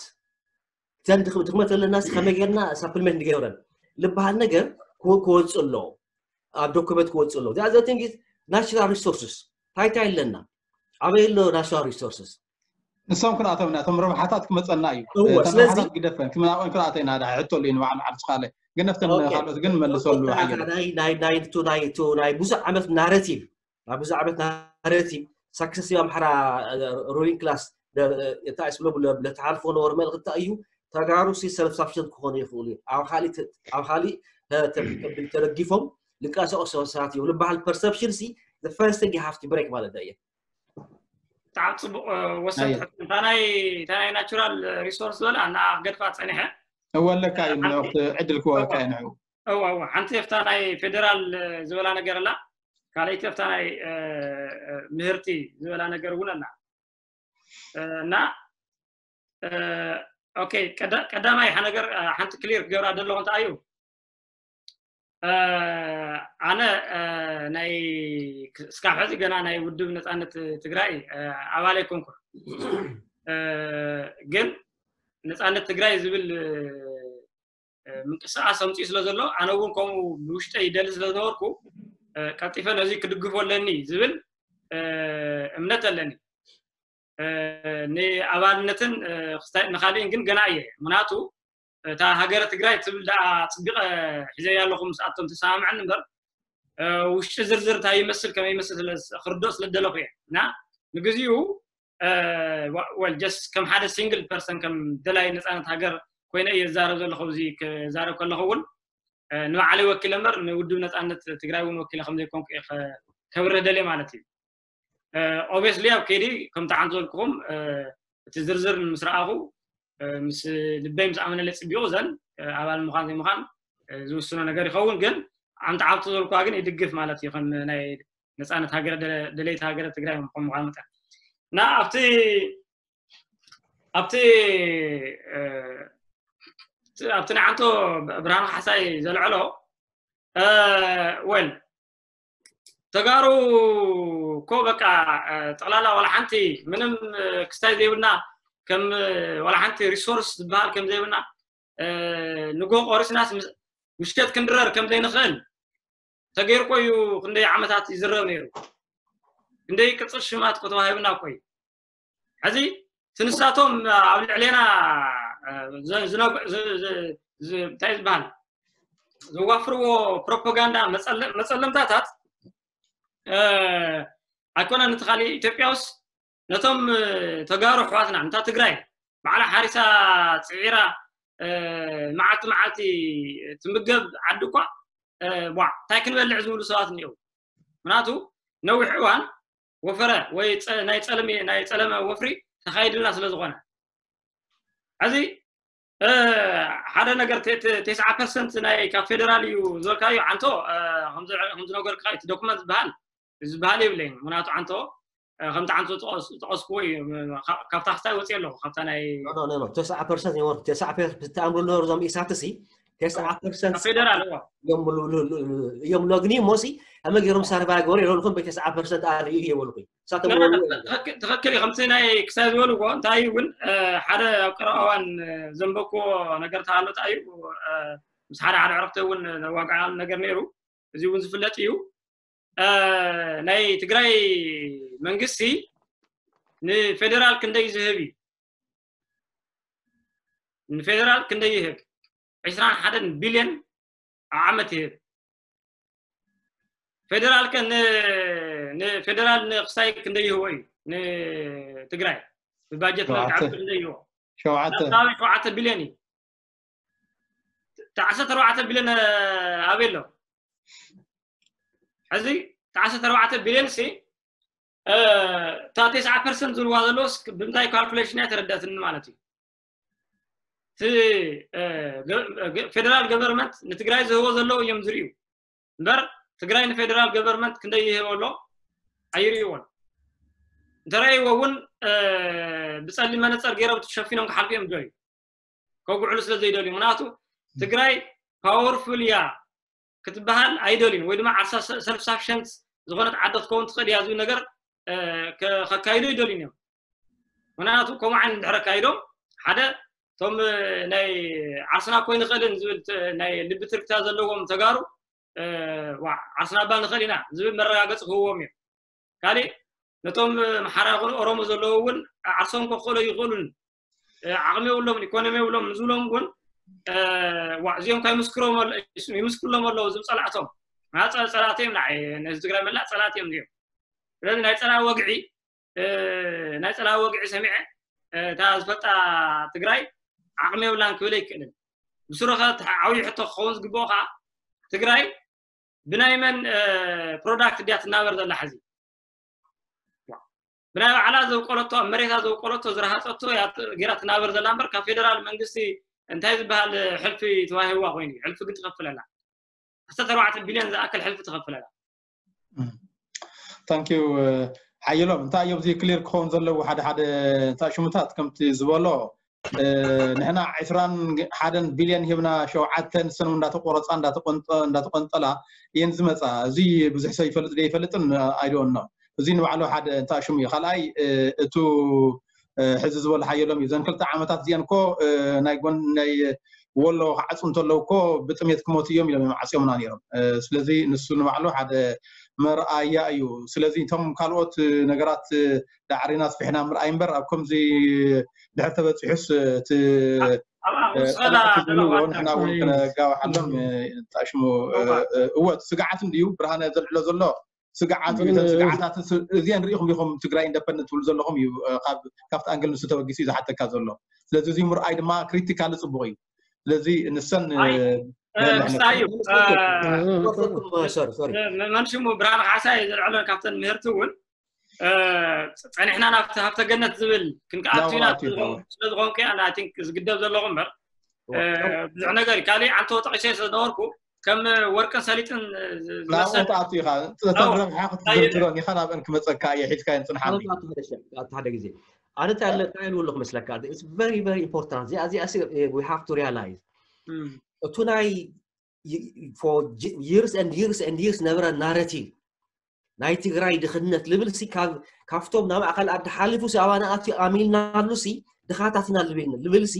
ተን ድኽመት ኣለና ከመይ ጌርና ሳፕልመንት ንገብረን ልበሃል ነገር ክወፅእ ኣለዎ ኣብ ዶክመንት ክወፅእ ኣለዎ the other thing is natural resources ታይታ ኣለና ኣበይ ኣሎ natural resources ንሶም ክንኣተውና እቶም ረብሓታት ክመፀና እዩ እወ፣ እተን ስለዚ- ረብሓታት ግደፈን ክምናብኦም ክንኣተው ኢና ዳ ሕቶ ኣሎ ንባዕሉ ዓብስኻለ ግን ነፍተን ኦኬ። ካልኦት ግን መልሰሉ ሓየሎም ናይ ናይ ናይ ቱ ናይ ቱ ናይ ብዙሕ ዓመት ናረቲቭ ናይ ብዙሕ ዓመት ናረቲቭ ሳክሰሲቭ ኣምሓራ ሩሊንግ ክላስ እንታይ ስብሎ ለተሓልፎ ነበሩ መልእክቲ እዩ ተጋሩ ሲ ሰልፍ ሳፊሽንት ክኾኑ ይኽእሉ እዩ ኣብ ካሊእ ተ- ኣብ ካሊእ ተ- ተ- ተደጊፎም ልንቀሳቀሱ ሰባት እዮም ልበሃል ፐርሰፕሽን ሲ ፈርስት ጊ ሃፍቲ ብሬክ ማለት እዩ ብጣዕሚ ፅቡቅ ወሰንቲ ኣየ። ሕቶ። እታ ናይ እታ ናይ ናቹራል ሪሶርስ ዝበላ እና ገድፋ ፀኒሐ እወ ኣለካ እዩ ንዕኡ ዕድል ክወካ እዩ ንዕኡ እዋ እዋ ሓንቲ ኣብታ ናይ ፌደራል ዝበላ ነገር ኣላ ካልኣይቲ ኣብታ ናይ ምህርቲ ዝበላ ነገር እውን ኣላ እና ኦኬ ቀዳማይ ሓደ ነገር ሓንቲ ክሊር ክገብራ ዘለኹ እንታይ እዩ ኣነ ናይ እስካብ ሕዚ ገና ናይ ውድብ ነፃነት ትግራይ ኣባል ኣይኮንኩን ግን ነፃነት ትግራይ ዝብል ምንቅስቃስ ኣምፅኡ ስለ ዘሎ ኣነ እውን ከምኡ ብውሽጠይ ይደሊ ስለ ዝነበርኩ ቀልጢፈ ነዚ ክድግፎ ኣለኒ ዝብል እምነት ኣለኒ ንኣባልነትን ንካሊእን ግን ገና እየ ምክንያቱ እታ ሃገረ ትግራይ ትብል ደኣ ፅቢቀ ሒዘያ ኣለኹ ምስኣቶም ተሰማምዐኒ እምበር ውሽጢ ዝርዝር እንታይ ይመስል ከመይ ይመስል ክርድኦ ስለ ዝደለኹ እየ እና ንግዚኡ ወል ጀስት ከም ሓደ ሲንግል ፐርሰን ከም ደላይ ነፃነት ሃገር ኮይነ እየ ዝዛረብ ዘለኹ እዚ ክዛረብ ከለኹ እውን ንባዕለይ ወኪለ እምበር ንውድብ ነፃነት ትግራይ እውን ወኪለ ከም ዘይኮንኩ እየ ከብርህ ደልየ ማለት እዩ ኦብስሊ ኣብ ከይዲ ከምቲ ዓንቶ ዝበልኩኹም እቲ ዝርዝር ምስ ረኣኹ ምስ ልበይ ምስ ኣመነለ ፅቢቑ ዘን ኣባል ምዃን ዘይምዃን ዝውስኖ ነገር ይኸውን ግን ዓንተ ዓብቶ ዘልኳ ግን ይድግፍ ማለት እዩ ከም ናይ ነፃነት ሃገረ ደለይቲ ሃገረ ትግራይ ከም ምዃን መጠን እና ኣብቲ ኣብቲ ኣብቲ ንዓንቶ ብርሃን ካሕሳይ ዘልዐሎ ወል ተጋሩ እኮ በቃ ጠቕላላ ዋላ ሓንቲ ምንም ክስታይ ዘይብልና፣ ከም ዋላ ሓንቲ ሪሶርስ ዝበሃል ከም ዘይብልና፣ ንጎ ቆሪስናስ ምሸት ክንድረር ከም ዘይንኽእል ተገይሩ እኮ እዩ። ክንደይ ዓመታት ይዝረብ ነይሩ፣ ክንደይ ቅፅል ሽማት እኮ ተዋሂብና እኮ እዩ። ሕዚ ትንሳቶም ኣብ ልዕሌና እንታይ ዝበሃል ዘዋፍርዎ ፕሮፓጋንዳ መፀለምታታት ኣይኮነን። እቲ ካሊእ ኢትዮጵያ ውስ ነቶም ተጋሩ ኣሕዋትና፣ ነታ ትግራይ ባዕላ ሓሪሳ ፅዒራ መዓልቲ መዓልቲ ትምገብ ዓዲ እኳ ቧዕ እንታይ ክንበልዕ ዝብሉ ሰባት እኒአው። ምክንያቱ ነዊሕ እዋን ወፈረ ወይ ናይ ፀለመ ወፍሪ ተካይድልና ስለ ዝኾነ፣ እዚ ሓደ ነገር ተስዓ ፐርሰንት ናይ ካብ ፌደራል እዩ ዝበልካዮ ዓንቶ፣ ከምዝነገርካ እቲ ዶክመንት ዝበሃል ዝበሃል የብለይን። ምክንያቱ ዓንቶ ከምቲ ዓንቶ ዝጠቀስክዎ እዩ። ካብታ ክስታይ ወፅየ ኣለኹ ካብታ ናይ ተስዓ ፐርሰንት ይወርድ። ተስዓ ፐርሰንት ተኣምሩ ነበሩ እዞም ኢሳትሲ ተስዓ ፐርሰንት ፌደራል እዮም ሎግኒ ሞሲ ኣመ ገይሮም ሳርቫይ ገበሩ የለልኩም በተስዓ ፐርሰንት ኣርእዩ እየበልኩ። ትኽክል እዩ። ከምቲ ናይ ክሳይ ዝበልዎ እንታይ እውን ሓደ ኣብ ቀረባ እዋን ዘንበክዎ ነገር ተሃሎ እንታይ እዩ፣ ምስ ሓደ ሓደ ዕረፍቲ እውን ዘዋግዓሉ ነገር ነይሩ። እዚ እውን ዝፍለጥ እዩ። ናይ ትግራይ መንግስቲ ንፌደራል ክንደይ ዝህብ እዩ? ንፌደራል ክንደይ ይህብ? ዕስራን ሓደን ቢልዮን ኣብ ዓመት ይህብ። ፌደራል ከ ንፌደራል ንክሳይ ክንደይ ይህቦ እዩ? ንትግራይ ብባጀት መልክዓ ክንደይ ይህቦ? ሸውዓተ ቢልዮን እዩ። ዓሰርተ ኣርባዕተ ቢልዮን ኣበይ ኣሎ? ሕዚ ዓሰርተ ኣርባዕተ ቢልዮን ሲ እታ ተስዓ ፐርሰንት ዝብልዋ ዘለውስ ብምንታይ ካልኩሌሽን እያ ተረዳትኒ ማለት እዩ። እቲ ፌደራል ገቨርንመንት ንትግራይ ዝህቦ ዘለዉ እዮም ዝርእዩ እምበር ትግራይ ንፌደራል ገቨርንመንት ክንደይ ይህቦ ኣሎ ኣይርእይዎን። እንተረእይዎ እውን ብፀሊም መነፀር ገይሮም ሸፊኖም ክሓልፉ እዮም ዝደልዩ። ከጉዕሉ ስለ ዘይደልዩ ምክንያቱ ትግራይ ፓወርፉል እያ ክትበሃል ኣይደልዩን ወይ ድማ ዓርሳ ሰልፍ ሳፊሸንት ዝኾነት ዓዲ ክትከውን ትኽእል እያ ዝብል ነገር ከካይዱ ኣይደልዩን እዮም። ምክንያቱ ከምኡ ዓይነት እንድሕር ኣካይዶም ሓደ እቶም ናይ ዓርስና ኮይ ንኽእልን ዝብል ናይ ልቢ ትርክታ ዘለዎም ተጋሩ ዓርስና እባ ንኽእል ኢና ዝብል መረጋገፂ ክህዎም እዮም። ካሊእ ነቶም ኣምሓራ ይኹኑ ኦሮሞ ዘለዉ እውን ዓርሶም ከኽእሎ ይኽእሉን ዓቕሚ የብሎም ኢኮኖሚ የብሎም ንዝብሎም እውን እዚኦም ካ ይምስክርሎም ኣለዉ ዝብል ፀላእቶም ጸላእቲ እዮም። ንዓይ ነዚ ትግራይ መላእ ጸላእቲ እዮም እዚኦም። ስለዚ ናይ ጸላኢ ወግዒ ናይ ጸላኢ ወግዒ ሰሚዐ እታ ዝፈልጣ ትግራይ ዓቕሚ የብላን ክብል ኣይክእልን። ብስሩ ከ ዓብዪ ሕቶ ክኸውን ዝግብኦ ከዓ ትግራይ ብናይ መን ፕሮዳክት ድያ ትናበር ዘላ? ሕዚ ብናይ ባዕላ ዘውቀለቶ ኣብ መሬታ ዘውቀለቶ ዝረሃፀቶ ገይራ ትናበር ዘላ እምበር ካብ ፌደራል መንግስቲ እንታይ ዝበሃል ሕልፊ ተዋሂብዋ ኮይኑ እዩ። ሕልፊ ግን ትኸፍል ኣላ። ዓሰርተ ኣርባዕተ ቢልዮን ዝኣክል ሕልፊ ትኸፍል ኣላ። ታንኪዩ ሓየሎም። እንታይ እዮም እዚ ክሊር ክኸውን ዘለዎ ሓደ ሓደ እንታይ ሽሙታት ከምቲ ዝበሎ ንሕና ዕስራን ሓደን ቢልዮን ሂብና ሸውዓተ ንሰን እንዳተቆረፃ እንዳተቆንጠላ እየን ዝመፃ። እዚ ብዙሕ ሰብ ይፈልጥ ዶ ይፈልጥን ኣይደወኖ። እዚ ንባዕሉ ሓደ እንታይ ሽሙ እዩ። ካልኣይ እቱ ሕዚ ዝበሉ ሓየሎም እዩ። ዘን ክልተ ዓመታት እዚአን እኮ ናይ ጎን ናይ ወሎ ክዓፁ እንተለዉ እኮ ብጥሜት ክሞቱ እዮም ኢሎም እዮም ዓፅዮምና ነይሮም። ስለዚ ንሱ ንባዕሉ ሓደ መርኣያ እዩ። ስለዚ እቶም ካልኦት ነገራት ዳዕሪና ኣስፊሕና ምርኣይ እምበር ኣብ ከምዚ ድሕር ተበፂሑስ እቲ ንሕና እውን ክነጋውሓሎም ጣሽሙ እወ ስግዓት እንድዩ ብርሃነ ዘልዕሎ ዘሎ ስግዓት እዩ። እተን ስግዓታት እዚአን ርኢኹም ኢኹም ትግራይ ኢንደፐንደንት ትብሉ ዘለኹም እዩ። ካብቲ ኣንግል ንሱ ተበጊሱ እዩ ዝሓተካ ዘሎ። ስለዚ እዚ ምርኣይ ድማ ክሪቲካሊ ፅቡቕ እዩ። ስለዚ ንሰን ምሳዩ መንሽሙ ብርሃነ ካሕሳይ ዘልዕለን ካብተን ምህርቲ እውን ፀኒሕና ናብቲ ሃብተ ገነት ዝብል ክንከኣቱ ኢና ስለዝኾንኩ እያ ዝግደብ ዘለኹ እምበር ብዙሕ ነገር እዩ። ካሊእ ዓንቶ ጠቂሰ ስለዝነበርኩ ከም ወርቅን ሰሊጥን ናብኡ ትኣቱ ኢኻ። እተን ረብሓ ክትዝርዝረን ኢኻ ናብአን ክመፀካ እየ ሒዝካየን ፅንሓኒ። ሓደ ግዜ ኣነ እንታይ ኣለካ ኢልውሉ ክመስለካ very very important እዚኣ እዚኣ we have to realize እቱ ናይ for years and years and years ነበረ ናረቲቭ ናይ ትግራይ ድኽነት ልብል ሲ ካብቶም ናብ ማእኸል ዓዲ ሓሊፉ ሲ ኣባና ኣትዩ ኣሚልናሉ ሲ ድኻታት ኢና ልብል ሲ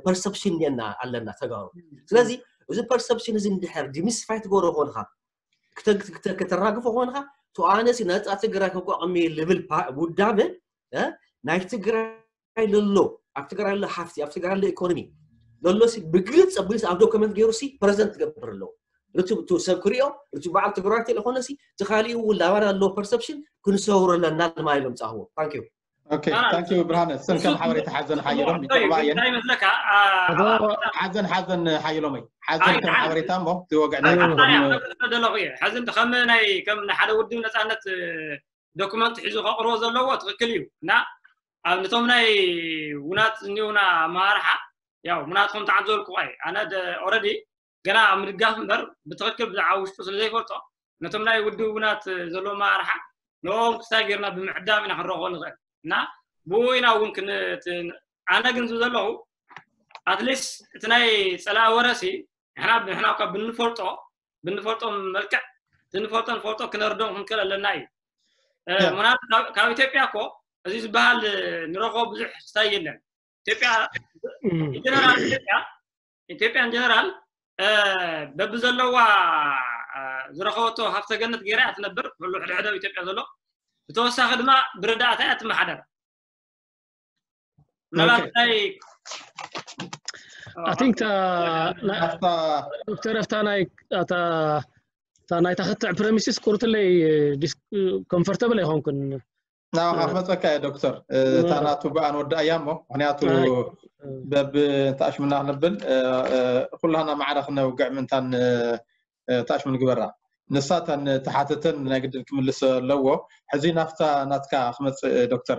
ፐርሰፕሽን እኒአና ኣለና ተጋሩ። ስለዚ እዚ ፐርሰፕሽን እዚ እንድሕር ዲሚስፋይ ትገብሮ ኮንካ ከተራግፎ ኮንካ ተኣነ ሲ ነፃ ትግራይ ከቋቋሚ ልብል ውዳበ ናይ ትግራይ ለሎ ኣብ ትግራይ ለ ሃፍቲ ኣብ ትግራይ ለ ኢኮኖሚ ለሎ ሲ ብግልፅ ብግልፅ ኣብ ዶክመንት ገይሩ ሲ ፕረዘንት ትገብር ኣለዎ። ርቱ ሰብ ክሪኦ ርቱ በዓል ትግራይ ተለኾነ ሲ ትኻሊኡ እውን ላባና ኣለዎ ፐርሰፕሽን ክንሰውሮ ኣለና ልማ ኢሎም ፃህዎ። ታንክ ዩ። ኦኬ ታንክ ዩ ብርሃነ። ስም ከም ሓበሬታ ሓዘን ሓየሎም ይጠቕማ እየን። እንታይ ይመስለካ ሓዘን ሓዘን ሓየሎመይ ሓዘን ከም ሓበሬታ እሞ እቲ ወግዕ ናይ ደለኹ እየ። ሕዚ ከም ናይ ሓደ ውድብ ነፃነት ዶክመንት ሒዙ ከቕርቦ ዘለዎ ትኽክል እዩ እና ኣብ ነቶም ናይ ውናት እኒውና ኣመራርሓ ያው ምናትኩም ተዓዘልኩ ኣይ ኣነ ኦረዲ ገና ኣብ ምድጋፍ እምበር ብትኽክል ብዛዕባ ውሽጡ ስለ ዘይፈልጦ ነቶም ናይ ውድብ ውናት ዘሎ ኣመራርሓ ንኦም ክሳይ ጌርና ብምዕዳም ኢና ክንረኽቦ ንኽእል እና ብኡ ኢና እውን ኣነ ግን ዝብ ዘለኹ ኣትሊስት እቲ ናይ ፀላእ ወረሲ ንሕና ንሕና እኳ ብንፈልጦ ብንፈልጦም መልክዕ እቲ ንፈልጦ ንፈልጦ ክነርዶም ክንክእል ኣለና እዩ። ምክንያቱ ካብ ኢትዮጵያ እኮ እዚ ዝበሃል ንረኽቦ ብዙሕ ክስታይ የለን። ኢትዮጵያ ጀነራል ኢትዮጵያ ኢትዮጵያን ጀነራል በብዘለዋ ዝረኸበቶ ሃፍተ ገነት ገይራ እያ ትነብር። ኩሉ ሕድሕደ ኣብ ኢትዮጵያ ዘሎ ብተወሳኺ ድማ ብረዳእታ እያ ትመሓደር። ምናልባት ናይ I think ዶክተር ኣፍታ ናይ እታ ናይታ ክትዕ ፕረሚሲስ ቁርትለይ ኮምፎርተብል ኣይኮንኩን። ናባኻ ክመፀካ እየ ዶክተር። እታ ናቱ ብኣን ወዳእያ እሞ ምክንያቱ በብ እንተኣሽምና ክንብል ኩላና ማዕረ ክነውግዕ ምእንታን ተኣሽሙ ንግበራ። ንሳ እተን ተሓተተን ናይ ግድን ክምልስ ኣለዎ። ሕዚ ናፍታ ናትካ ክመፅእ ዶክተር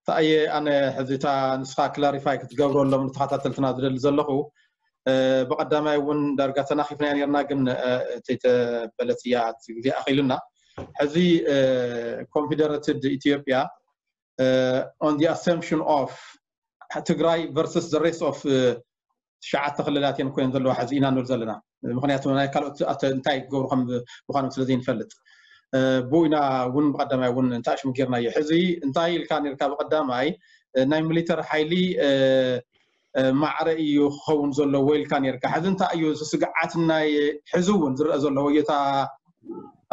ተኣየ ኣነ ሕዚ እታ ንስኻ ክላሪፋይ ክትገብረሎም ንተኸታተልትና ዝደሊ ዘለኹ ብቐዳማይ እውን ዳርጋ ተናኺፍናያ ነርና ግን ተይተበለት እያ እቲ ግዜ ኣኺሉና። ሕዚ ኮንፊደረትድ ኢትዮጵያ on the assumption of ትግራይ versus the rest of ትሽዓተ ክልላት እየን ኮይነን ዘለዋ ሕዚ ኢና ንብል ዘለና። ምክንያቱ ናይ ካልኦት እንታይ ክገብሩ ከም ምኳኖም ስለ ዘይንፈልጥ ብኡ ኢና እውን ብቀዳማይ እውን እንታይ ሽም ጌርናዮ። ሕዚ እንታይ ኢልካ ነርካ ብቀዳማይ ናይ ሚሊተር ሓይሊ ማዕረ እዩ ክኸውን ዘለዎ ኢልካ ነርካ። ሕዚ እንታይ እዩ ስግዓት ናይ ሕዚ እውን ዝረአ ዘሎ ወየታ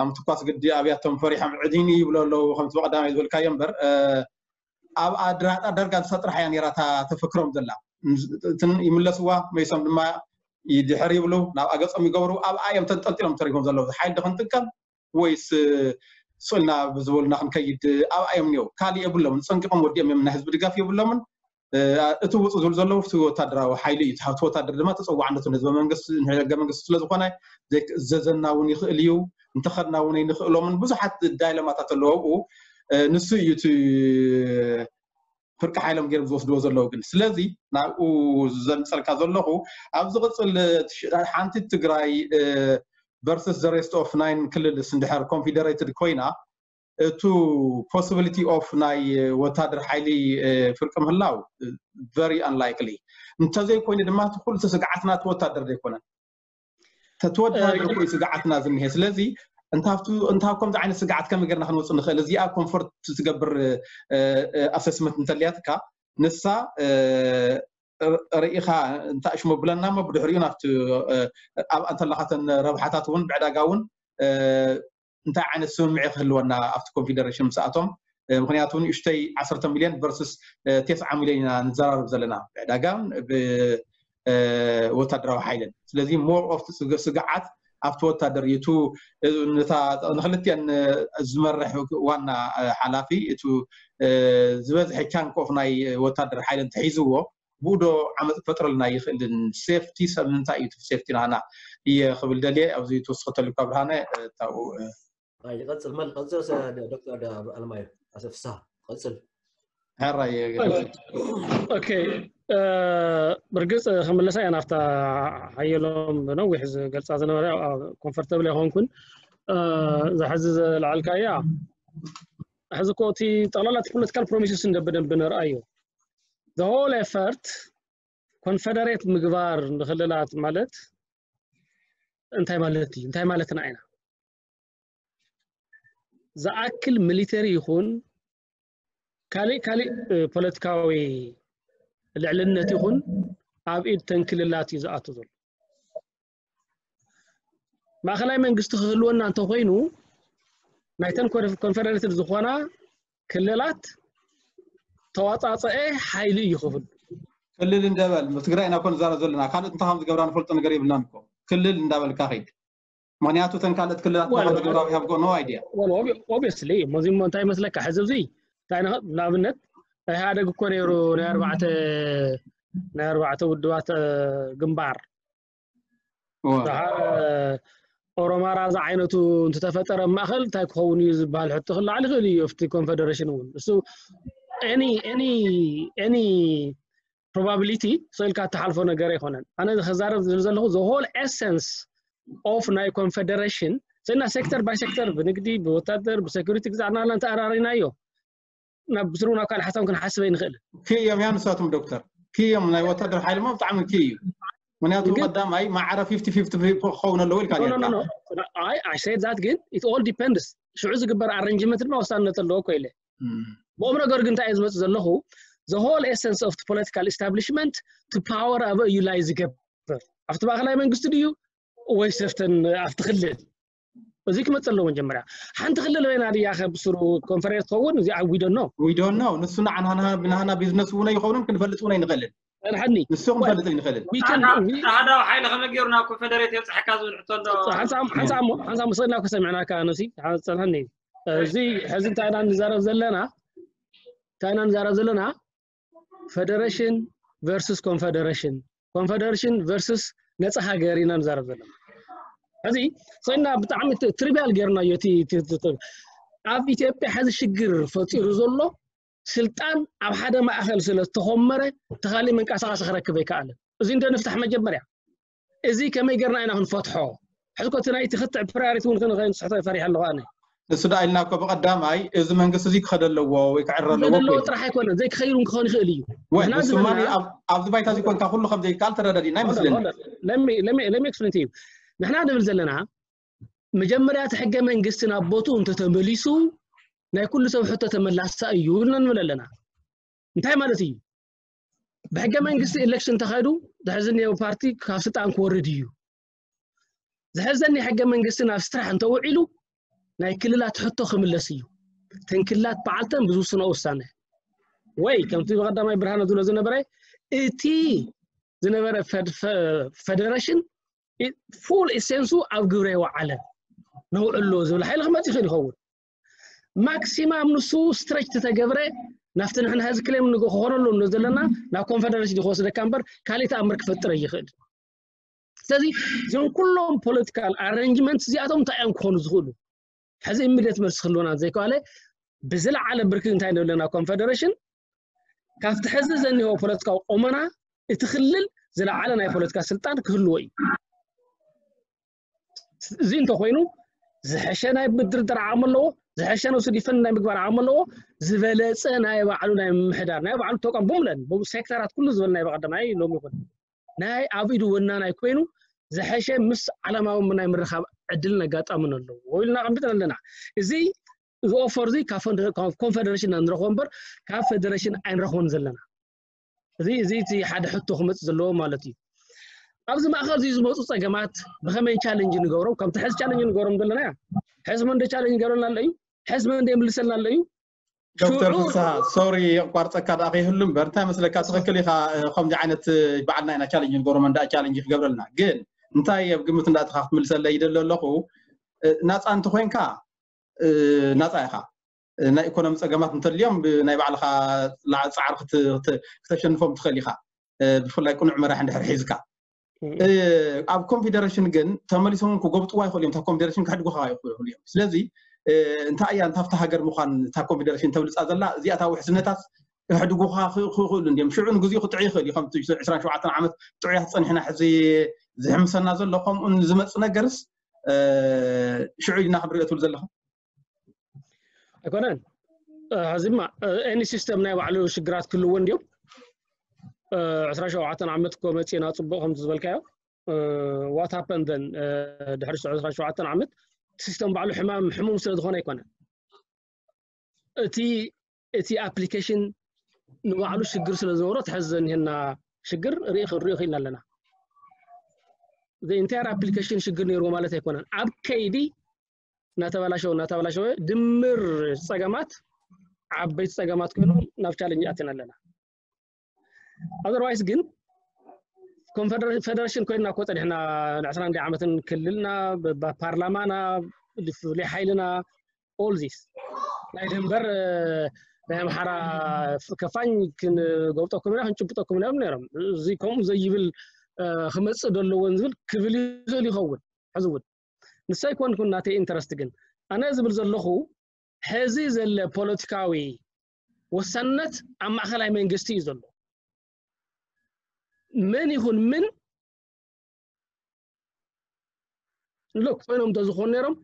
ኣምትኳስ ግዲ ኣብያቶም ፈሪሖም ዕዲኒ ይብሎ ኣለዉ ከምቲ ብቀዳማይ ዝበልካዮ እምበር ኣብኣ ድራጣ ዳርጋ ንሳ ጥራሕ እያ ነይራ እታ ተፈክሮም ዘላ። እትን ይምለስዋ መይሶም ድማ ይድሕር ይብሉ ናብ ኣገጾም ይገብሩ ኣብኣ እዮም ተንጠልጢሎም ተሪፎም ዘለዉ። ሓይል ዶ ክንጥቀም ወይስ ስእልና ብዝበሉና ክንከይድ ኣብኣ እዮም እኒው። ካሊእ የብሎምን። ፀንቂቆም ወዲኦም እዮም። ናይ ህዝቢ ድጋፍ የብሎምን። እቲ ውፁ ዝብሉ ዘለዉ እቲ ወታደራዊ ሓይሊ እዩ። እቲ ወታደር ድማ ተፀዋዕነቱ ንህዝበ መንግስቲ ንሕገ መንግስቲ ስለዝኮነ ዘይክእዘዘና እውን ይኽእል እዩ። እንተኸድና እውን ኣይንኽእሎምን። ብዙሓት ዳይለማታት ኣለዉ ኣብኡ። ንሱ እዩ እቲ ፍርቂ ሓይሎም ገይሮም ዝወስድዎ ዘለዉ ግን ስለዚ ናብኡ ዘምፀልካ ዘለኹ ኣብ ዝቕፅል ሓንቲ ትግራይ versus the rest of nine ክልልስ እንድሕር confederated ኮይና እቱ possibility of ናይ ወታደር ሓይሊ ፍርቂ ምህላው very unlikely። እንተዘይኮይኑ ድማ እቲ ኩሉ ስግዓትና እቲ ወታደር ዘይኮነን ተትወዳደር እኮ ስግዓትና ዝኒሄ። ስለዚ እንታብ ከምዚ ዓይነት ስግዓት ከመይ ጌርና ክንወፅእ ንኽእል? እዚኣ ኮንፎርት ትገብር ኣሰስመንት እንተልያትካ ንሳ ርኢኻ እንታይ ሽሙ ብለና እሞ ብድሕሪኡ ናብቲ ኣብኣ እንተለኻተን ረብሓታት እውን ብዕዳጋ እውን እንታይ ዓይነት ስምምዕ ክህልወና ኣብቲ ኮንፌደሬሽን ምስኣቶም ምክንያቱ ንእሽተይ ዓሰርተ ሚልዮን ቨርስስ ተስዓ ሚልዮን ኢና ንዘራረብ ዘለና ብዕዳጋን ብወታደራዊ ሓይልን ስለዚ more of ስግዓት ኣብቲ ወታደር እዩ እቲ ነታ ንክልቲአን ዝመርሕ ዋና ሓላፊ እቲ ዝበዝሐ chunk of ናይ ወታደር ሓይሊ እንተሒዝዎ ብኡ ዶ ዓመፅ ክፈጥረልና ይኽእልን ሴፍቲ ሰብ ምንታይ እዩ ሴፍቲ ናና እየ ክብል ደልየ ኣብዚ ትወስኸተሉ ካብ ብርሃነ እታው ይቀፅል መል ቀፅል ዶክተር ኣለማዮ ኣሰፍሳ ቀፅል ሕራይ ኦኬ ብርግፅ ክምለሳ እያ ናብታ ሓየሎም ብነዊሕ ዝገልፃ ዝነበረ ኮንፈርተብል ኣይኮንኩን ዝሕዚ ዝለዓልካያ ሕዚ ኮ እቲ ጠቕላላ እቲ ፖለቲካል ፕሮሚስስ እንደ ብደንብ ንርኣዮ the whole effort ኮንፈደሬት ምግባር ንክልላት ማለት እንታይ ማለት እዩ? እንታይ ማለትና ኢና? ዝኣክል ሚሊተሪ ይኹን ካሊእ ካሊእ ፖለቲካዊ ልዕልነት ይኹን ኣብ ኢድ ተንክልላት እዩ ዝኣቱ ዘሎ። ማእኸላይ መንግስቲ ክህልወና እንተኮይኑ ናይተን ኮንፈደሬትድ ዝኾና ክልላት ተዋፃፀአ ሓይሊ እዩ ክብል። ክልል እንደበል ትግራይ ኢና ኮን ዛረብ ዘለና ካልእ እንታይ ከም ዝገብራ ንፈልጦ ነገር የብልናን እኮ። ክልል እንዳበልካ ኸይድ። ምክንያቱ ተን ካልኦት ክልላት ናኸ ዝገብራ we have got no idea። ኦብስሊ እሞ እንታይ ይመስለካ ሕዚ እዚ ንኣብነት ኢህኣደግ እኮ ነይሩ ናይ ኣርባዕተ ናይ ኣርባዕተ ውድባት ግንባር ኦሮማራ ዝዓይነቱ እንትተፈጠረ ማእኸል እንታይ ክኸውን እዩ ዝበሃል ሕቶ ክለዓል ይኽእል እዩ ኣብቲ ኮንፈደሬሽን እውን እሱ any probability ሰኢልካ እትሓልፎ ነገር ኣይኮነን። ኣነ ከዛረብ ዝብል ዘለኹ the whole essence of ናይ ኮንፈደሬሽን ሰና ሴክተር ባይ ሴክተር ብንግዲ ብወታደር ብሴኩሪቲ ግዛዕና ላ እንተኣራሪናዮ ናብ ብስሩ ናብ ካልእ ሓሳብ ክንሓስብ ኣይንኽእልን። ክእዮም እያ ንሳቶም ዶክተር ክእዮም ናይ ወታደር ሓይሊ ሞ ብጣዕሚ ክእ እዩ። ምክንያቱ ቀዳማይ ማዕረ ፊፍቲ ፊፍቲ ክኸውን ኣለዎ ኢልካ I said that ግን it all depends ሽዑ ዝግበር ኣረንጅመንት ድማ ወሳንነት ኣለዎ እኮ ኢለ ብኦም ነገር ግን እንታይ እየ ዝመፅእ ዘለኹ the whole essence of political establishment to power ኣበ እዩ ላይ ዝገብር ኣብቲ ማእኸላይ መንግስቲ ድዩ ወይ ሰፍተን ኣብቲ ክልል እዚ ክመፅእ ኣለዎ መጀመርያ ሓንቲ ክልል በይና ድያ ከብስሩ ኮንፈረንስ ትኸውን እዚ we don't know ንሱ ንዓና ብናህና ቢዝነስ እውን ኣይኸውንን ክንፈልጥ እውን ኣይንኽእልን ጸንሐኒ ንሱ ክንፈልጥ ኣይንኽእልን ኣህዳዊ ሓይሊ ከመይ ገይሩ ናብ ኮንፈደሬት የብፅሐካ ዝብል ሕቶ ኣሎ ሓንሳብ ሓንሳብ ሓንሳብ መሰልና ከሰሚዕናካ ነሲ ጸንሐኒ እዚ ሕዚ እንታይ ኢና ንዛረብ ዘለና እንታይ ኢና ንዛረብ ዘለና ፈደረሽን versus confederation confederation versus ነፃ ሃገር ኢና ንዛረብ ዘለና ሕዚ ኮይና ብጣዕሚ ትሪቢያል ገይርናዮ እቲ ኣብ ኢትዮጵያ ሕዚ ሽግር ፈጢሩ ዘሎ ስልጣን ኣብ ሓደ ማእኸል ስለ ዝተኾመረ ተኻሊ መንቀሳቐሲ ክረክብ ኣይከኣለን እዚ እንደ ንፍታሕ መጀመርያ እዚ ከመይ ገርና ኢና ክንፈትሖ ሕዝኮ እቲ ናይ ትኽትዕ ፕራዮሪቲ እውን ክንስሕቶ ፈሪሐ ኣለኹ ኣነ ንሱ ደኣ ኢልና እኮ ብቐዳማይ እዚ መንግስቲ እዚ ክኸደ ኣለዎ ወይ ክዕረ ኣለዎ ዘለዎ ጥራሕ ኣይኮነን ዘይክኸይሩ ክኸውን ይኽእል እዩ ወይ ንስማ ኣብዚ ባይታ እዚ ኮንካ ኩሉ ከም ዘይከኣል ተረዳዲና ይመስለኒ ለሚ ኤክስፕሌን እዩ ንሕና ንብል ዘለና መጀመርያ እቲ ሕገ መንግስቲ ናብ ቦትኡ እንተተመሊሱ ናይ ኩሉ ሰብ ሕቶ ተመላሳ እዩ ኢልና ንብል ኣለና እንታይ ማለት እዩ ብሕገ መንግስቲ ኤሌክሽን ተኻይዱ ዝሕዚ እኒኦ ፓርቲ ካብ ስልጣን ክወርድ እዩ ዝሕዘኒ ሕገ መንግስቲ ናብ ስራሕ እንተውዒሉ ናይ ክልላት ሕቶ ክምለስ እዩ ተን ክልላት በዓልተን ብዝውስኖ ውሳነ ወይ ከምቲ ብቀዳማይ ብርሃነ ዝብሎ ዝነበረ እቲ ዝነበረ ፈደረሽን ፉል ኢሴንሱ ኣብ ግብረ የወዓለ ነውዕሎ ዝብል ሓይሊ ክመፅ ይኽእል ይኸውን ማክሲማም ንሱ ስትረች ተተገብረ ናብቲ ንሕና ህዚ ክሌም ክኾነሉ ን ዘለና ናብ ኮንፈደረሽን ክወስደካ እምበር ካሊእ ተኣምር ክፈጥር ይኽእል ስለዚ እዞም ኩሎም ፖለቲካል ኣረንጅመንት እዚኣቶም እንታይ እዮም ክኾኑ ዝኽእሉ ሕዚ ኢሚድየት መልሲ ክህልወና ዘይከኣለ ብዝለዓለ ብርኪ እንታይ ንብለና ኮንፈደሬሽን ካብቲ ሕዚ ዘኒሆ ፖለቲካዊ ቆመና እቲ ክልል ዝለዓለ ናይ ፖለቲካ ስልጣን ክህልዎ እዩ እዚ እንተኮይኑ ዝሐሸ ናይ ምድርደር ዓቕሚ ኣለዎ ዝሐሸ ነብሱ ዲፈንድ ናይ ምግባር ዓቕሚ ኣለዎ ዝበለፀ ናይ ባዕሉ ናይ ምምሕዳር ናይ ባዕሉ ተቋም ብምለን ሴክተራት ኩሉ ዝበል ናይ በቀደማይ ሎም ይኹን ናይ ኣብ ኢዱ ወናናይ ኮይኑ ዝሐሸ ምስ ዓለማዊ ናይ ምርኻብ ዕድልን ኣጋጣምን ኣለዎ ኢልና ኣቐምጥና ኣለና እዚ እዚ ኦፈር እዚ ኮንፈደሬሽን ኢና ንረኽቦ እምበር ካብ ፌደሬሽን ኣይንረኽቦን ዘለና እዚ እዚ እቲ ሓደ ሕቶ ክመፅእ ዘለዎ ማለት እዩ ኣብዚ ማእኸል እዚ ዝመፁ ፀገማት ብኸመይ ቻለንጅ ንገብሮም ከምቲ ሕዚ ቻለንጅ ንገብሮም ዘለና ሕዚ መንደ ቻለንጅ ገብረልና ኣሎ እዩ ሕዚ መንደ የምልሰልና ኣሎ እዩ ዶክተር ፍስሃ ሶሪ የቋርፀካ ደኣ ከይህሉ እምበር እንታይ መስለካ ትኽክል ኢኻ ከምዚ ዓይነት በዓልና ኢና ቻለንጅ ንገብሮ መንዳ ቻለንጅ ክገብረልና ግን እንታይ ኣብ ግምት እንዳእተኻ ክትምልሰለይ ይደሊ ኣለኹ ናፃ እንተኮይንካ ናፃ ኢኻ ናይ ኢኮኖሚ ፀገማት እንተልዮም ብናይ ባዕልኻ ፃዕሪ ክተሸንፎም ትኽእል ኢኻ ብፍላይ ቅኑዕ መራሕ እንድሕር ሒዝካ ኣብ ኮንፌደሬሽን ግን ተመሊሶም ክጎብጥዋ ይኽእሉ እዮም እታ ኮንፌደሬሽን ክሕድጉኻ ይኽእሉ እዮም ስለዚ እንታይ እያ እንታብቲ ሃገር ምዃን እታ ኮንፌደሬሽን ተብልፃ ዘላ እዚኣታ ውሕስነታት ክሕድጉኻ ክኽእሉ እንዲዮም ሽዑ ንግዚኡ ክጥዑ ይኽእል እዩ ከምቲ ዕስራን ሸውዓተን ዓመት ጥዑያት ፀኒሕና ሕዚ ዝሕምሰና ዘሎ ከምኡ ዝመፅ ነገርስ ሽዑ ኢልና ክንሪኦ ትብል ዘለኻ ኣይኮነን ሕዚማ ኤኒ ሲስተም ናይ ባዕሉ ሽግራት ክህልዎ እንዲዮም ዕስራ ሸውዓተን ዓመት እኮ መፂና ፅቡቅ ከምቲ ዝበልካዮ what happened then ድሕሪ ዕስራን ሸውዓተን ዓመት ሲስተም ባዕሉ ሕማም ሕሙም ስለ ዝኾነ ኣይኮነን። እቲ እቲ ኣፕሊኬሽን ንባዕሉ ሽግር ስለ ዝነበሮ ትሕዚ ዘኒሀና ሽግር ርኢ ክንሪኦ ክኢልና ኣለና። ኢንታየር ኣፕሊኬሽን ሽግር ነይርዎ ማለት ኣይኮነን። ኣብ ከይዲ እናተበላሸወ እናተበላሸወ ድምር ፀገማት ዓበይቲ ፀገማት ኮይኖም ናብ ቻለንጅ ኣትና ኣለና። ኣዘርዋይስ ግን ኮንፈደሬሽን ኮይንና እኮ ፀኒሕና ንዕስራን ዓመትን ክልልና ብፓርላማና ፍሉይ ሓይልና ኦል ዚስ ናይ ድንበር ናይ ኣምሓራ ከፋኝ ክንገብጠኩም ኢና ክንጭብጠኩም ኢና ነሮም። እዚ ከምኡ ዘይብል ክመፅእ ደለዎን ዝብል ክብል ይኽእል ይኸውን። ሕዚ እውን ንሰይ ኮንኩን ናተይ ኢንተረስት ግን ኣነ ዝብል ዘለኹ ሕዚ ዘለ ፖለቲካዊ ወሳንነት ኣብ ማእኸላይ መንግስቲ እዩ ዘሎ። መን ይኹን ምን ሎክ ኮይኖም እንተዝኾኑ ነይሮም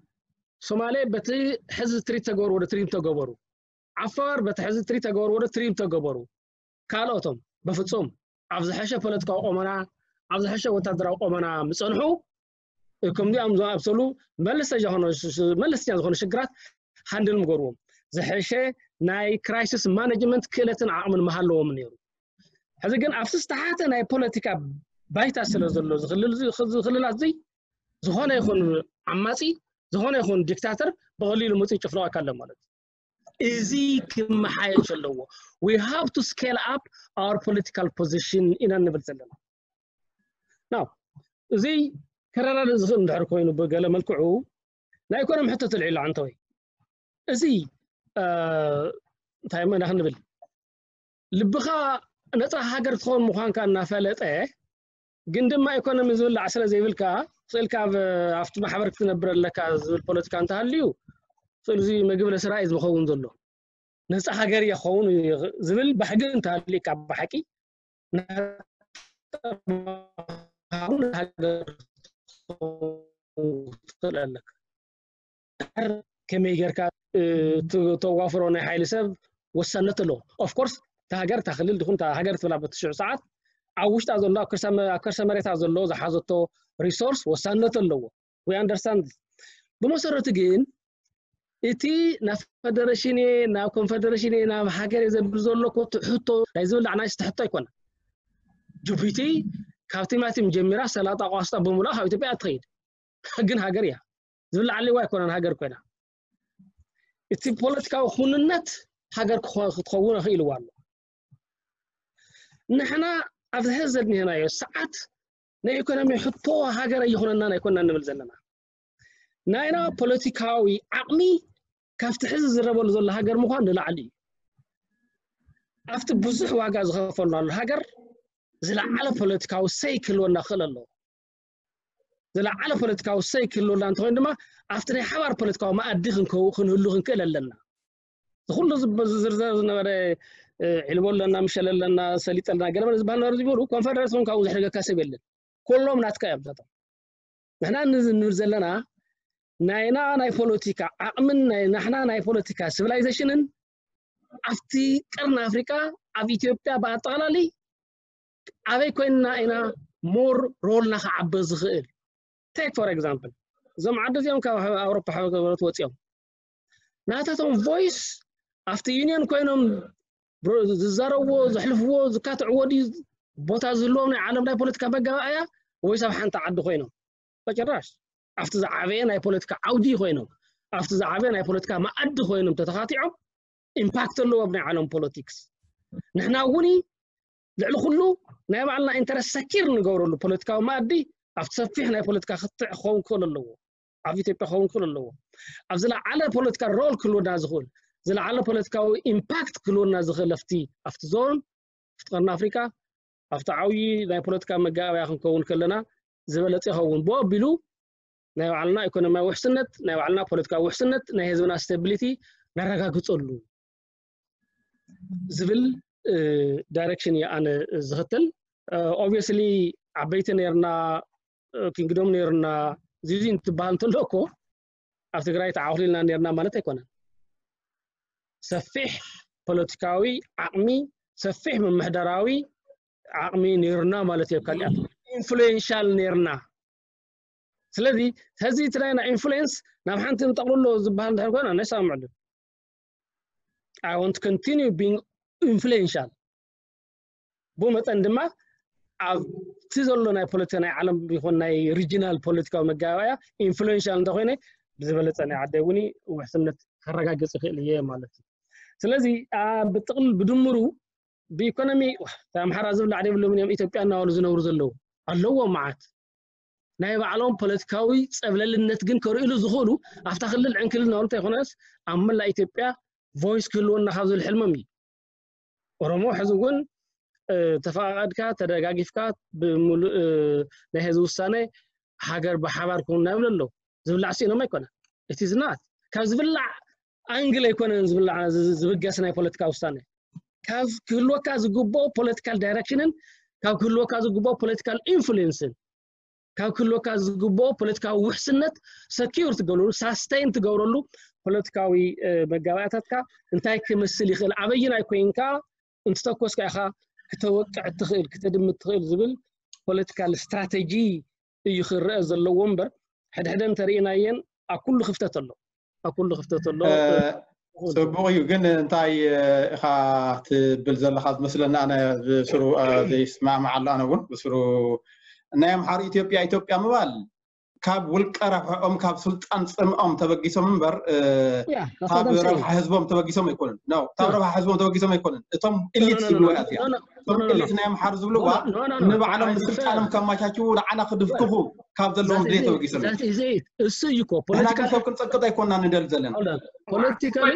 ሶማሌ በቲ ሕዚ ትሪት ተገበሩ ወደ ትሪት ተገበሩ፣ ዓፋር በቲ ሕዚ ትሪት ተገበሩ ወደ ትሪት ተገበሩ፣ ካልኦቶም በፍጹም ኣብ ዝሐሸ ፖለቲካዊ ቆመና ኣብ ዝሐሸ ወታደራዊ ቆመና ምፀንሑ ከምዚኦም ዝኣምሰሉ መለስተኛ ዝኾነ መለስተኛ ዝኾነ ሽግራት ሃንድል ምገርዎም ዝሐሸ ናይ ክራይሲስ ማኔጅመንት ክእለትን ዓቕምን ምሃለዎም ነይሩ። ሕዚ ግን ኣብቲ ዝተሓተ ናይ ፖለቲካ ባይታ ስለ ዘሎ ዝኽልላት እዙይ ዝኾነ ይኹን ዓማፂ ዝኾነ ይኹን ዲክታተር ብቐሊሉ መፅኡ ጭፍለቐካ ኣሎ ማለት እዩ። እዚ ክመሓየሽ ኣለዎ። We have to scale up our political position ኢና ንብል ዘለና። ናው እዚ ከረዳድእ ዝኽእል እንድሕር ኮይኑ ብገለ መልክዑ ናይ ኢኮኖሚ ሕቶ ተልዒሉ ዓንተወይ እዚ እንታይ መዳ ክንብል ልብኻ ነፃ ሃገር ትኸውን ምዃንካ እናፈለጠ ግን ድማ ኢኮኖሚ ዝብላዕ ስለ ዘይብልካ ስእልካ ኣብቲ ማሕበር ክትነብር ኣለካ ዝብል ፖለቲካ እንተሃልዩ ስእልዚ ምግቢ ለስራይ ዝኸውን ዘሎ ነፃ ሃገር እየ ክኸውን ዝብል ባህጊ እንተሃልዩካ ብሓቂ ሃገር ትኽእል ኣለካ። ከመይ ጌርካ ተዋፍሮ ናይ ሓይሊ ሰብ ወሳነት ኣለዎ። ኦፍኮርስ እታ ሃገር እታ ክልል ትኹን እታ ሃገር ትብላ በቲ ሽዑ ሰዓት ኣብ ውሽጣ ዘሎ ኣብ ከርሰ መሬታ ዘሎ ዝሓዘቶ ሪሶርስ ወሳነት ኣለዎ። We understand። ብመሰረቱ ግን እቲ ናብ ፈደሬሽን እየ ናብ ኮንፈደሬሽን እየ ናብ ሃገር እየ ዘብል ዘሎ ሕቶ ናይ ዝብላዕ ናይ ስተ ሕቶ ኣይኮነ። ጅቡቲ ካብ ቲማቲም ጀሚራ ሰላጣ ቋስጣ ብምሉኣ ካብ ኢትዮጵያ እትኸይድ ግን ሃገር እያ። ዝብላዕ ኣለዋ ኣይኮነን ሃገር ኮይና እቲ ፖለቲካዊ ኩንነት ሃገር ክትኸውን ኣኽኢልዋ ኣሎ። ንሕና ኣብዚ ሕዚ ዘድንሄናዮ ሰዓት ናይ ኢኮኖሚ ሕቶ ሃገር ኣይኾነናን ኣይኮንናን ንብል ዘለና። ናይና ፖለቲካዊ ዓቕሚ ካብቲ ሕዚ ዝረበሉ ዘሎ ሃገር ምዃን ንላዕሊ እዩ። ኣብቲ ብዙሕ ዋጋ ዝኸፈልናሉ ሃገር ዝለዓለ ፖለቲካዊ ሰይ ክህልወና ክኽእል ኣለዎ። ዝለዓለ ፖለቲካዊ ሰይ ክህልወና እንተኾይኑ ድማ ኣብቲ ናይ ሓባር ፖለቲካዊ መኣዲ ክንከው ክንህሉ ክንክእል ኣለና። ዝኩሉ ዝርዘር ዝነበረ ዒልቦ ኣለና፣ ምሸል ኣለና፣ ሰሊጥ ኣለና፣ ገለመለ ዝበሃል ነበረ ዝበሉ ኮንፈደረሽን ካብኡ ዘሕደገካ ሰብ የለን። ኩሎም ናትካ እዮም ዛቶም። ንሕና ንብል ዘለና ናይና ናይ ፖለቲካ ዓቕምን ናይ ናሕና ናይ ፖለቲካ ሲቪላይዜሽንን ኣብቲ ቀርኒ ኣፍሪካ ኣብ ኢትዮጵያ ብኣጠቓላሊ ኣበይ ኮይንና ኢና ሞር ሮልና ክዓበ ዝኽእል? ቴክ ፎር ኤግዛምፕል እዞም ዓዲ እዚኦም ካብ ኣውሮፓ ሕብረት ወፂኦም ናታቶም ቮይስ ኣብቲ ዩኒየን ኮይኖም ዝዛረብዎ ዘሕልፍዎ ዝካትዕዎ ድዩ ቦታ ዝህልዎም ናይ ዓለም ናይ ፖለቲካ መጋባእያ ወይስ ኣብ ሓንቲ ዓዲ ኮይኖም? በጭራሽ ኣብቲ ዝዓበየ ናይ ፖለቲካ ዓውዲ ኮይኖም ኣብቲ ዝዓበየ ናይ ፖለቲካ መኣዲ ኮይኖም ተተኻቲዖም ኢምፓክት ኣለዎ ኣብ ናይ ዓለም ፖለቲክስ። ንሕና እውን ልዕሊ ኩሉ ናይ ባዕልና ኢንተረስት ሰኪር ንገብረሉ ፖለቲካዊ መኣዲ ኣብቲ ሰፊሕ ናይ ፖለቲካ ክትዕ ክኸውን ክኽእል ኣለዎ። ኣብ ኢትዮጵያ ክኸውን ክኽእል ኣለዎ። ኣብ ዝለዓለ ፖለቲካ ሮል ክህልወና ዝኽእል ዝለዓለ ፖለቲካዊ ኢምፓክት ክህልወና ዝኽእል ኣብቲ ኣብቲ ዞን ኣብቲ ቀርኒ ኣፍሪካ ኣብቲ ዓብዪ ናይ ፖለቲካ መጋበያ ክንከውን ከለና ዝበለፀ ይኸውን። ብኡ ኣቢሉ ናይ ባዕልና ኢኮኖሚያዊ ውሕስነት ናይ ባዕልና ፖለቲካዊ ውሕስነት ናይ ህዝብና ስቴቢሊቲ ነረጋግፀሉ ዝብል ዳይሬክሽን እየ ኣነ ዝኽተል። ኦብቪየስሊ ዓበይቲ ነርና ኪንግዶም ነርና ዚዚ እንትበሃል እንተሎ እኮ ኣብ ትግራይ ተዓኹሊልና ነርና ማለት ኣይኮነን። ሰፊሕ ፖለቲካዊ ዓቕሚ ሰፊሕ ምምሕዳራዊ ዓቕሚ ነርና ማለት እየ። ካሊኣት ኢንፍሉዌንሻል ነርና። ስለዚ ሕዚ እቲ ናይና ኢንፍሉዌንስ ናብ ሓንቲ ንጠቕልሎ ዝበሃል እንድሕር ኮይና ነሳምዕሉ። I want to continue being influential። ብኡ መጠን ድማ ኣብቲ ዘሎ ናይ ፖለቲካ ናይ ዓለም ይኹን ናይ ሪጂናል ፖለቲካዊ መጋባእያ ኢንፍሉዌንሻል እንተኮይነ ብዝበለፀ ናይ ዓደይ እውን ውሕስነት ከረጋግፅ ይኽእል እየ ማለት እዩ። ስለዚ ብጥቕል ብድምሩ ብኢኮኖሚ ኣምሓራ ዝብላዕ የብሎምን እዮም ኢትዮጵያ እናበሉ ዝነብሩ ዘለዉ ኣለዎም መዓት ናይ ባዕሎም ፖለቲካዊ ፀብለልነት ግን ከርእሉ ዝኽእሉ ኣብታ ክልል ዕንክልል እናበሉ እንተይኮነስ ኣብ መላእ ኢትዮጵያ ቮይስ ክህልወና ካብ ዝብል ሕልሞም እዩ። ኦሮሞ ሕዚ እውን ተፈቃቀድካ ተደጋጊፍካ ብምሉእ ናይ ህዝቢ ውሳነ ሃገር ብሓባር ክውን እናብለ ኣለዉ። ዝብላዕ ስኢኖም ኣይኮነን። እቲ ዝናት ካብ ዝብላዕ ኣንግል ኣይኮነን ዝብላዕ ዝብገስ ናይ ፖለቲካ ውሳነ ካብ ክህልወካ ዝግብኦ ፖለቲካል ዳይሬክሽንን ካብ ክህልወካ ዝግብኦ ፖለቲካል ኢንፍሉዌንስን ካብ ክህልወካ ዝግብኦ ፖለቲካዊ ውሕስነት ሰኪር ትገብረሉ ሳስቴን ትገብረሉ ፖለቲካዊ መጋባእያታትካ እንታይ ክመስል ይኽእል ኣበይናይ ኮይንካ እንትተኮስካ ኢኻ ክተወቅዕ ትኽእል ክተድምት ትኽእል ዝብል ፖለቲካል ስትራቴጂ እዩ ክረአ ዘለዎ እምበር ሕድሕደ እንተርኢናየን ኣብ ኩሉ ክፍተት ኣሎ ኣብ ኩሉ ክፍተት ኣሎ ፅቡቅ እዩ ግን እንታይ ኢኻ ትብል ዘለካ ዝመስለኒ ኣነ ብስሩ ዘይስማማዕ ኣሎ ኣነ እውን ብስሩ ናይ ኣምሓሩ ኢትዮጵያ ኢትዮጵያ ምባል ካብ ውልቀ ረብሕኦም ካብ ስልጣን ፅምኦም ተበጊሶም እምበር ካብ ረብሓ ህዝቦም ተበጊሶም ኣይኮኑን ካብ ረብሓ ህዝቦም ተበጊሶም ኣይኮኑን እቶም ኢሊት ዝብልዋ እያ እቶም ኢሊት ናይ ኣምሓሩ ዝብልዋ ንባዕሎም ንስልጣኖም ከማቻችዉ ንዓና ክድፍትፉ ካብ ዘለዎም ድሌት ተበጊሶም እሱ እዩ እኮ ፖለቲካ ሰብ ክንፀቅጥ ኣይኮና ንደል ዘለና ፖለቲካሊ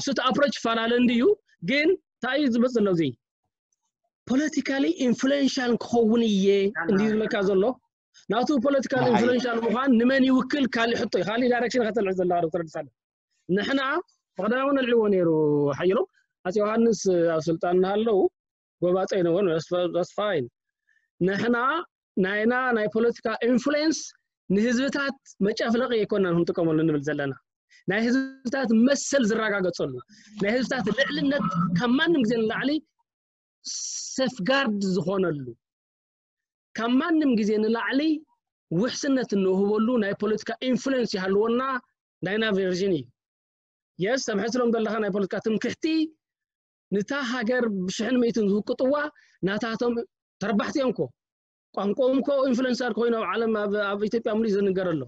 እሱ ኣፕሮች ይፈላለ እንድዩ ግን እንታይ እዩ ዝመፅ ኣሎ እዚ ፖለቲካሊ ኢንፍሉዌንሻል ክኸውን እየ እንድዩ ዝብለካ ዘሎ ናቱ ፖለቲካል ኢንፍሉዌንሻል ምዃን ንመን ይውክል ካሊእ ሕቶ እዩ ካሊእ ዳይሬክሽን ከተልዕ ዘለካ ዶክተር ደሳለ ንሕና ብቀዳማዊ ነልዕዎ ነይሩ ሓይሎም ኣፄ ዮሃንስ ኣብ ስልጣን እናሃለዉ ጎባፀ ይነውን that's fine ንሕና ናይና ናይ ፖለቲካ ኢንፍሉዌንስ ንህዝብታት መጨፍለቂ ኣይኮናን ክንጥቀመሉ ንብል ዘለና ናይ ህዝብታት መሰል ዝረጋገፀሉ ናይ ህዝብታት ልዕልነት ካብ ማንም ግዜ ንላዕሊ ሴፍጋርድ ዝኾነሉ ካብ ማንም ግዜ ንላዕሊ ውሕስነት እንውህበሉ ናይ ፖለቲካ ኢንፍሉዌንስ ይሃልወና ናይና ቨርዥን እዩ የስ ተምሕስሎም ዘለካ ናይ ፖለቲካ ትምክሕቲ ንታ ሃገር ብሽሕን ሚእትን ዝውቅጥዋ ናታቶም ተረባሕቲ እዮም ኮ ቋንቋኦም ኮ ኢንፍሉዌንሰር ኮይኑ ኣብ ዓለም ኣብ ኢትዮጵያ ሙሉእ ዝንገር ኣሎ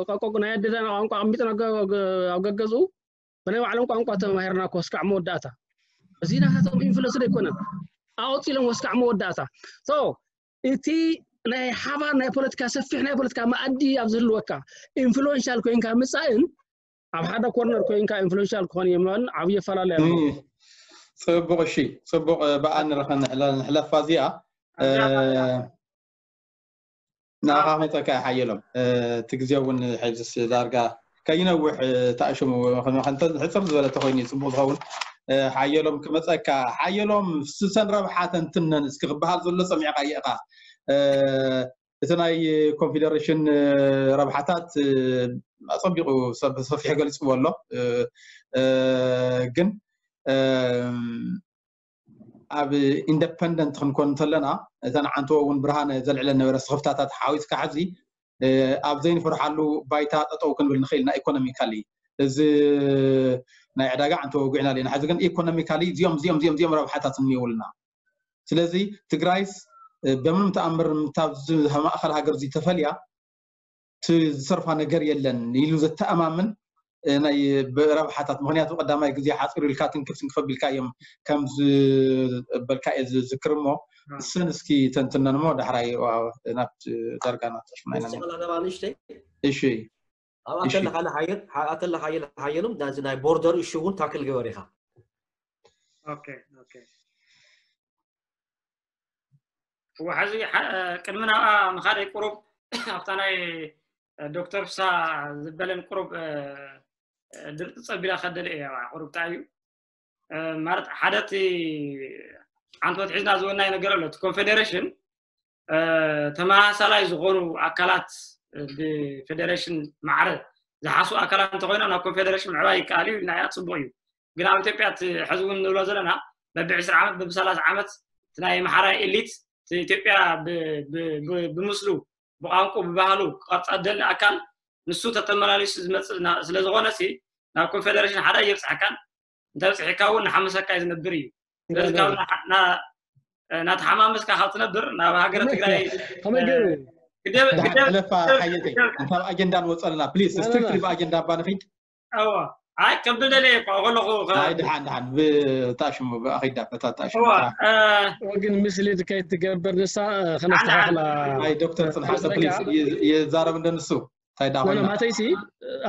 ቋንቋ ናይ ኣደዳና ቋንቋ ኣሚጥና ኣብ ገገዝኡ ብናይ ባዕሎም ቋንቋ ተማሂርና ኮ ስካዕ መወዳእታ እዚ ናታቶም ኢንፍሉዌንስ ኣይኮነን ኣወፂሎም ወስካዕ መወዳእታ እቲ ናይ ሓባር ናይ ፖለቲካ ሰፊሕ ናይ ፖለቲካ መኣዲ ኣብ ዝህልወካ ኢንፍሉዌንሻል ኮይንካ ምፃእን ኣብ ሓደ ኮርነር ኮይንካ ኢንፍሉዌንሻል ክኾን የማን ዓብዪ ኣፈላለዩ ኣሎ ፅቡቅ እሺ ፅቡቅ ብኣ ንረኸ ንሕለፋ እዚኣ ንኣኻ መፀካ ሓየሎም እቲ ግዜ እውን ሕዝስ ዳርጋ ከይነውሕ ተኣሽሙ ሕፅር ዝበለ ተኮይኑ ፅቡቅ ዝኸውን ሓየሎም ክመፀካ ሓየሎም ስሰን ረብሓ ተንትነን እስኪ ክበሃል ዘሎ ሰሚዕካ የእካ እቲ ናይ ኮንፌደሬሽን ረብሓታት ኣፀቢቁ ሰብ ሰፊሕ ገሊፅዎ ኣሎ ግን ኣብ ኢንደፐንደንት ክንኮን እንተለና እተን ዓንተዎ እውን ብርሃነ ዘልዕለ ነበረ ስኽፍታታት ሓዊስካ ሕዚ ኣብ ዘይንፈርሓሉ ባይታ ጠጠው ክንብል ንኽእል ኢና ኢኮኖሚካሊ እዚ ናይ ዕዳጋ ዓንተዎ ውግዕና ኣለና ሕዚ ግን ኢኮኖሚካሊ እዚኦም እዚኦም እዚኦም እዚኦም ረብሓታት እኒውልና ስለዚ ትግራይስ በምንም ተኣምር ታብዚ ማእኸል ሃገር ዝተፈልያ ዝሰርፋ ነገር የለን ኢሉ ዘተኣማምን ናይ ረብሓታት ምክንያቱ ቀዳማይ ግዜ ሓፂሩ ኢልካ ትንክፍ ትንክፍ ኣቢልካ እዮም ከም ዝበልካ እየ ዝዝክር እሞ እሰን እስኪ ተንትነን እሞ ዳሕራይ ናብ ዳርጋ ናብ ተሽሙና ኢና ንሽተይ እሺ ኣብኣ ተለካ ሓየሎም ናዚ ናይ ቦርደር እሹ እውን ታክል ገበር ኢኻ ሕዚ ቅድሚ ናብኣ ምኻደይ ቁሩብ ኣብታ ናይ ዶክተር ፍሳ ዝበለን ቁሩብ ድርቂ ፀቢላ ከደለ እየ ቁሩብ ታይ እዩ ማለት ሓደ እቲ ሓንቲ ወትሒዝና ዝበናይ ነገር ኣሎ እቲ ኮንፌዴሬሽን ተመሳሳላይ ዝኾኑ ኣካላት ብፌዴሬሽን ማዕረ ዝሓሱ ኣካላት እንተኮይኖም ናብ ኮንፌዴሬሽን ምዕባይ ይከኣል እዩ ኢልና ኢና ፅቡቅ እዩ ግን ኣብ ኢትዮጵያ ሕዚ እውን ንብሎ ዘለና በቢ ዕስራ ዓመት በቢ ሰላሳ ዓመት ናይ መሓራይ ኤሊት ኢትዮጵያ ብምስሉ ብቋንቁ ብባህሉ ክቐርፃ ደሊ ኣካል ንሱ ተተመላሊሱ ዝመፅእ ስለ ዝኾነ ሲ ናብ ኮንፌደሬሽን ሓደ የብፅሐካን። እንተብፅሒካ እውን ንሓመሰካ እዩ ዝነብር እዩ። ስለዚ ናተሓማመስካ ካብ ትነብር ናብ ሃገረ ትግራይ ሕለፋ ሓየተይ እንታብ ኣጀንዳ ንወፀልና ፕሊስ ስትሪክትሊ ብኣጀንዳ እባ ንኺድ እዋ ኣይ ከም ብደለየ እኳ ከለኹ ኣይ ድሓን ድሓን ብታሽሙ ብኣኺዳ በታ ታሽሙ ግን ምስሊት ከይትገብር ንሳ ከነስተኻኽላ ኣይ ዶክተር ፅንሓሰ ፕሊስ ይዛረብ እንደ ንሱ እንታይ ዳ ኮይና ማተይሲ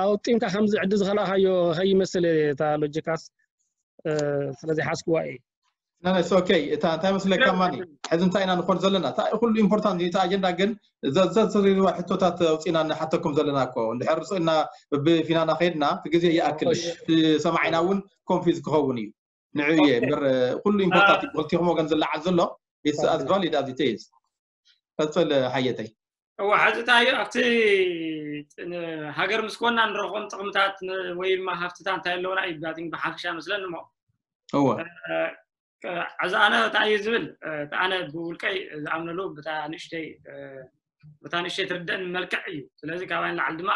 ኣውጢምካ ከምዚ ዕዲ ዝኸላኻዮ ከይመስል እታ ሎጂካስ ስለዚ ሓስክዋ እየ ነነስ ኦኬ እታ እንታይ መስለካ ማኒ ሕዚ እንታይ ኢና ንኾን ዘለና እታ ኩሉ ኢምፖርታንት እታ ኣጀንዳ ግን ዘዘዝሪዋ ሕቶታት ኣውፂና ንሓተኩም ዘለና እኮ እንድሕር ርፅእና ብፊናና ከይድና እቲ ግዜ ይኣክል ሰማዒና እውን ኮንፊዝ ክኸውን እዩ ንዕየ እምበር ኩሉ ኢምፖርታንት ክልቲኹም ወገን ዝለዓል ዘሎ it's as valid as it is ቀፅል ሓየተይ እዋ ሕዚ እንታይ ኣብቲ ሃገር ምስ ኮና ንረኽቦም ጥቕምታት ወይ ድማ ሃፍትታት እንታይ ኣለውና እዩ ባቲንግ ብሓፈሻ መስለኒ እሞ እወ እዚ ኣነ እንታይ እዩ ዝብል እቲ ኣነ ብውልቀይ ዝኣምነሉ ብታ ንእሽተይ ብታ ንእሽተይ ትርደእን መልክዕ እዩ ስለዚ ካባይ ንላዕሊ ድማ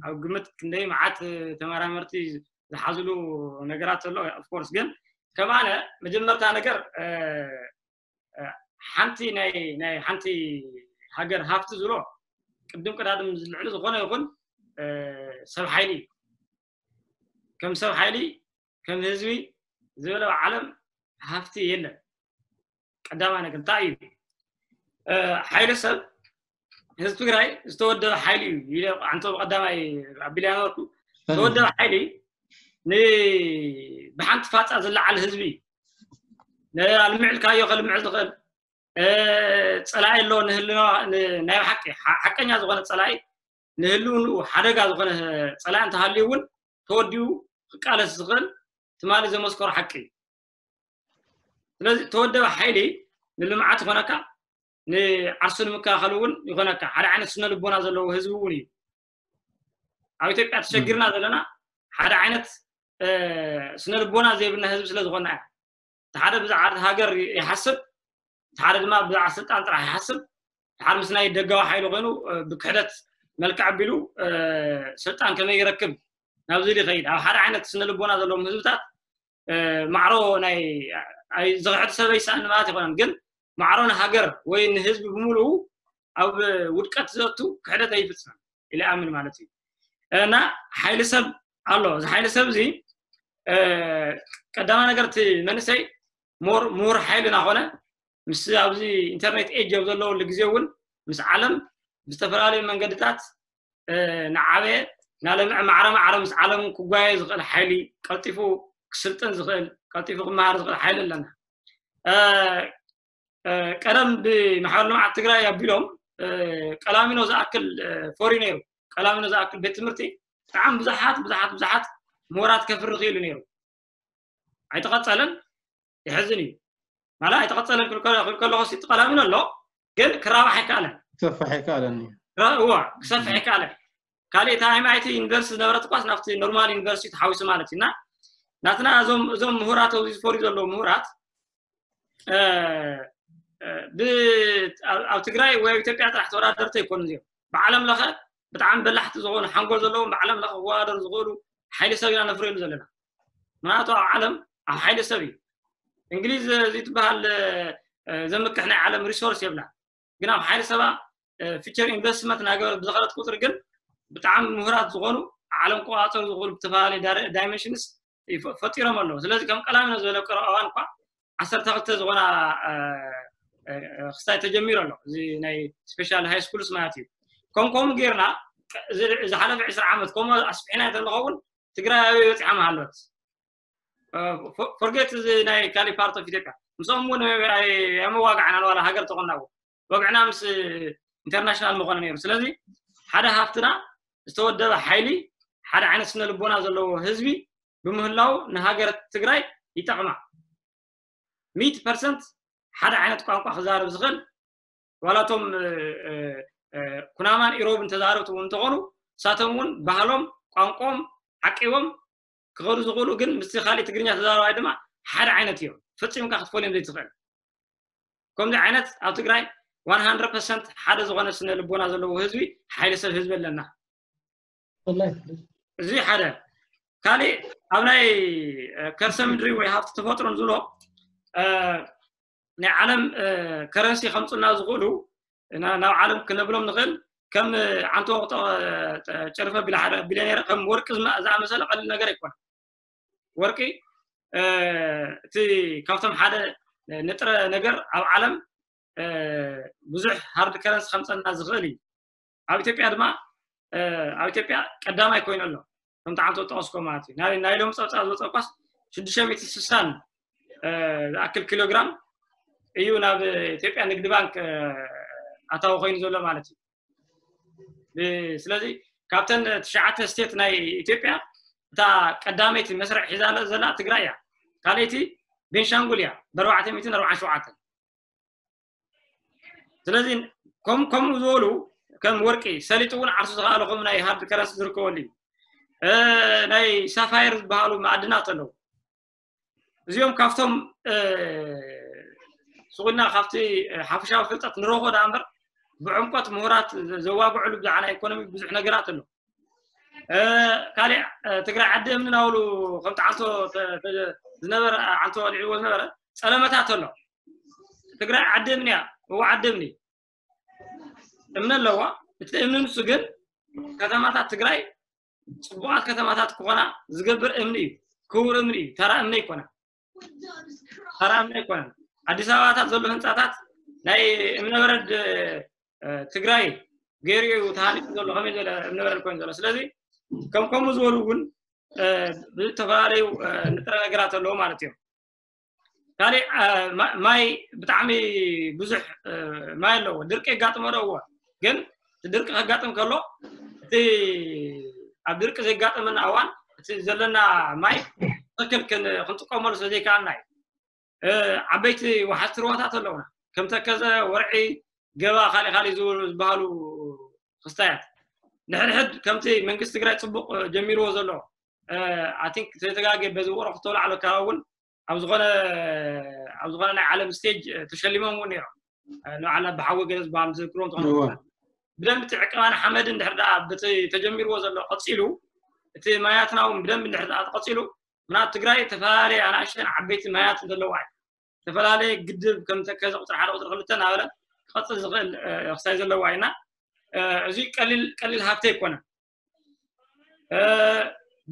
ኣብ ግምት ክንደይ መዓት ተመራመርቲ ዝሓዝሉ ነገራት ዘሎ ኦፍኮርስ ግን ከም ኣነ መጀመርታ ነገር ሓንቲ ናይ ናይ ሓንቲ ሃገር ሃፍቲ ዝብሎ ቅድም ቅዳድም ዝልዕሉ ዝኾነ ይኹን ሰብ ሓይሊ እዩ ከም ሰብ ሓይሊ ከም ህዝቢ ዝበለ ዓለም ሃፍቲ የለን ቀዳማ ነገር እንታይ እዩ ሓይሊ ሰብ ህዝቢ ትግራይ ዝተወደበ ሓይሊ እዩ ኢለ ኣንተ ቀዳማይ ኣቢልያ ነበርኩ ዝተወደበ ሓይሊ ብሓንቲ ፋፃ ዝለዓል ህዝቢ እዩ ኣልምዕልካዮ ከልምዕ ዝኽእል ፀላኢ ኣሎ ንህልና ናይ ሓቂ ሓቀኛ ዝኾነ ፀላኢ ንህልውንኡ ሓደጋ ዝኾነ ፀላኢ እንተሃልዩ እውን ተወዲኡ ክቃለስ ዝኽእል ትማሊ ዘመስከሩ ሓቂ እዩ ስለዚ ተወደበ ሓይሊ ንልምዓት ይኾነካ ንዓርሱ ንምከላኸል እውን ይኾነካ ሓደ ዓይነት ስነ ልቦና ዘለዎ ህዝቢ እውን እዩ ኣብ ኢትዮጵያ ተሸጊርና ዘለና ሓደ ዓይነት ስነ ልቦና ዘይብልና ህዝቢ ስለ ዝኾና እያ ሓደ ብዛዕባ ሃገር ይሓስብ ሓደ ድማ ብዛዕባ ስልጣን ጥራሕ ይሓስብ ሓደ ምስ ናይ ደጋዊ ሓይሊ ኮይኑ ብክሕደት መልክዕ ኣቢሉ ስልጣን ከመይ ይረክብ ናብዚ ይኸይድ ኣብ ሓደ ዓይነት ስነ ልቦና ዘለዎም ህዝብታት ማዕሮ ናይ ዝኽሕድ ሰብ ኣይሰኣን ማለት ይኮነን ግን ማዕሮ ንሃገር ወይ ንህዝቢ ብምሉኡ ኣብ ውድቀት ዘቱ ክሕደት ኣይፍፅም ኢለ ኣምን ማለት እዩ እና ሓይሊ ሰብ ኣሎ እዚ ሓይሊ ሰብ እዚ ቀዳማ ነገር እቲ መንእሰይ ምሁር ሓይሊ እናኾነ ምስ ኣብዚ ኢንተርኔት ኤጅ ኣብ ዘለወሉ ግዜ እውን ምስ ዓለም ብዝተፈላለዩ መንገድታት ንዓበየ ናለምዐ ማዕረ ማዕረ ምስ ዓለም ክጓየ ዝኽእል ሓይሊ ቀልጢፉ ክስልጥን ዝኽእል ቀልጢፉ ክመሃር ዝኽእል ሓይሊ ኣለና ቀደም ብማሕበር ልምዓት ትግራይ ኣቢሎም ቀላሚኖ ዝኣክል ፎሪ ነይሩ ቀላሚኖ ዝኣክል ቤት ትምህርቲ ብጣዕሚ ብዙሓት ብዙሓት ብዙሓት ምሁራት ከፍሪ ክኢሉ ነይሩ ኣይተቐፀለን ይሕዝን እዩ ማለት ኣይተቐፀለን ክብል ከለኹ እቲ ቀላሚኖ ኣሎ ግን ክራባሕ ኣይከኣለን ክሰፍሕ ኣይከኣለን እዋ ክሰፍሕ ኣይከኣለን ካልእ እታ ኤምኣይቲ ዩኒቨርሲቲ ዝነበረት ኳስ ናብቲ ኖርማል ዩኒቨርሲቲ ተሓዊሱ ማለት እዩ እና ናትና እዞም እዞም ምሁራት ኣብዚ ዝፈርዩ ዘለዉ ምሁራት ኣብ ትግራይ ወይ ኣብ ኢትዮጵያ ጥራሕ ተወዳደርቲ ኣይኮኑ እዚኦም ብዓለም ለኸ ብጣዕሚ በላሕቲ ዝኾኑ ሓንጎል ዘለዎም ብዓለም ለኸ ክወዳደሩ ዝኽእሉ ሓይሊ ሰብ ኢና ነፍርየሉ ዘለና ምክንያቱ ኣብ ዓለም ኣብ ሓይሊ ሰብ እዩ እንግሊዝ እዚ ትበሃል ዘምክሕ ናይ ዓለም ሪሶርስ የብላ ግን ኣብ ሓይሊ ሰባ ፊቸር ኢንቨስትመንት እናገበረት ብዝኸለት ቁፅሪ ግን ብጣዕሚ ምሁራት ዝኾኑ ዓለም ክቆፃፀሩ ዝኽእሉ ብተፈላለዩ ዳይሜንሽንስ ፈጢሮም ኣለዉ ስለዚ ከም ቀላሚኖ ዝበለ ቅረ እዋን እኳ ዓሰርተ ክልተ ዝኾና ክስታይ ተጀሚሩ ኣሎ እዚ ናይ ስፔሻል ሃይ ስኩልስ ማለት እዩ ከም ከምኡ ጌርና ዝሓለፈ ዕስራ ዓመት ከምኡ ኣስፊሕና እንተንኸውን ትግራይ ኣበይ በፂሓ ምሃለወት ፎርጌት እዚ ናይ ካሊ ፓርት ኦፍ ኢትዮጵያ ምስኦም እውን የመዋጋዕና ንዋላ ሃገር ተኾናዎ ወግዕና ምስ ኢንተርናሽናል መኾነ ነይሩ ስለዚ ሓደ ሃፍትና ዝተወደበ ሓይሊ ሓደ ዓይነት ስነ ልቦና ዘለዎ ህዝቢ ብምህላው ንሃገር ትግራይ ይጠቕማ ሚት ፐርሰንት ሓደ ዓይነት ቋንቋ ክዛረብ ዝኽእል ዋላቶም ኩናማን ኢሮብን ተዛረብቲ እውን እንተኾኑ እሳቶም እውን ባህሎም ቋንቋም ዓቂቦም ክኸዱ ዝኽእሉ ግን ምስቲ ካሊእ ትግርኛ ተዛረባይ ድማ ሓደ ዓይነት እዮም ፈፂምካ ክትፈልዮም ዘይትኽእል ከምዚ ዓይነት ኣብ ትግራይ one hundred percent ሓደ ዝኾነ ስነ ልቦና ዘለዎ ህዝቢ፣ ሓይሊ ሰብ ህዝቢ ኣለና። እዚ ሓደ። ካሊእ ኣብ ናይ ከርሰ ምድሪ ወይ ሃፍቲ ተፈጥሮን ዝብሎ ናይ ዓለም ከረንሲ ከምፁና ዝኽእሉ ናብ ዓለም ክነብሎም ንኽእል ከም ዓንቶ ወቅጦ ጨርፈ ቢልሓደ ቢልዮኔር ከም ወርቂ ዝኣመሰለ ቀሊል ነገር ኣይኮነ። ወርቂ እቲ ካብቶም ሓደ ንጥረ ነገር ኣብ ዓለም ብዙሕ ሃርድ ከረንሲ ከምፀና ዝኽእል እዩ። ኣብ ኢትዮጵያ ድማ ኣብ ኢትዮጵያ ቀዳማይ ኮይኑ ኣሎ። ከምቲ ዓንቶ ጠቀስኮ ማለት እዩ። ናይ ሎም ፀብፃብ ዝወፀ ኳስ ሽዱሽተ ሚእቲ ስሳን ዝኣክል ኪሎግራም እዩ ናብ ኢትዮጵያ ንግዲ ባንክ ኣታዊ ኮይኑ ዘሎ ማለት እዩ። ስለዚ ካብተን ትሽዓተ ስቴት ናይ ኢትዮጵያ እታ ቀዳመይቲ መስርዕ ሒዛ ዘላ ትግራይ እያ። ካልኣይቲ ቤንሻንጉል እያ ብኣርባዕተ ሚእትን ኣርባዓን ሸውዓተን። ስለዚ ከም ከምኡ ዝበሉ ከም ወርቂ ሰሊጡ እውን ዓርሱ ዝኸኣለ ከም ናይ ሃርድ ከረንሲ ዝርከበሉ እዩ። ናይ ሳፋየር ዝበሃሉ ማዕድናት ኣለዉ። እዚኦም ካብቶም ስጉና ካብቲ ሓፈሻዊ ፍልጠት ንረኽቦ ዳ እምበር ብዕምቆት ምሁራት ዘዋግዕሉ ብዛዕባ ናይ ኢኮኖሚ ብዙሕ ነገራት ኣሎ። ካልእ ትግራይ ዓዲ እምኒ ናብሉ ከምቲ ዓንቶ ዝነበረ ዓንቶ ኣልዒልዎ ዝነበረ ጸለመታት ኣሎ። ትግራይ ዓዲ እምኒ እያ። እዎ ዓዲ እምኒ እምኒ ኣለዋ። እቲ እምኒ ንሱ ግን ከተማታት ትግራይ ፅቡቃት ከተማታት ክኾና ዝገብር እምኒ እዩ። ክቡር እምኒ እዩ። ተራ እምኒ ኣይኮነ። ተራ እምኒ ኣይኮነን። ኣዲስ ኣበባታት ዘሎ ህንፃታት ናይ እምነበረድ ትግራይ ገይሩ እዩ ተሃኒፁ ዘሎ። ከመይ ዝበለ እምነበረድ ኮይኑ ዘሎ። ስለዚ ከም ከምኡ ዝበሉ እውን ብዝተፈላለዩ ንጥረ ነገራት ኣለዎ ማለት እዮም። ካልእ ማይ ብጣዕሚ ብዙሕ ማይ ኣለዎ። ድርቂ የጋጥሞ ዶ? እዎ። ግን ድርቂ ከጋጥም ከሎ እቲ ኣብ ድርቂ ዘጋጠመና እዋን እቲ ዘለና ማይ ትክክል ክንጥቀመሉ ስለዘይከኣልና እዩ። ዓበይቲ ወሓዝቲ ሩባታት ኣለውና ከም ተከዘ፣ ወርዒ፣ ገባ፣ ካልእ ካልእ ዝበሃሉ ክስታያት ንሕድሕድ ከምቲ መንግስቲ ትግራይ ፅቡቅ ጀሚርዎ ዘሎ ኣይ ቲንክ ተተጋጌ በዚ ውቅሮ ክተውላዕሎ ከባቢ እውን ኣብ ዝኾነ ኣብ ዝኾነ ናይ ዓለም ስቴጅ ተሸሊሞም እውን ነይሮም። ንባዕልና ብሓዊ ገለ ዝበሃል ዝዝክሮም ዝኾነ ብደንቢ እቲ ዕቀባን ሓመድን ድሕር ደኣ በቲ ተጀሚርዎ ዘሎ ቀፂሉ እቲ ማያትና እውን ብደንቢ ድሕር ደኣ ተቐፂሉ ምናት ትግራይ ዝተፈላለየ ኣናእሽተን ዓበይቲ ማያት ዘለዋ እዩ። ዝተፈላለየ ግድብ ከም ተከዘ ቁፅሪ ሓደ ቁፅሪ ክልተ እናበለ ክቐፅል ዝኽእል ክሳይ ዘለዋ ኢና። እዚ ቀሊል ቀሊል ሃብቲ ኣይኮነን።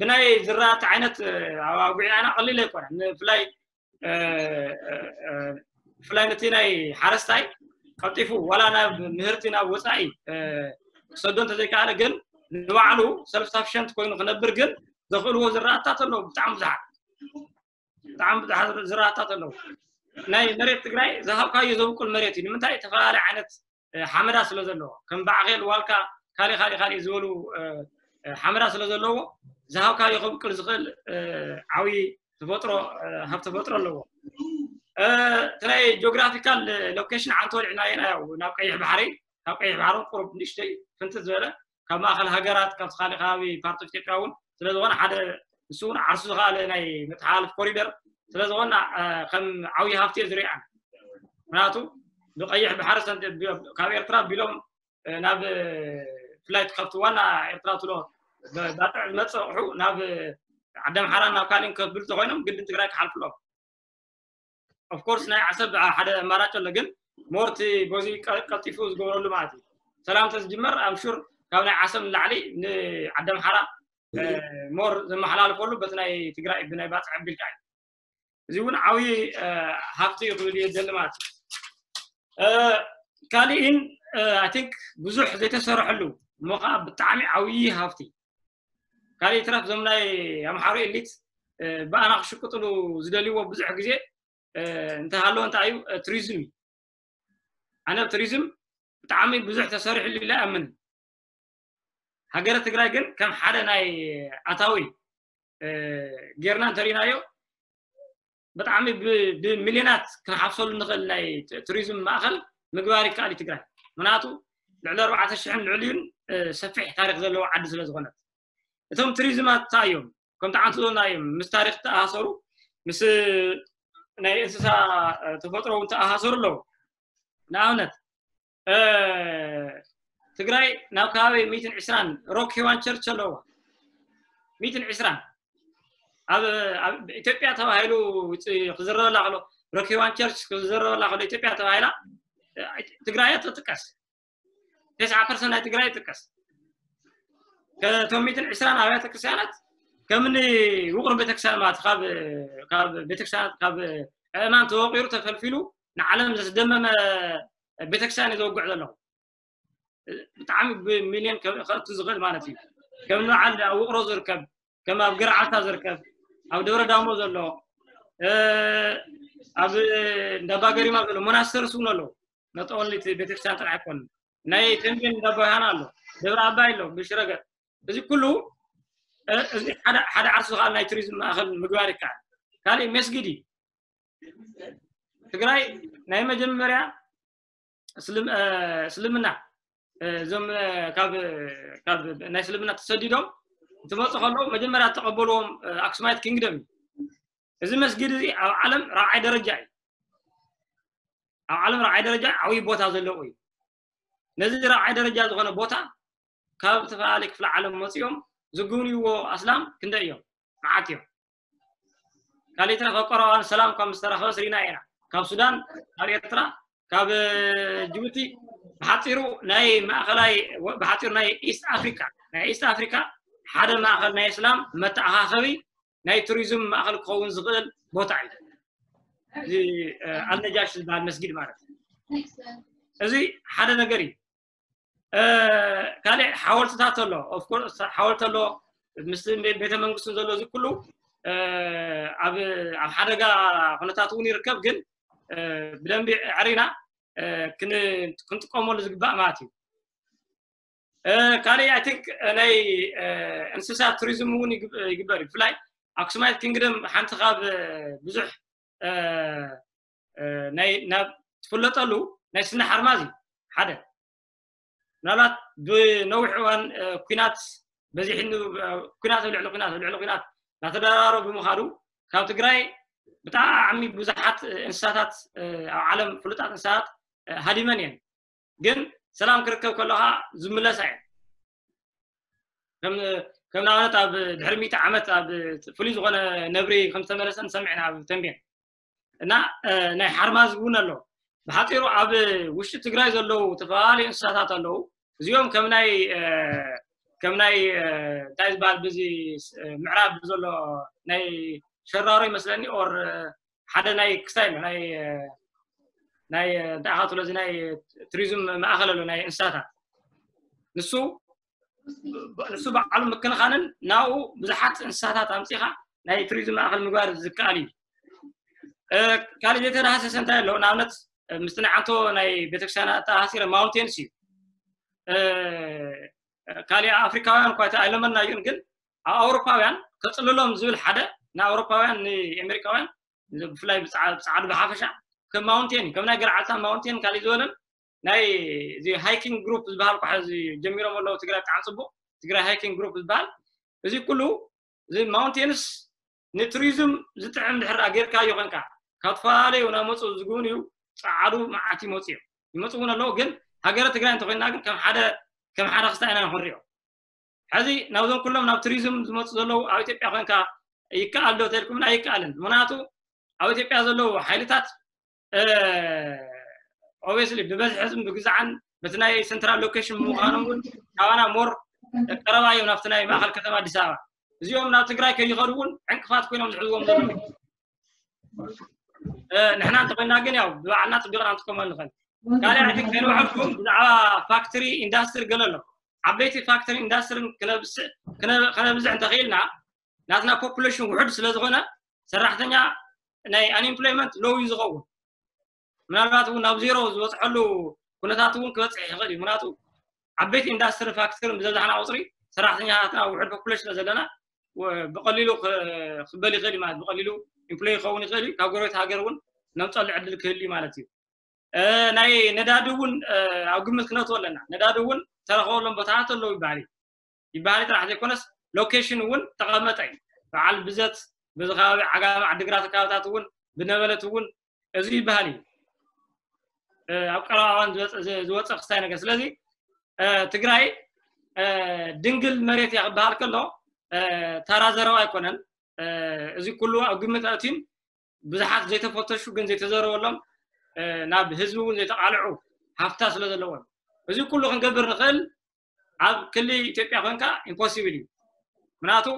ብናይ ዝራእቲ ዓይነት ኣዋጉዒና ቀሊል ኣይኮነን። ብፍላይ ብፍላይ ነቲ ናይ ሓረስታይ ቀልጢፉ ዋላ ናብ ምህርቲ ናብ ወፃኢ ክሰዶ እንተዘይከኣለ ግን ንባዕሉ ሰልፍ ሳፊሸንት ኮይኑ ክነብር ግን ዘኽእልዎ ዝራእታት ኣለዉ ብጣዕሚ ብዙሓት። ብጣዕሚ ብዙሓት ዝራእታት ኣለዉ። ናይ መሬት ትግራይ ዝሃብካዮ ዘብቁል መሬት እዩ። ንምንታይ? ዝተፈላለየ ዓይነት ሓመዳ ስለ ዘለዎ ከም ባዕኼል ዋልካ ካልእ ካልእ ካልእ ዝበሉ ሓመዳ ስለ ዘለዎ ዝሃብካዮ ከብቅል ዝኽእል ዓብዪ ተፈጥሮ ሃብ ተፈጥሮ ኣለዎ። እቲ ናይ ጂኦግራፊካል ሎኬሽን ዓንተ ወሊዕናዮ ኢና ያው ናብ ቀይሕ ባሕሪ ካብ ቀይሕ ባሕርን ቁሩብ ንእሽተይ ፍንትት ዝበለ ካብ ማእኸል ሃገራት ካብ ካልእ ከባቢ ፓርት ኦፍ ኢትዮጵያ እውን ስለ ዝኾነ ሓደ ንሱ እውን ዓርሱ ዝኸኣለ ናይ መተሓላለፍ ኮሪደር ስለ ዝኾነ ከም ዓብዪ ሃፍቲ እየ ዝሪኣን። ምክንያቱ ብቀይሕ ባሕሪ ካብ ኤርትራ ቢሎም ናብ ፍላይ ትከፍቱ ዋና ኤርትራ ትሎ ባጥዕ ዝመፅእ ኣቑሑ ናብ ዓዲ ኣምሓራን ናብ ካሊእን ከብል ተኮይኖም ግድን ትግራይ ክሓልፍሎም። ኦፍኮርስ ናይ ዓሰብ ሓደ ኣማራጭ ኣሎ ግን ሞርቲ በዚ ቀልጢፉ ዝገብረሉ ማለት እዩ። ሰላም ተዝጅመር ኣምሹር ካብ ናይ ዓሰብ ንላዕሊ ንዓዲ ኣምሓራ ሞር ዘመሓላልፈሉ በቲ ናይ ትግራይ ብናይ ባፅዕ ኣቢልካ እዩ። እዚ እውን ዓብዪ ሃፍቲ እዩ ክብል እየ ደሊ ማለት እዩ። ካሊእን ኣይ ቲንክ ብዙሕ ዘይተሰርሐሉ እሞ ከዓ ብጣዕሚ ዓብዪ ሃፍቲ። ካሊእ ትረፍ ዞም ናይ ኣምሓሩ ኤሊት ብኣና ክሽቅጥሉ ዝደልይዎ ብዙሕ ግዜ እንተሃለወ እንታይ እዩ ቱሪዝም እዩ። ኣነ ቱሪዝም ብጣዕሚ ብዙሕ ተሰሪሕሉ ኢለ ኣምን። ሃገረ ትግራይ ግን ከም ሓደ ናይ ኣታዊ ጌርና እንተሪናዮ ብጣዕሚ ብሚልዮናት ክንሓፍሰሉ ንኽእል ናይ ቱሪዝም ማእኸል ምግባር ይከኣል እዩ ትግራይ። ምክንያቱ ልዕሊ ኣርባዕተ ሽሕን ልዕሊኡን ሰፊሕ ታሪክ ዘለዎ ዓዲ ስለ ዝኾነት እቶም ቱሪዝማት እንታይ እዮም ከምቲ ዓንቱ ዘና እዮም ምስ ታሪክ ተኣሳሰሩ ምስ ናይ እንስሳ ተፈጥሮ እውን ተኣሳሰሩ ኣለዉ። ንኣብነት ትግራይ ናብ ከባቢ ሚትን ዕስራን ሮክ ሄዋን ቸርች ኣለዎ። ሚትን ዕስራን ኣብ ኢትዮጵያ ተባሂሉ ክዝረበላ ከሎ፣ ሮክ ሄዋን ቸርች ክዝረበላ ከሎ ኢትዮጵያ ተባሂላ ትግራይ ትጥቀስ። ተስዓ ፐርሰንት ናይ ትግራይ ይጥቀስ። ከቶም ሚትን ዕስራን ኣብያተ ክርስቲያናት ከምኒ ውቕር ቤተክርስትያን ማለት ካብ ቤተክርስትያናት ካብ ኣእማን ተወቂሩ ተፈልፊሉ ንዓለም ዘስደመመ ቤተክርስትያን እዩ ዘወግዕ ዘለኹ። ብጣዕሚ ብሚልዮን ከእቱ ዝኽእል ማለት እዩ። ከም በዓል ኣብ ውቕሮ ዝርከብ፣ ከም ኣብ ገርዓልታ ዝርከብ፣ ኣብ ደብረ ዳሞ ዘሎ፣ ኣብ እንዳባ ገሪማ ዘሎ ሞናስተርስ እውን ኣለዉ። ነጠወሊት ቤተክርስትያን ጥራሕ ኣይኮን። ናይ ተንቤን እንዳባ ዮሃና ኣሎ፣ ደብረ ኣባይ ኣሎ፣ ብሽረገር። እዚ ኩሉ እዚ ሓደ ዓርሱ ከዓ ናይ ቱሪዝም ማእኸል ምግባር ይከኣል። ካልእ መስጊድ እዩ። ትግራይ ናይ መጀመርያ እስልምና እዞም ካብ ናይ እስልምና ተሰዲዶም እንትመፁ ከለዉ መጀመርያ ተቐበልዎም ኣክሱማይት ኪንግደም እዩ። እዚ መስጊድ እዚ ኣብ ዓለም ራብዓይ ደረጃ እዩ። ኣብ ዓለም ራብዓይ ደረጃ ዓብዪ ቦታ ዘለዎ እዩ። ነዚ ራብዓይ ደረጃ ዝኾነ ቦታ ካብ ዝተፈላለዩ ክፍለ ዓለም መፂኦም ዝጉብንይዎ ኣስላም ክንደይ እዮም? መዓት እዮም። ካልእ ተረፈ ቀረባን ሰላም ካብ ምስተረኸበ ስሪና ኢና። ካብ ሱዳን፣ ካብ ኤርትራ፣ ካብ ጅቡቲ፣ ብሓፂሩ ናይ ማእኸላይ ብሓፂሩ ናይ ኢስት ኣፍሪካ ናይ ኢስት ኣፍሪካ ሓደ ማእኸል ናይ እስላም መተኣኻኸቢ ናይ ቱሪዝም ማእኸል ክኸውን ዝኽእል ቦታ እዩ። እዚ ኣልነጃሽ ዝበሃል መስጊድ ማለት እዩ። እዚ ሓደ ነገር እዩ። ካልእ ሓወልትታት ኣሎ። ኦፍኮርስ ሓወልቲ ኣሎ፣ ምስ ቤተ መንግስቱ ዘሎ እዚ ኩሉ ኣብ ሓደጋ ኩነታት እውን ይርከብ። ግን ብደንቢ ዕሪና ክንጥቀመሉ ዝግባእ ማለት እዩ። ካልእ ኣይ ቲንክ ናይ እንስሳት ቱሪዝም እውን ይግበር እዩ። ብፍላይ ኣክሱማይት ኪንግደም ሓንቲ ካብ ብዙሕ ናይ ናብ ትፍለጠሉ ናይ ስነ ሓርማዝ እዩ። ሓደ ምናልባት ብነዊሕ እዋን ኩናት በዚሕ ኩናት ልዕሊ ኩናት ልዕሊ ኩናት እናተደራረቡ ብምኻዱ ካብ ትግራይ ብጣዕሚ ብዙሓት እንስሳታት ኣብ ዓለም ፍሉጣት እንስሳታት ሃዲመን እየን። ግን ሰላም ክርከብ ከለኻ ዝምለሳ እየን። ከም ንኣብነት ኣብ ድሕሪ ሚእቲ ዓመት ኣብ ፍሉይ ዝኾነ ነብሪ ከም ዝተመለሰ ንሰምዕና ኣብ ተንቤን እና ናይ ሓርማዝ እውን ኣሎ። ብሓፂሩ ኣብ ውሽጢ ትግራይ ዘለዉ ዝተፈላለዩ እንስሳታት ኣለዉ። እዚኦም ከም ናይ ከም ናይ እንታይ ዝበሃል ብዚ ምዕራብ ዘሎ ናይ ሸራሮ ይመስለኒ ኦር ሓደ ናይ ክስታይ ኣሎ ናይ ናይ እንታይ ኢኻ ትብሎ እዚ ናይ ቱሪዝም ማእኸል ኣሎ ናይ እንስሳታት ንሱ ንሱ በዓሉ ምክንኻንን ናብኡ ብዙሓት እንስሳታት ኣምፂኻ ናይ ቱሪዝም ማእኸል ምግባር ዝከኣል እዩ። ካልእ ዘይተዳህሰሰ እንታይ ኣሎ? ንኣብነት ምስቲ ናይ ዓንቶ ናይ ቤተክርስትያን ኣተኣሳሲረ ማውንቴንስ እዩ። ካልእ ኣፍሪካውያን እኳ ኣይለመድናዮን፣ ግን ኣብ ኣውሮፓውያን ከፅልሎም ዝብል ሓደ ንኣውሮፓውያን ንኣሜሪካውያን ብፍላይ ብፃዕዱ ብሓፈሻ ከም ማውንቴን ከም ናይ ገርዓልታ ማውንቴን ካልእ ዝበለን ናይ እዚ ሃይኪንግ ግሩፕ ዝበሃል ኳ ጀሚሮም ኣለዉ። ትግራይ ብጣዕሚ ፅቡቅ ትግራይ ሃይኪንግ ግሩፕ ዝበሃል እዚ ኩሉ እዚ ማውንቴንስ ንቱሪዝም ዝጥዕም ድሕር ጌርካዮ ኮንካ ካብ ዝተፈላለዩ ናመፁ ዝግብንዩ ፀዓዱ መዓት ይመፁ እዮም። ይመፁ እውን ኣለዉ። ግን ሃገረ ትግራይ እንተኮይንና ግን ከም ሓደ ከም ሓደ ክስታይ ኢና ንክንሪኦ። ሕዚ ናብዞም ኩሎም ናብ ቱሪዝም ዝመፁ ዘለዉ ኣብ ኢትዮጵያ ኮንካ ይከኣል ዶ ተልኩምና? ኣይከኣልን። ምክንያቱ ኣብ ኢትዮጵያ ዘለዉ ሓይልታት ኦብስሊ ብበዝሒ ህዝቢ ብግዛዓን በቲ ናይ ሰንትራል ሎኬሽን ብምዃኖም እውን ካባና ሞር ቀረባ እዮም ናብቲ ናይ ማእኸል ከተማ ኣዲስ ኣበባ። እዚኦም ናብ ትግራይ ከይኸዱ እውን ዕንቅፋት ኮይኖም ዝሕዝዎም ዘለዉ ንሕና እንተኮይና ግን ያው ብባዕልና ፅቢቕና ንጥቀመሉ ንኽእል። ካልእ ኣይ ቲንክ ከይንውዕልኩም ብዛዕባ ፋክትሪ ኢንዳስትሪ ገለ ኣሎ። ዓበይቲ ፋክትሪ ኢንዳስትሪን ከነብዝሕ እንተኽኢልና ናትና ፖፑሌሽን ውሑድ ስለ ዝኾነ ሰራሕተኛ ናይ ኣንኤምፕሎይመንት ሎው እዩ ዝኸውን። ምናልባት እውን ናብ ዜሮ ዝበፅሐሉ ኩነታት እውን ክበፅሕ ይኽእል እዩ። ምክንያቱ ዓበይቲ ኢንዳስትሪ ፋክትሪ ብዘብዛሕና ቁፅሪ ሰራሕተኛታትና ውሑድ ፖፑሌሽን ስለ ዘለና ብቀሊሉ ክበል ይኽእል እዩ ማለት ብቀሊሉ ኢምፕሎይ ክኸውን ይኽእል እዩ። ካብ ጎረቤት ሃገር እውን ነምፀሉ ዕድል ክህል እዩ ማለት እዩ። ናይ ነዳዲ እውን ኣብ ግምት ክነትዎ ኣለና። ነዳዲ እውን ተረኸበሎም ቦታታት ኣለዉ ይበሃል እዩ። ይበሃል ጥራሕ ዘይኮነስ ሎኬሽን እውን ተቐመጠ እዩ። በዓል ብዘት በዚ ከባቢ ዓጋመ ዓዲግራት ከባብታት እውን ብነበለት እውን እዚ ይበሃል እዩ። ኣብ ቀረባ እዋን ዝወፀ ክስታይ ነገር። ስለዚ ትግራይ ድንግል መሬት እያ ክበሃል ከሎ ተራ ዘረባ ኣይኮነን። እዚ ኩሉ ኣብ ግምት ኣትዩን ብዙሓት ዘይተፈተሹ ግን ዘይተዘረበሎም ናብ ህዝቢ እውን ዘይተቃልዑ ሃፍታ ስለ ዘለዎም እዚ ኩሉ ክንገብር ንኽእል ኣብ ክሊ ኢትዮጵያ ኮንካ ኢምፖሲብል እዩ። ምክንያቱ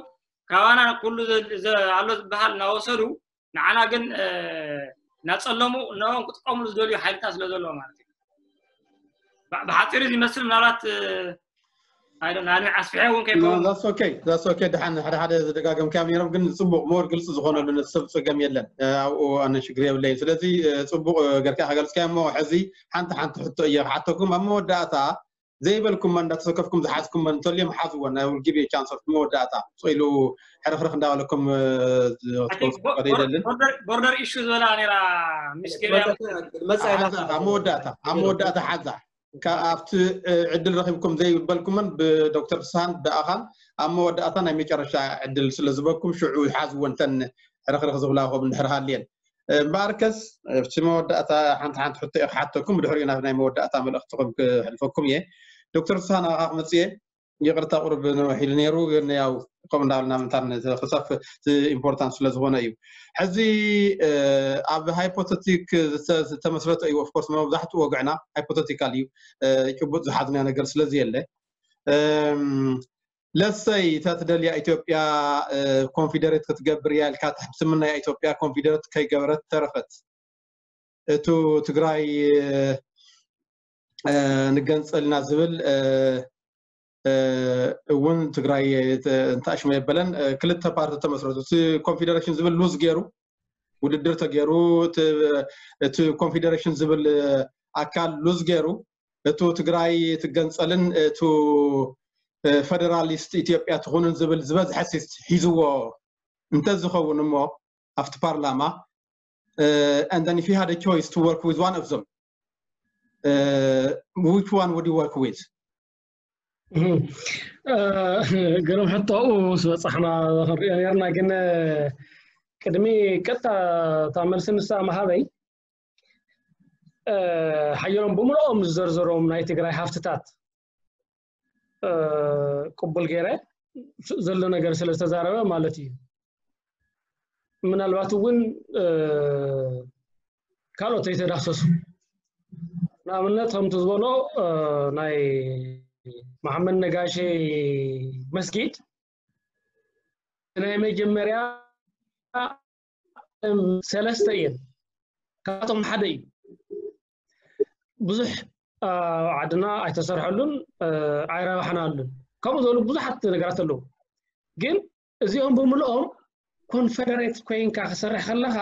ካባና ኩሉ ኣሎ ዝበሃል እናወሰዱ ንዓና ግን እናፀለሙ እነኦም ክጥቀሙሉ ዝደልዩ ሓይልታት ስለ ዘለዎ ማለት እዩ። ብሓፂሩ ዝመስል ምናልባት ኣስፍሐ እውን ከይከውን okay ድሓን ሓደ ሓደ ዝደጋገምካዮም ነይሮም ግን ፅቡቅ ሞር ግልፂ ዝኾነሉ ሰብ ፀገም የለን። ኣብኡ ኣነ ሽግር የብለይን። ስለዚ ፅቡቅ ገርካ ከገልፅካዮ እሞ ሕዚ ሓንቲ ሓንቲ ሕቶ እየ ክሓተኩም ኣብ መወዳእታ ዘይበልኩመን እንዳተሰከፍኩም ዝሓዝኩመን እንተልዮም ሓዝወን I will give you chance of መወዳእታ ስቕ ኢሉ ሕርኽርኽ እንዳበለኩም ክትወስዱ ይደልን። ቦርደር ኢሹ ዝበላ ነራ ሚስኪን ኣብ መወዳእታ ኣብ መወዳእታ ሓዛ ኣብቲ ዕድል ረኺብኩም ዘይበልኩመን ብዶክተር ፍስሃን ብኣኻን ኣብ መወዳእታ ናይ መጨረሻ ዕድል ስለ ዝበኩም ሽዑ ሓዝወን ተን ሕርኽርኽ ዝብላ ከም እንድሕር ሃልየን እምበኣርከስ ኣብቲ መወዳእታ ሓንቲ ሓንቲ ሕቶ እየ ክሓተኩም ብድሕሪኡ ናብ ናይ መወዳእታ መልእኽትኹም ክሕልፈኩም እየ። ዶክተር ፍስሃ ናባኻ ክመፅእ እየ። ይቕርታ ቁሩብ ነውሕ ኢሉ ነይሩ ግን ያው ከምኡ እንዳበልና ምእንታን ክሰፍ ኢምፖርታንት ስለ ዝኾነ እዩ። ሕዚ ኣብ ሃይፖተቲክ ዝተመስረተ እዩ ኦፍኮርስ መብዛሕትኡ ወግዕና ሃይፖተቲካል እዩ። ጭቡጥ ዝሓዝናዮ ነገር ስለዚ የለ ለሰይ እታ ትደልያ ኢትዮጵያ ኮንፊደሬት ክትገብር እያ ኢልካ ትምነያ ኢትዮጵያ ኮንፊደሬት ከይገበረት ተረፈት። እቱ ትግራይ ንገንፀልና ዝብል እውን ትግራይ እንተኣሽመ የበለን ክልተ ፓርቲ ተመስረቱ እቲ ኮንፌደሬሽን ዝብል ሉዝ ገይሩ ውድድር ተገይሩ እቲ ኮንፌደሬሽን ዝብል ኣካል ሉዝ ገይሩ እቱ ትግራይ ትገንፀልን እቱ ፌደራሊስት ኢትዮጵያ ትኹንን ዝብል ዝበዝሐ ሲት ሒዝዎ እንተዝኸውን እሞ ኣብቲ ፓርላማ and then if you had a choice to work with one of them uh, which one would you work with? ግርም ሕቶኡ ዝበፃሕና ክንሪኦ ነርና ግን ቅድሚ ቀጥታ እታ መልሲ ንሳ መሃበይ ሓየሎም ብምልኦም ዝዘርዘሮም ናይ ትግራይ ሃፍትታት ቅቡል ገይረ ዘሎ ነገር ስለ ዝተዛረበ ማለት እዩ። ምናልባት እውን ካልኦት ዘይተዳሰሱ ንኣብነት ከምቲ ዝበሎ ናይ መሓመድ ነጋሸ መስጊድ ናይ መጀመርያ ሰለስተ እየን ካብቶም ሓደ እዩ። ብዙሕ ኣብ ዓድና ኣይተሰርሐሉን ኣይረባሕናሉን ከምኡ ዝበሉ ብዙሓት ነገራት ኣለዉ። ግን እዚኦም ብምልኦም ኮንፈደሬት ኮይንካ ክሰርሕ ከለካ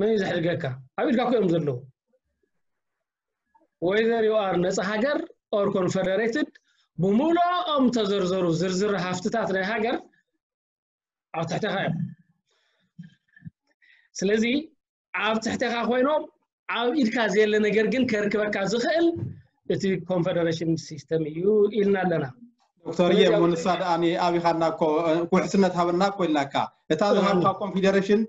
መን እዩ ዘሕድገካ? ኣብ ኢድካ እኮ እዮም ዘለዉ። Whether you are ነፃ ሃገር or confederated ብምልኦም ተዘርዘሩ ዝርዝር ሃፍትታት ናይ ሃገር ኣብ ትሕተኻ እዮም። ስለዚ ኣብ ትሕተኻ ኮይኖም ኣብ ኢድካ ዘየለ ነገር ግን ከርክበካ ዝኽእል እቲ ኮንፈደሬሽን ሲስተም እዩ ኢልና ኣለና። ዶክተር እየ እሞ ንሳ ደኣ ኣቢኻና እኮ ውሕስነት ሃበና እኮ ኢልናካ እታ ዝሃብካ ኮንፌደሬሽን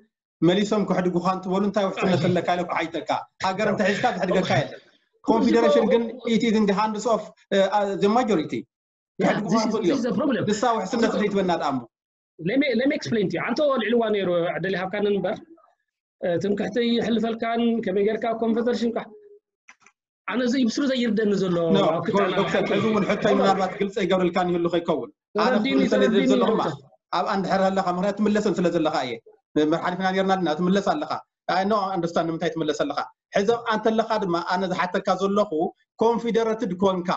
መሊሶም ክሕድጉኻ እንትበሉ እንታይ ውሕስነት ኣለካ ኢለ ክሓይተካ ሃገር እንተሒዝካ ዝሕድገካ የለን። ኮንፌደሬሽን ግን it is in the hands of the majority ክሕድጉኻ ይኽእሉ እዮም። ንሳ ውሕስነት ዘይትበና ደኣ እሞ let me explain to you ኣንተ ልዕልዋ ነይሩ ዕድል ይሃብካኒ እምበር ትምክሕቲ ይሕልፈልካን ከመይ ጌርካ ኮንፈደሬሽን ካ ኣነ እዚ ብስሩ ዘይርደኒ ዘሎ ዶክተር ሕዚ እውን ሕቶይ ምናልባት ግልፂ ይገብርልካን ይህሉ ከይከውን ኣነ ክምልሰለ ዘለኹማ ኣብኣ እንድሕር ኣለካ ምክንያት ትምለሰን ስለ ዘለካ እየ መርሓሊፍና ነርና ዲና ትምለስ ኣለካ I know understand ንምንታይ ትምለስ ኣለካ ሕዚ ኣብኣ እንተለካ ድማ ኣነ ዝሓተካ ዘለኹ ኮንፊደረትድ ኮንካ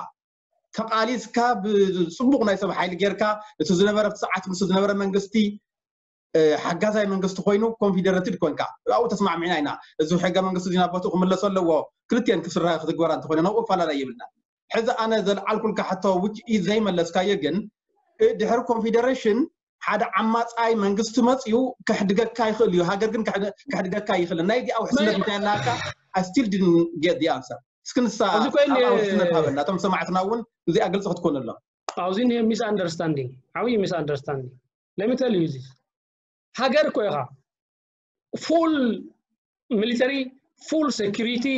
ተቃሊስካ ብፅቡቅ ናይ ሰብ ሓይሊ ጌርካ እቲ ዝነበረ ሰዓት ምስ ዝነበረ መንግስቲ ሓጋዛይ መንግስቲ ኮይኑ ኮንፊደረትድ ኮንካ ኣብኡ ተስማዕሚዕና ኢና እዚ ሕገ መንግስቲ እዚ ናብ ቦትኡ ክምለሶ ኣለዎ ክልቲኤን ክስራ ክትግበራ እንተኮይነ ናብኡ ኣፋላላይ የብልና ሕዚ ኣነ ዘልዓልኩልካ ሕቶ ውጭ ዘይመለስካዮ ግን ድሕሪ ኮንፊደሬሽን ሓደ ዓማፃይ መንግስቲ መፅዩ ከሕድገካ ይኽእል እዩ ሃገር ግን ከሕድገካ ይኽእል ናይ ዲኣ ውሕስነት እንታይ ኣለካ I still didn't get the answer እስኪ ንሳ ውሕስነት ሃበና እቶም ሰማዕትና እውን እዚኣ ግልፂ ክትኮነሎም ኣብዚ ሚስ ኣንደርስታንዲንግ ዓብይ ሚስ ኣንደርስታንዲንግ let me tell you this ሃገር እኮ ኢኻ full military full security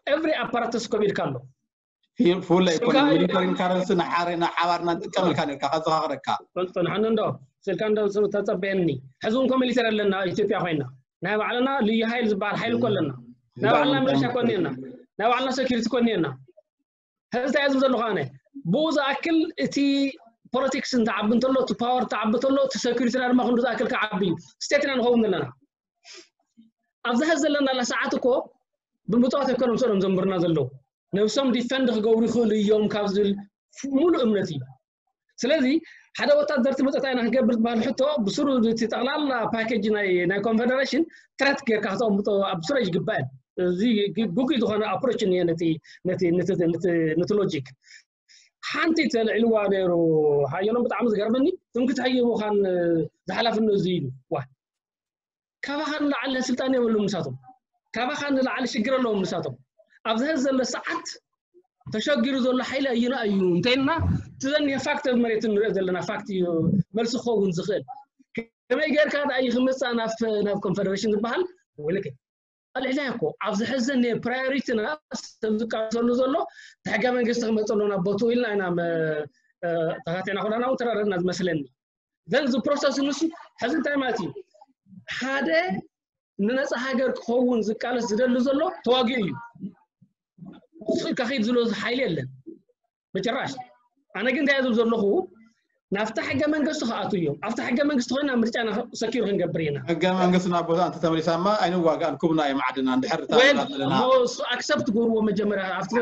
every apparatus ኮብ ኢልካ ኣሎ። ፍለ ይኮነ ሚሊተሪን ካረንሲ ንሓባርና ንጥቀም ኢልካ ነርካ ከዘኻኽረካ። ንሓን እንዶ ስልካ እንዶ ተጸበየኒ። ሕዚ እውን ኮ ሚሊተሪ ኣለና ኢትዮጵያ ኮይና ናይ ባዕልና ልዩ ሓይል ዝበሃል ሓይል እኮ ኣለና። ናይ ባዕልና ምልሻ ኮኒና ናይ ባዕልና ሴኩሪቲ ኮኒና። ሕዚ እንታይ ዝም ዘለኹ ኣነ ብኡ ዝኣክል እቲ ፖለቲክስ እንተዓቢ እንተሎ እቲ ፓወር ተዓቢ እንተሎ እቲ ሴኩሪቲና ድማ ክንዱ ዝኣክል ክዓቢ እዩ። ስቴትና ንኸውን ዘለና ኣብዚ ሕዚ ዘለናላ ሰዓት እኮ ብምፅዋት ኣይኮኖም ስእሎም ዘንብርና ዘለዉ ነብሶም ዲፈንድ ክገብሩ ይኽእሉ እዮም ካብ ዝብል ሙሉእ እምነት እዩ። ስለዚ ሓደ ወታደር ትመፀ እንታይ ኢና ክንገብር ዝበሃል ሕቶ ብስሩ እቲ ጠቕላላ ፓኬጅ ናይ ናይ ኮንፌደሬሽን ትረት ጌርካ ክተቐምጦ ኣብ ስረ ይግባእ። እዚ ግጉይ ዝኾነ ኣፕሮች እኒሀ ነቲ ነቲ ነቲ ነቲ ነቲ ሎጂክ ሓንቲ ተልዒልዋ ነይሩ። ሓየሎም ብጣዕሚ ዝገርመኒ ትምክት ሃይቦኻን ዝሓላፍነት እዚ ኢሉ ዋ ካባኻ ንላዕሊ ስልጣን የብሉም ንሳቶም። ካባኻ ንላዕሊ ሽግር ኣለዎም ንሳቶም። ኣብዚ ሕዚ ዘሎ ሰዓት ተሸጊሩ ዘሎ ሓይሊ ኣየና እዩ እንተይልና እቲ ዘኒሀ ፋክት ኣብ መሬት ንሪኦ ዘለና ፋክት እዩ መልሲ ክኸውን ዝኽእል። ከመይ ጌርካ ደኣ እዩ ክመፅእ ናብ ናብ ኮንፈደሬሽን ዝበሃል ወይለከ ኣልዕላ እኮ ኣብዚ ሕዚ ዘኒሀ ፕራዮሪቲና ሰብ ዝቃለሰሉ ዘሎ እቲ ሕገ መንግስቲ ክመፀሉ ናብ ቦትኡ ኢልና ኢና ተኻቲዕና ኩላና እውን ተራረድና ዝመስለኒ። ዘን እዚ ፕሮሰስ ንሱ ሕዚ እንታይ ማለት እዩ ሓደ ንነፃ ሃገር ክኸውን ዝቃለስ ዝደሊ ዘሎ ተዋጊኡ እዩ። ስቕ ኢልካ ኺድ ዝሎ ሓይሊ የለን ብጭራሽ። ኣነ ግን እንታይ ዝብል ዘለኹ ናብታ ሕገ መንግስቲ ክኣቱ እዮም። ኣብታ ሕገ መንግስቲ ኮይና ምርጫና ሰኪሩ ክንገብር ኢና። ሕገ መንግስትና ቦታ እንተተመሊሳማ ኣይንዋጋእን ኩብና እዮም ዓድና እንድሕር ኣለና። ኣክሰፕት ጎርዎ መጀመርያ ኣብቲ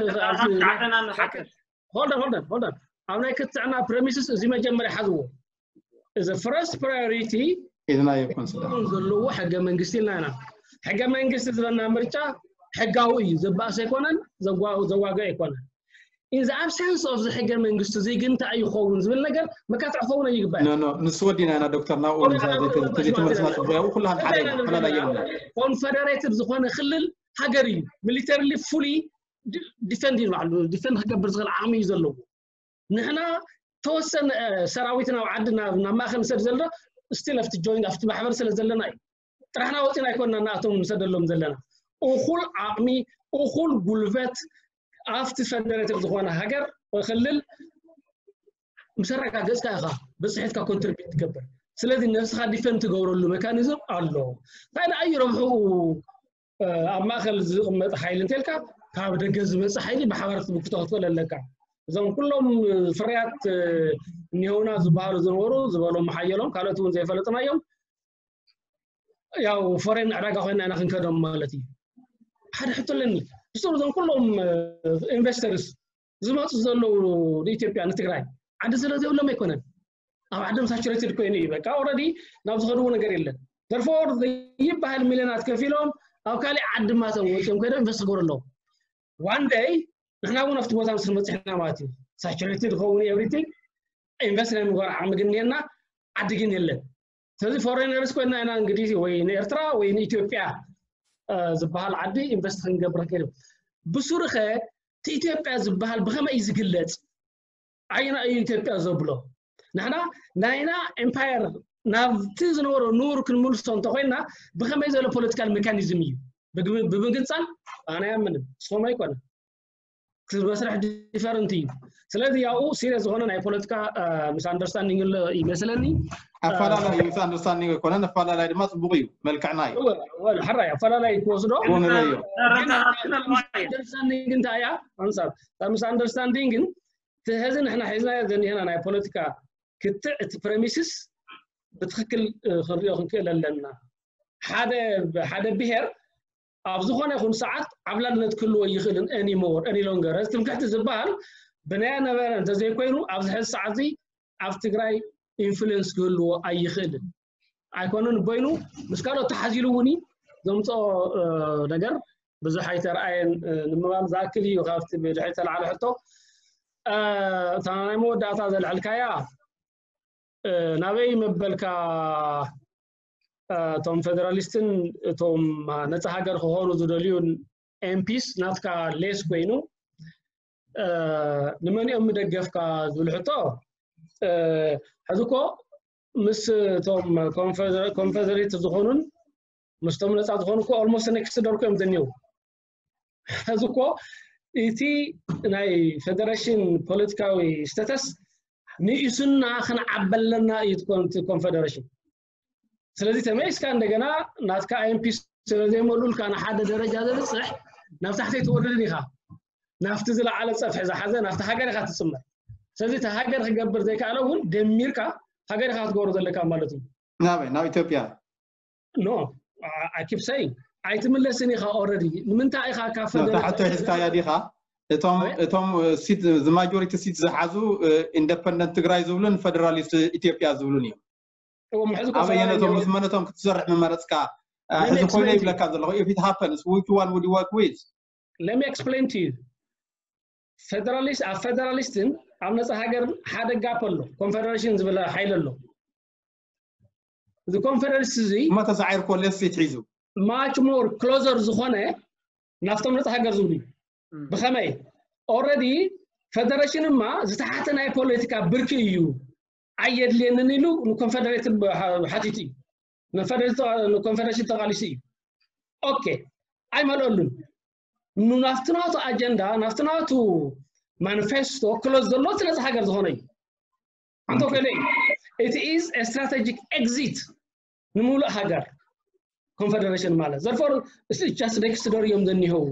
ሆልደን ሆልደን ሆልደን ኣብ ናይ ክትዕና ፕሬሚስስ እዚ መጀመርያ ሓዝዎ እዚ ፈርስት ፕራዮሪቲ ኢልና ይኮን ስለ ዘለዎ ሕገ መንግስቲ ኢልና ኢና። ሕገ መንግስቲ ዝበና ምርጫ ሕጋዊ እዩ፣ ዘባእስ ኣይኮነን፣ ዘዋገ ኣይኮነን። In the absence of the ሕገ መንግስቲ እዚ ግን እንታይ ይኸውን ዝብል ነገር መካትዕ ክኸውን ይግባእ። ንሱ ወዲና ኢና ዶክተር ናብኡ ተሊትመለስና ጽቡያዊ ኩላን ሓደ ፈላላይ የብልና። ኮንፈደሬትድ ዝኾነ ክልል ሃገር እዩ። ሚሊተርሊ ፉሊ ዲፈንድ እዩ ባዕሉ ዲፈንድ ክገብር ዝኽእል ዓቕሚ እዩ ዘለዎ። ንሕና ተወሰነ ሰራዊት ናብ ዓዲ ናብ ማእኸል ንሰድ ዘለና ስቲል ኣብቲ ጆይንት ኣብቲ ማሕበር ስለ ዘለና እዩ። ጥራሕና ወፂና ኣይኮንና ንኣቶም ንሰደሎም ዘለና። እኹል ዓቕሚ እኹል ጉልበት ኣብቲ ፈደሬትድ ዝኾነ ሃገር ክልል ምስ ኣረጋገፅካ ኢኻ ብፅሒትካ ኮንትሪቢዩት ትገብር። ስለዚ ነብስኻ ዲፈንድ ትገብረሉ ሜካኒዝም ኣሎ። እንታይ ደኣ እዩ ረብሕኡ ኣብ ማእከል ዝቕመጥ ሓይሊ እንተልካ ካብ ደገ ዝመፅእ ሓይሊ ብሓባር ክትምክቶ ክትኽእል ኣለካ። እዞም ኩሎም ፍርያት እኒሆና ዝበሃሉ ዝነበሩ ዝበሎም ሓየሎም ካልኦት እውን ዘይፈለጥናዮም ያው ፎሬን ዕዳጋ ኮይና ኢና ክንከዶም ማለት እዩ። ሓደ ሕቶ ኣለኒ ብስሩ እዞም ኩሎም ኢንቨስተርስ ዝመፁ ዘለዉ ንኢትዮጵያ ንትግራይ ዓዲ ስለ ዘይብሎም ኣይኮነን ኣብ ዓዶም ሳቹሬትድ ኮይኑ እዩ በቃ ኦረዲ ናብ ዝኸድዎ ነገር የለን። Therefore ይበሃል ሚልዮናት ከፊሎም ኣብ ካሊእ ዓዲ ማቶም ወፂኦም ከይዶም ኢንቨስት ክገብሩ ኣለዎም። One day ንሕና እውን ኣብቲ ቦታ ምስ መፅሕና ማለት እዩ ሳቹሬትድ ክኸውን ኤቭሪቲንግ ኢንቨስት ናይ ምግባር ዓቕሚ ግን እኒሀና ዓዲ ግን የለን። ስለዚ ፎሬነርስ ኮይና ኢና እንግዲህ ወይ ንኤርትራ ወይ ንኢትዮጵያ ዝበሃል ዓዲ ኢንቨስት ክንገብር ከይዱ ብሱሩ ኸ እቲ ኢትዮጵያ ዝበሃል ብኸመይ እዩ ዝግለፅ? ዓይና እዩ ኢትዮጵያ ዘብሎ። ንሕና ናይና ኤምፓየር ናብቲ ዝነበሮ ኑር ክንምልሶ እንተኮይና ብኸመይ ዘሎ ፖለቲካል ሜካኒዝም እዩ? ብምግንፃል ኣነ ያምንም ስም ኣይኮነ መስርሕ ዲፈረንት እዩ። ስለዚ ያው ሲሪየስ ዝኾነ ናይ ፖለቲካ ምስ ኣንደርስታንዲንግ ይመስለኒ። ኣፈላላይ ምስ ኣንደርስታንዲንግ ኣይኮነን፣ ኣፈላላይ ድማ ፅቡቅ እዩ፣ መልክዕና እዩ። ሕራይ ኣፈላላይ ክወስዶ ኣንደርስታንዲንግ እንታይ እያ? ኣንሳር ምስ ኣንደርስታንዲንግ ግን እቲ ሕዚ ንሕና ሒዝናዮ ዘኒሀና ናይ ፖለቲካ ክትዕ እቲ ፕረሚስስ ብትክክል ክንሪኦ ክንክእል ኣለና። ሓደ ሓደ ብሄር ኣብ ዝኾነ ይኹን ሰዓት ዓብላልነት ክህልዎ ይኽእልን any more any longer እዚ ትምክሕቲ ዝበሃል ብናያ ነበረ እንተዘይኮይኑ ኣብዚ ሕዚ ሰዓት እዚ ኣብ ትግራይ ኢንፍሉንስ ክህልዎ ኣይኽእልን። ኣይኮነን በይኑ ምስ ካልኦት ተሓዚሉ እውን እዩ ዘምፅኦ ነገር ብዙሕ ኣይተረኣየን ንምባል ዝኣክል እዩ። ካብቲ ብድሕሪ ተለዓለ ሕቶ እታ ናይ መወዳእታ ዘልዐልካያ ናበይ መበልካ እቶም ፌደራሊስትን እቶም ነፃ ሃገር ክኾኑ ዝደልዩ ኤምፒስ ናትካ ሌስ ኮይኑ ንመን እዮም ምደገፍካ ዝብል ሕቶ ሕዚ እኮ ምስ እቶም ኮንፈደሬት ዝኾኑን ምስቶም ነፃ ዝኾኑ እኮ ኦልሞስት ኔክስት ዶር እዮም ዘኒው ሕዚ እኮ እቲ ናይ ፌደሬሽን ፖለቲካዊ ስተተስ ንኢሱና ክንዓበለና እዩ እቲ ኮንፈደሬሽን። ስለዚ ተመሊስካ እንደገና ናትካ ኣይኤምፒ ስለዘይመሉልካ ንሓደ ደረጃ ዘብፅሕ ናብ ታሕተይ ትወርድን ኢኻ። ናብቲ ዝለዓለ ፀፍሒ ዝሓዘ ናብቲ ሃገር ኢኻ ትፅመር። ስለዚ እቲ ሃገር ክገብር ዘይከኣለ እውን ደሚርካ ሃገር ኢኻ ክትገብሮ ዘለካ ማለት እዩ። ናበይ ናብ ኢትዮጵያ no I keep saying ኣይትምለስን ኢኻ። ኦረዲ ንምንታይ ኢኻ ካብ ታሕቶ ሒዝካያ ዲኻ? እቶም እቶም ሲት ማጆሪቲ ሲት ዝሓዙ ኢንደፐንደንት ትግራይ ዝብሉን ፈደራሊስት ኢትዮጵያ ዝብሉን እዮም። ኣበየነቶም ምስ መነቶም ክትሰርሕ ምመረፅካ? ሕዚ ኮይነ ይብለካ ዘለኹ if it happens which one would you work with? Let me explain to you. ፌደራሊስት ኣብ ፌደራሊስትን ኣብ ነፃ ሃገር ሓደ ጋፕ ኣሎ። ኮንፌደሬሽን ዝበለ ሓይል ኣሎ። እዚ ኮንፌደሬሽን እዚ እሞ ተሳዒርኮ ሌስ ፊት ሒዙ much more closer ዝኾነ ናብቶም ነፃ ሃገር ዝብሉ እዩ። ብኸመይ? ኦረዲ ፌደሬሽን እማ ዝተሓተ ናይ ፖለቲካ ብርኪ እዩ ኣየድልየንን ኢሉ ንኮንፌደሬት ሓቲቱ እዩ። ንኮንፌደሬሽን ተቓሊሱ እዩ። ኦኬ ኣይመልአሉን። ናፍቲ ናቱ ኣጀንዳ ናፍቲ ናቱ ማኒፌስቶ ክሎዝ ዘሎ እቲ ነፃ ሃገር ዝኾነ እዩ። ኣንቶ ከለ it is strategic exit ንምሉእ ሃገር ኮንፌደሬሽን ማለት therefore just next door እዮም ዘኒሆው።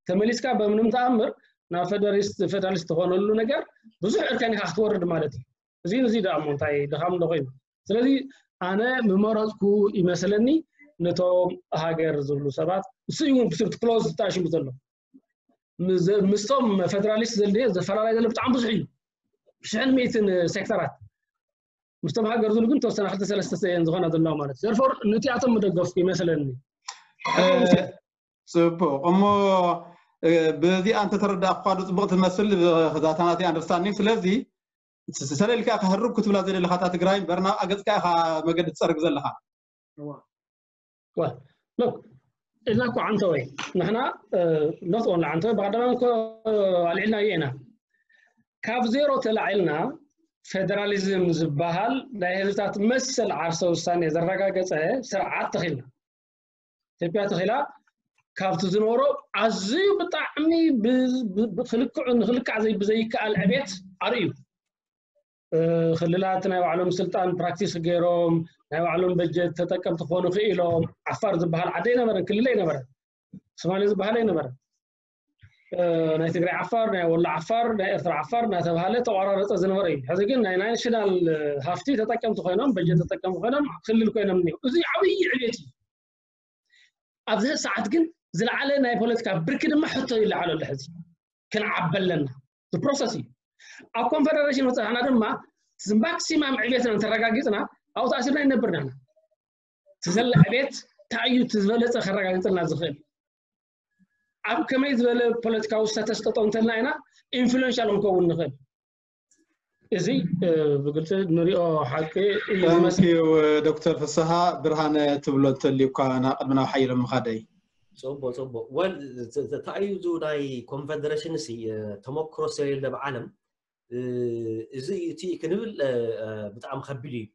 ተመሊስካ በምንም ተኣምር ናብ ፌደራሊስት ፌደራሊስት ትኾነሉ ነገር ብዙሕ እርከን ኢኻ ክትወርድ ማለት እዩ። እዚ እዚ ደኣ እሞ እንታይ ድኻም እንዶ ኮይኑ። ስለዚ ኣነ ምመረፅኩ ይመስለኒ ነቶም ሃገር ዝብሉ ሰባት እሱ እዩ እውን ብስብቲ ክሎዝ ተኣሽሙ ዘሎ። ምስቶም ፌደራሊስት ዘልድዮ ዘፈላለዩ ዘሎ ብጣዕሚ ብዙሕ እዩ። ሽሕን ሚእትን ሴክተራት ምስቶም ሃገር ዝብሉ ግን ተወሰነ ክልተ ሰለስተ እየን ዝኾና ዘለዋ ማለት እዩ። therefore ንቲኣቶም ምደገፍኩ ይመስለኒ። ፅቡቅ እሞ በዚኣ እንተተረዳእኳ ዶ ፅቡቅ ትመስል እዛ ናተይ ኣንደርስታንዲንግ። ስለዚ ሰለልካ ክህርብ ክትብላ ዘይደለካ እታ ትግራይ እምበር ናብ ኣገፅካ ኢኻ መገዲ ትፀርግ ዘለኻ። ሎክ ኢልና እኮ ዓንተወይ ንሕና not only ዓንተወይ ብቀደማ እኮ ኣልዒልናዮ ኢና። ካብ ዜሮ ተላዒልና ፌደራሊዝም ዝበሃል ናይ ህዝብታት መሰል ዓርሰ ውሳኔ ዘረጋገፀ ስርዓት ተኺልና ኢትዮጵያ ተኺላ። ካብቲ ዝነበሮ ኣዝዩ ብጣዕሚ ክልክዑ ንክልካዕ ብዘይከኣል ዕቤት ኣርእዩ። ክልላት ናይ ባዕሎም ስልጣን ፕራክቲስ ገይሮም ናይ ባዕሎም በጀት ተጠቀምቲ ክኾኑ ክኢሎም። ዓፋር ዝበሃል ዓዲ ኣይነበረን፣ ክልል ኣይነበረን፣ ሶማሌ ዝበሃል ኣይነበረን። ናይ ትግራይ ዓፋር፣ ናይ ወሎ ዓፋር፣ ናይ ኤርትራ ዓፋር እናተባሃለ ተቆራረፀ ዝነበረ እዩ። ሕዚ ግን ናይ ናሽናል ሃፍቲ ተጠቀምቲ ኮይኖም፣ በጀት ተጠቀምቲ ኮይኖም ክልል ኮይኖም እኒው። እዚ ዓብዪ ዕቤት እዩ። ኣብዚ ሰዓት ግን ዝለዓለ ናይ ፖለቲካ ብርኪ ድማ ሕቶ ይለዓል ኣሎ። ሕዚ ክንዓቢ ኣለና። ፕሮሰስ እዩ። ኣብ ኮንፈደሬሽን በፃሕና ድማ ማክሲማም ዕቤትና እንተረጋጊፅና ኣብኡ ተኣሲርና ይነብር ኢና። እቲ ዘለ ዕቤት እንታይ እዩ እቲ ዝበለፀ ከረጋግፅልና ዝኽእል? ኣብ ከመይ ዝበለ ፖለቲካዊ ስተተስ ጠጠው እንተልና ኢና ኢንፍሉዌንሻል ክንከውን ንኽእል? እዚ ብግልፂ ንሪኦ ሓቂ እዩ ዝመስል። ዶክተር ፍስሃ ብርሃነ ትብሎ እንተልዩ እኳ ናብ ቅድሚ ናብ ሓይሎም ምኻደይ። ፅቡቅ ፅቡቅ ወል እንታይ እዩ እዚ ናይ ኮንፈደሬሽን ሲ ተመክሮ ስለሌለ ብዓለም እዚ እቲ ክንብል ብጣዕሚ ከቢድ እዩ።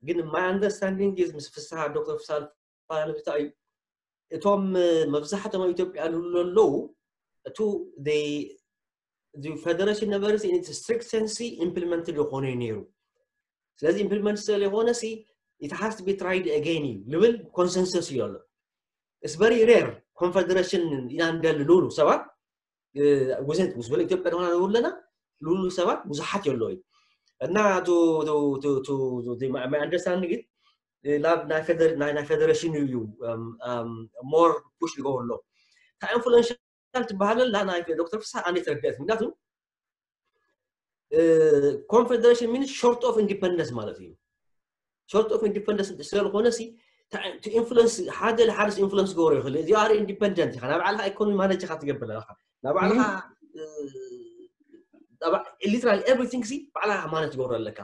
ግን my understanding is ምስ ፍስሃ ዶክተር ፍስሃ ልፋ እንታይ እዩ እቶም መብዛሕቶም ኣብ ኢትዮጵያ ልብሉ ኣለዉ እቱ ፌደሬሽን ነበረ ስትሪክት ሰንሲ ኢምፕሊመንትድ ይኾነ እዩ ነይሩ። ስለዚ ኢምፕሊመንት ስለዝኾነ ሲ it has to be tried again እዩ ልብል ኮንሰንሰስ እዩ ኣሎ። It's very rare ኮንፈደሬሽን ኢና እንደሊ ልብሉ ሰባት ውዘት ምስ በለ ኢትዮጵያ ድማ ንብሉ ኣለና ልብሉ ሰባት ብዙሓት የለዉ እዩ እና my understanding ግን ናይ ፌደሬሽን እዩ more push ይገብር ኣሎ። እታ ኢንፍሉዌንሻል ትበሃል ኣላ ናይ ዶክተር ፍስሃ ኣነ ተረዲኣት ምክንያቱ ኮንፌደሬሽን ሚንስ ሾርት ኦፍ ኢንዲፐንደንስ ማለት እዩ። ሾርት ኦፍ ኢንዲፐንደንስ ስለዝኾነ ሲ ኢንፍሉንስ ሓደ ለሓደስ ኢንፍሉንስ ክገብሮ ይኽእል። You are independent ኢኻ፣ ናይ ባዕልኻ ኢኮኖሚ ማነጅ ኢኻ ትገብር ኣለኻ፣ ናይ ባዕልኻ literally everything ሲ ባዕልኻ ማነጅ ትገብሮ ኣለካ።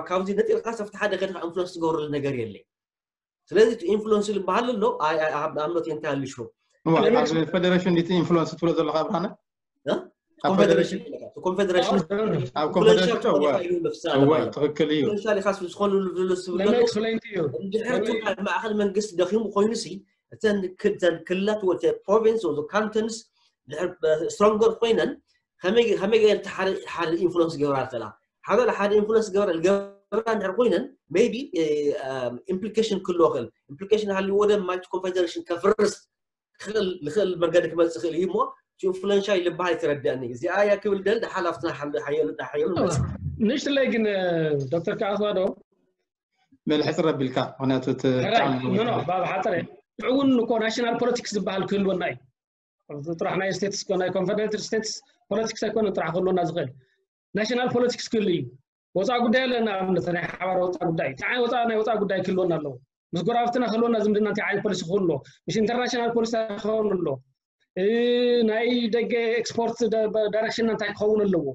ካብዚ ነጢልካ ሰፍቲ ሓደ ከድካ ኢንፍሉንስ ትገብረሉ ነገር የለይ። ስለዚ ኢንፍሉንስ ዝበሃል ኣሎ ኣምኖት እንታያሊ ሹር ፌደሬሽን ዲቲ ኢንፍሉንስ ትብሎ ዘለካ ብርሃነ ኮንፌደሬሽን ኮንፌደሬሽን ኣብ ኮንፌደሬሽን ትክክል እዩ። ዝኾኑ ዝብለሉ እንድሕር ማእኸል መንግስቲ ደኺሙ ኮይኑ ሲ እተን ክልላት ወይ province ወይ cantons ድሕር stronger ኮይነን ከመይ ከመይ ገይረን ሓደ ሓደ influence ገብራ ይኽእላ ሓደ ሓደ influence ገብራ ገብራ እንድሕር ኮይነን maybe implication ክህልዎ ይኽእል። Implication ሃልዎ ደ ማይት confederation ከፍርስ ክኽእል ዝኽእል መንገዲ ክመፅእ ይኽእል እዩ እሞ influential ይልበሃል ኣይተረድኣኒ። እዚኣ እያ ክብል ደል ሓላፍትና ሓየሉ ሓየሉ መፅእ ንእሽትለይ ግን ዶክተር ከኣስዋ ዶ በል ሕፅር ኣቢልካ ምክንያቱ እቲ ሕራይ ብጣዕሚ ነዊሕ ኖ ኖ እዩ። ባብ ሓፀረ ሽዑ እውን እኮ ናሽናል ፖለቲክስ ዝበሃል ክህልወና እዩ ጥራሕ ናይ ስቴትስ ናይ ኮንፈደሬትድ ስቴትስ ፖለቲክስ ኣይኮነን ጥራሕ ክህልወና ዝኽእል ናሽናል ፖለቲክስ ክህሉ እዩ ወፃኢ ጉዳይ ኣለና ኣብነት ናይ ሓባር ወፃኢ ጉዳይ እንታይ ዓይነት ወፃኢ ናይ ወፃኢ ጉዳይ ክህልወና ኣለዎ ምስ ጎረባብትና ክህልወና ዝምድና እንታይ ዓይነት ፖሊሲ ክህሉ ኣሎ ምስ ኢንተርናሽናል ፖሊሲ ክኸውን ኣሎ እ፣ ናይ ደገ ኤክስፖርት ዳይሬክሽን እንታይ ክኸውን ኣለዎ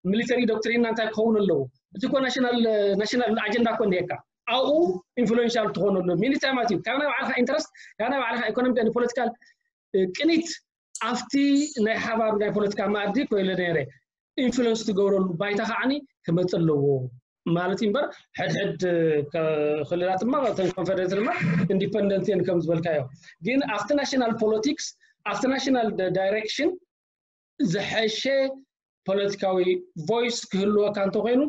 ሚሊተሪ ዶክትሪን እንታይ ክኸውን ኣለዎ እቲ ኮ ናሽናል ናሽናል ኣጀንዳ ኮ እንዲካ ኣብኡ ኢንፍሉዌንሻል ትኾነሉ ሚኒታይ ማለት እዩ ካብ ናይ ባዕልካ ኢንትረስት ካብ ናይ ባዕልካ ኢኮኖሚክ ፖለቲካል ቅኒት ኣብቲ ናይ ሓባር ናይ ፖለቲካ መኣዲ ኮይለ ነይረ ኢንፍሉንስ ትገብረሉ ባይታ ከዓኒ ክመፅእ ኣለዎ ማለት እዩ እምበር ሕድሕድ ክልላት ድማ ተን ኮንፈደሬት ድማ ኢንዲፐንደንት እየን ከም ዝበልካዮ ግን ኣብቲ ናሽናል ፖለቲክስ ኣብቲ ናሽናል ዳይሬክሽን ዝሐሸ ፖለቲካዊ ቮይስ ክህልወካ እንተኮይኑ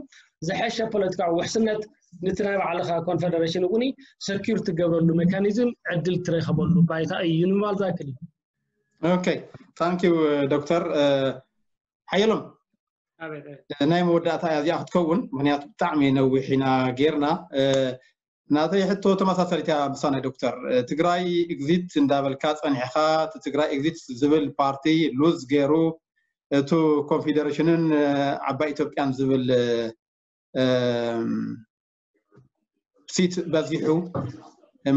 ዝሐሸ ፖለቲካዊ ውሕስነት ንቲ ናይ ባዕልካ ኮንፈደሬሽን እውን ሰኪር ትገብረሉ ሜካኒዝም ዕድል ትረከበሉ ባይታ እዩ ንምባል ዝኣክል እዩ ኦኬ ታንክ ዩ ዶክተር ሓየሎም ናይ መወዳእታ እያ እዚኣ ክትከውን ምክንያቱ ብጣዕሚ ነዊሕ ኢና ጌርና ናተይ ሕቶ ተመሳሳሊት እያ ምሳና ዶክተር ትግራይ ኤግዚት እንዳበልካ ፀኒሕካ ትግራይ ኤግዚት ዝብል ፓርቲ ሉዝ ገይሩ እቱ ኮንፌደሬሽንን ዓባይ ኢትዮጵያን ዝብል ሲት በዚሑ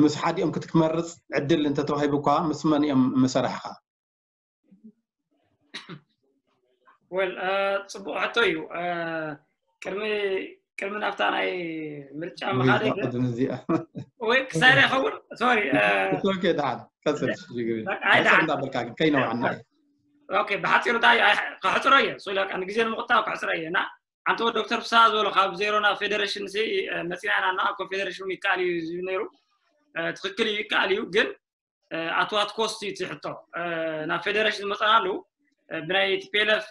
ምስ ሓዲኦም ክትመርፅ ዕድል እንተተዋሂቡ እኳ ምስ መን እዮም ምሰራሕካ ወል ፅቡቅ ሕቶ እዩ ቅድሚ ቅድሚ ናብታ ናይ ምርጫ ምኻደ ግን ቅድሚ እዚኣ ወይ ክሳይረ ይኸውን ሶሪ ኦኬ ደሓን ቀፅል ሽግር ኣይ ደሓን እንዳበልካ ግን ከይነውዓና ኦኬ ብሓፂሩ እንታይ ከሕፅሮ እየ ሶ ንግዜ ንምቁጣብ ከሕፅሮ እየ እና ሓንቲ ወ ዶክተር ፍስሃ ዝበሎ ካብ ዜሮ ናብ ፌደሬሽን ሲ መፂና ኢና እና ኮንፌደሬሽን ይከኣል እዩ ዝብል ነይሩ ትክክል እዩ ይከኣል እዩ ግን ኣትዋት ኮስት እዩ ትሕቶ ናብ ፌደሬሽን ዝመፀናሉ ብናይ ቲፒኤልኤፍ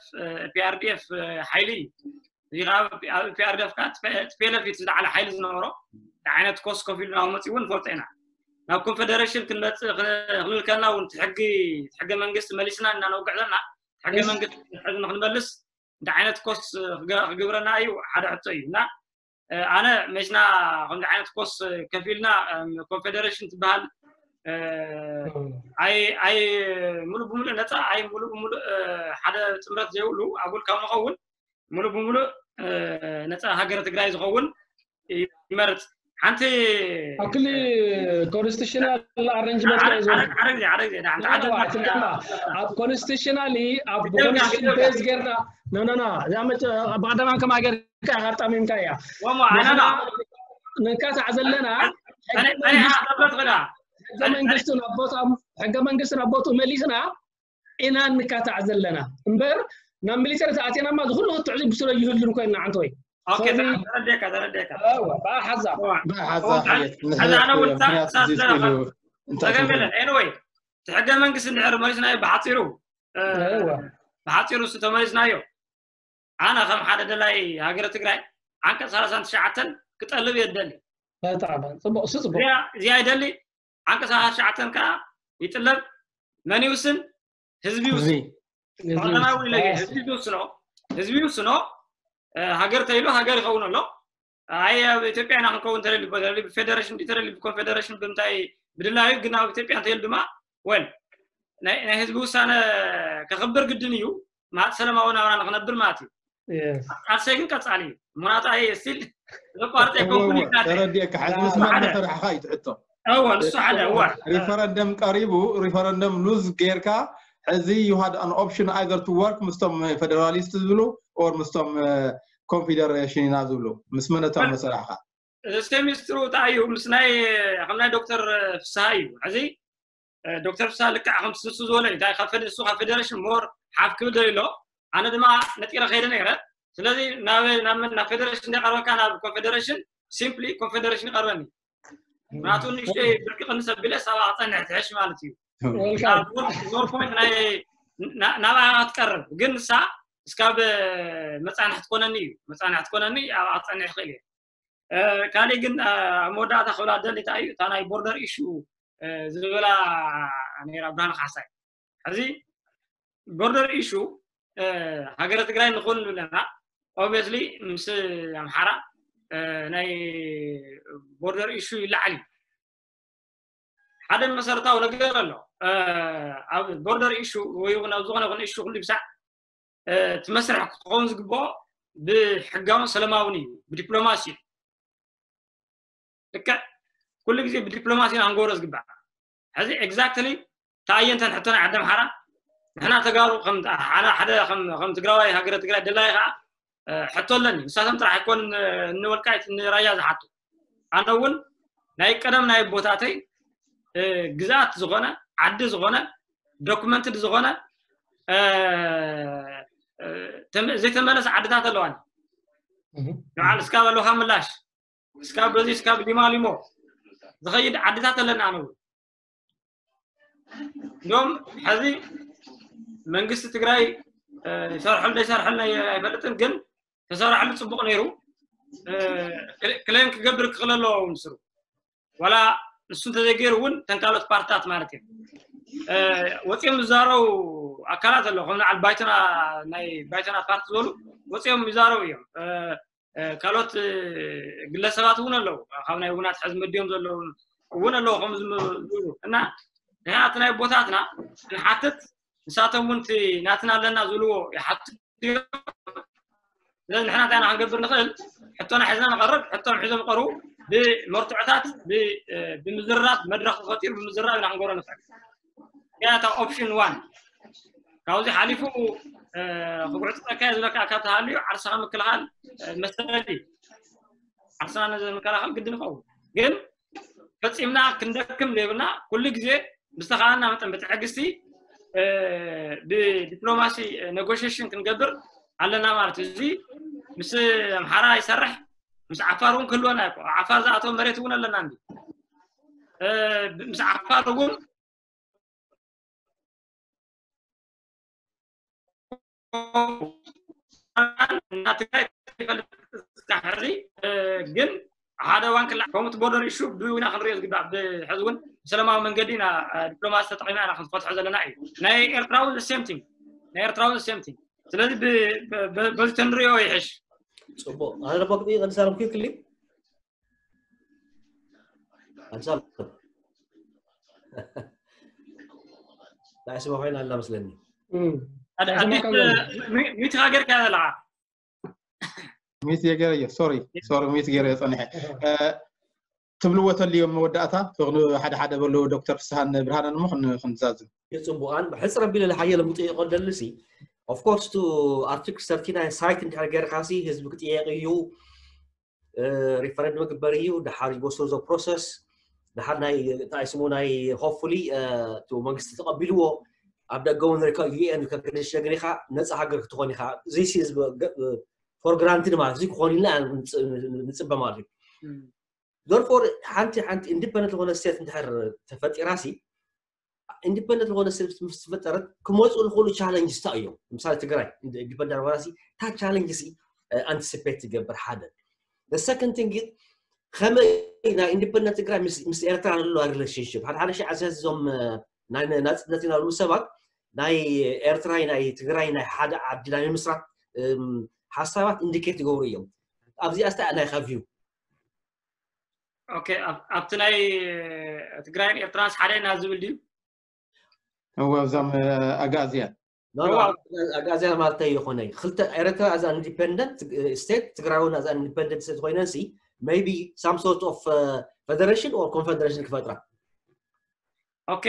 ፒኣርዲኤፍ ሓይሊ እዩ እዚ ከዓ ፒኣርዲኤፍ ከዓ ቲፒኤልኤፍ እዩ ዝለዓለ ሓይሊ ዝነበሮ ዓይነት ኮስት ከፊሉ ናብ መፅኡ እውን ንፈልጦ ኢና ናብ ኮንፌደሬሽን ክንመፅእ ክንብል ከለና እውን ሕጊ ሕገ መንግስቲ መሊስና እና ነውግዕ ዘለና ሕገ መንግስቲ ሕዚ ንክንመልስ እንታይ ዓይነት ኮስት ክግብረና እዩ ሓደ ሕቶ እዩ እና ኣነ መሽና ከምዚ ዓይነት ኮስ ከፊልና ኮንፌደሬሽን ትበሃል ኣይ ኣይ ሙሉእ ብሙሉእ ነፃ ኣይ ሙሉእ ብሙሉእ ሓደ ጥምረት ዘይብሉ ኣጉል ካብ ንኸውን ሙሉእ ብሙሉእ ነፃ ሃገረ ትግራይ ዝኸውን ይመርፅ ሓንቲ ኣክሊ ኮንስቲቱሽናል ኣረንጅመንት ሓደ ግዜ ሓደ ግዜ ኣብ ኮንስቲቱሽናሊ ኣብ ኮንስቲቱሽን ቤዝ ጌርና ኖኖኖ እዛ መ ብቀዳማን ከማ ጌርካ ሃርጣሚምካ እያ ወሞ ኣነና ንካታዕ ዘለና ኣነና ሕገ መንግስትን ኣቦታም ሕገ መንግስትን ኣቦቱ መሊስና ኢና ንካታዕ ዘለና እምበር ናብ ሚሊተሪ ተኣቲናማ ዝኩሉ ክትዕዚ ብስለ ይህሉን ኮይና ዓንተወይ ኦኬ ተረዲካ ተረዲካ ብሓዛ ብሓዛ ሕዚ ኣነ እውን ምክንያት ተገምለ ኤንወይ እቲ ሕገ መንግስቲ እንድሕር መሊስናዮ ብሓፂሩ ብሓፂሩ እሱ ተመሊስናዮ ኣነ ከም ሓደ ደላይ ሃገረ ትግራይ ዓንቀፅ ሰላሳን ትሽዓተን ክጠልብ እየ ደሊ ጽቡቅ እሱ ጽቡቅ እዚኣ ይደሊ ዓንቀፅ ሰላሳ ትሽዓተን ከዓ ይጥለብ መን ይውስን ህዝቢ ይውስን ቀዳማዊ ኢለ ህዝቢ ይውስኖ ህዝቢ ይውስኖ ሃገር ተይሉ ሃገር ይኸውን ኣሎ ኣይ ኣብ ኢትዮጵያ ኢና ክንከውን ተደሊ ተደሊ ብፌደሬሽን ድዩ ተደሊ ብኮንፌደሬሽን ብምንታይ ብድላዩ ግን ኣብ ኢትዮጵያ እንተይሉ ድማ ወል ናይ ህዝቢ ውሳነ ከኽብር ግድን እዩ ማለት ሰላማዊ ናብራ ንክነብር ማለት እዩ ቃልሰይ ግን ቀፃሊ እዩ ምክንያቱ ኣየ ስቲል ዘቋርጠ ኣይኮንኩን ተረዲእካ ሕዚ ምስ መን መሰራሕካ እዩ ትሕቶ እወ ንሱ ሓደ እወ ሪፈረንደም ቀሪቡ ሪፈረንደም ሉዝ ጌርካ ሕዚ you had an option either to work ምስቶም ፌደራሊስት ዝብሉ or ምስቶም ኮንፌደሬሽን ኢና ዝብሉ ምስ መነቶም መሰራሕካ እስከ ሚኒስትሩ እንታይ እዩ ምስ ናይ ከም ናይ ዶክተር ፍስሃ እዩ ሕዚ ዶክተር ፍስሃ ልክዕ ከም ንሱ ዝበሎ እዩ እንታይ ካብ ንሱ ካብ ፌደሬሽን ሞር ሓፍ ክብል ደሊ ኣሎ ኣነ ድማ ነጢረ ከይደ ነይረ ስለዚ ናብ ናብ ፌደሬሽን እንዳቀረበካ ናብ ኮንፌደሬሽን ሲምፕሊ ኮንፌደሬሽን ይቀርበኒ ምክንያቱ ንእሽተይ ብርቂ ቅንስ ኣቢለ ሳባ ክፀንሕ ትሕሽ ማለት እዩ። ኖር ፖይንት ናይ ናብኣ ክትቀርብ ግን ንሳ እስካብ መፃንሕ ትኮነኒ እዩ። መፃንሕ ትኮነኒ ኣብኣ ክትፀንሕ ይኽእል እየ። ካልእ ግን ኣብ መወዳእታ ክብላ ደሊ እንታይ እዩ እታ ናይ ቦርደር ኢሹ ዝብላ ነራ ብርሃን ካሕሳይ። ሕዚ ቦርደር ኢሹ ሃገረ ትግራይ ንኹን ኣለና። ኦብስሊ ምስ ኣምሓራ ናይ ቦርደር ኢሹ ይለዓል እዩ። ሓደ መሰረታዊ ነገር ኣሎ ኣብ ቦርደር ኢሹ ወይ እውን ኣብ ዝኾነ ይኹን ኢሹ ኩሉ ብሳዕ እቲ መስርሕ ክኸውን ዝግብኦ ብሕጋውን ሰለማውን እዩ፣ ብዲፕሎማሲ እዩ። ልክዕ ኩሉ ግዜ ብዲፕሎማሲ ኢና ክንገብሮ ዝግባእ። ሕዚ ኤግዛክትሊ ተኣየንተን ሕቶና ዓዲ ኣምሓራ ንሕና ተጋሩ ሓደ ከም ትግራዋይ ሃገረ ትግራይ ደላይ ከዓ ሕቶ ኣለኒ። ንሳቶም ጥራሕ ኣይኮን ንወልቃይት ንራያ ዝሓቱ። ኣነ እውን ናይ ቀደም ናይ ኣቦታተይ ግዝኣት ዝኾነ ዓዲ ዝኾነ ዶክመንትድ ዝኾነ ዘይተመለሰ ዓድታት ኣለዋኒ። በዓል እስካብ ኣለውካ ምላሽ እስካብ በዚ እስካብ ሊማሊሞ ዝኸይድ ዓድታት ኣለና። ኣነ እውን እንዲም ሕዚ መንግስቲ ትግራይ ይሰርሐሉ ዘይሰርሐሉ ኣይፈልጥን፣ ግን ተሰራሕሉ ፅቡቕ ነይሩ። ክሌም ክገብር ክኽእል ኣለዎ እውን ስሩ ዋላ ንሱ እንተዘይገይሩ እውን ተንካሎት ፓርትታት ማለት እዮም። ወፂኦም ዝዛረቡ ኣካላት ኣሎ ከም ንዓል ባይቶና ናይ ባይቶና ፓርቲ ዝበሉ ወፂኦም ይዛረቡ እዮም። ካልኦት ግለሰባት እውን ኣለዉ ካብ ናይ ውናት ሕዚ መዲዮም ዘለዉ እውን ኣለዉ ከም ዝብሉ እና ንሕና እቲ ናይ ቦታትና ንሓትት ንሳቶም እውን እቲ ናትና ኣለና ዝብልዎ ይሓትት እዮም። ስለዚ ንሕና እንታይ ኢና ክንገብር ንኽእል? ሕቶና ሒዝና ንቐርብ፣ ሕቶም ሒዞም ይቐርቡ፣ ብመርትዖታት ብምዝርራብ መድረኽ ተፈጢሩ ብምዝርራብ ኢና ክንገብሮ ንኽእል። እታ ኦፕሽን ዋን ካብዚ ሓሊፉ ክጉዕፅፀካ እየ ዝብለካ ካብ ተሃልዩ ዓርስኻ ምክልኻል መሰል እዩ። ዓርስና ነዚ ምክልኻል ግድን ይኸውን ግን ፈፂምና ክንደክም ዘይብልና ኩሉ ግዜ ብዝተኻእለና መጠን ብትዕግስቲ ብዲፕሎማሲ ኔጎሽሽን ክንገብር ኣለና ማለት እዩ። እዚ ምስ ኣምሓራ ይሰርሕ ምስ ዓፋር እውን ክህልወና እዩ። ዓፋር ዝኣተወ መሬት እውን ኣለና እንዲ ምስ ዓፋር እውን ግን ሓደ ዋን ክላ ከምቲ ቦርደር ኢሹ ብና ክንሪኦ ዝግባእ ብሕዚ እውን ብሰላማዊ መንገዲ ኢና ዲፕሎማሲ ተጠቂምና ኢና ክንፈትሖ ዘለና እዩ። ናይ ኤርትራ እውን ሴም ቲንግ ናይ ኤርትራ እውን ሴም ቲንግ ስለዚ በዚ ተንሪኦ ይሕሽ። ፅቡቅ ኣነ ደሞ ክጥይቅ ንሳረም ክልክሊ ኣንሳብ ናይ ስማ ኮይና ኣላ መስለኒ። ሚትካ ገርካ ዘለካ ሚት የገረዮ ሶሪ ሶሪ ሚት ገረዮ ፀኒሐ ትብልዎ ተልዮም መወዳእታ ትኽኑ ሓደ ሓደ በሉ ዶክተር ፍስሃን ብርሃንን እሞ ክንዛዝም የፅቡቃን ብሕፅር ኣቢለ ሓየለ ምጥየቆ ደልሲ ኦፍኮርስ ቱ ኣርቲክል ሰርቲናይ ሳይት እንድሕር ገርካ ሲ ህዝቢ ክጥየቅ እዩ ሪፈረንድ ምግበር እዩ ድሓር ይወስዶ ፕሮሰስ ድሓር ናይ እንታይ ስሙ ናይ ሆፕፉሊ እቲ መንግስቲ ተቐቢልዎ ኣብ ደገ እውን ሪካ ዩኤን ከግንሽ ነገር ኢኻ ነፃ ሃገር ክትኾን ኢኻ ዘይሲ ህዝቢ ፎር ግራንትድ ማለት እዚ ክኾን ኢልና ንፅበ ማለት እዩ ዘርፎር ሓንቲ ሓንቲ ኢንዲፐንደንት ዝኾነ ስቴት እንድሕር ተፈጢራ ሲ ኢንዲፐንደንት ዝኾነ ስቴት ምስ ተፈጠረት ክመፁ ዝኽእሉ ቻለንጅስ ታ እዮም ምሳሌ ትግራይ ኢንዲፐንደንት ዝኾነ ሲ ታ ቻለንጅስ ኣንቲሲፔት ትገብር ሓደ ሰከንድ ቲንግ ከመይ ናይ ኢንዲፐንደንት ትግራይ ምስ ኤርትራ ንለዋ ሪሌሽንሽፕ ሓደ ሓደ ሺ ዓሰርተ እዞም ናይ ናፅነት ኢና ዝብሉ ሰባት ናይ ኤርትራይ ናይ ትግራይ ናይ ሓደ ዓዲ ናይ ምምስራት ሓሳባት ኢንዲኬት ይገብሩ እዮም ኣብዚኣ ስታ ናይካ ቪው ኦኬ ኣብቲ ናይ ትግራይን ኤርትራንስ ሓደ ኢና ዝብል ድዩ እወ ኣብዛም ኣጋዝያን ኣጋዝያ ማለት ይኮነ ክልተ ኤርትራ ኣዛ ኢንዲፐንደንት ስቴት ትግራይ እውን ኣዛ ኢንዲፐንደንት ስቴት ኮይነን ሲ maybe some sort of federation or confederation ክፈጥራ ኦኬ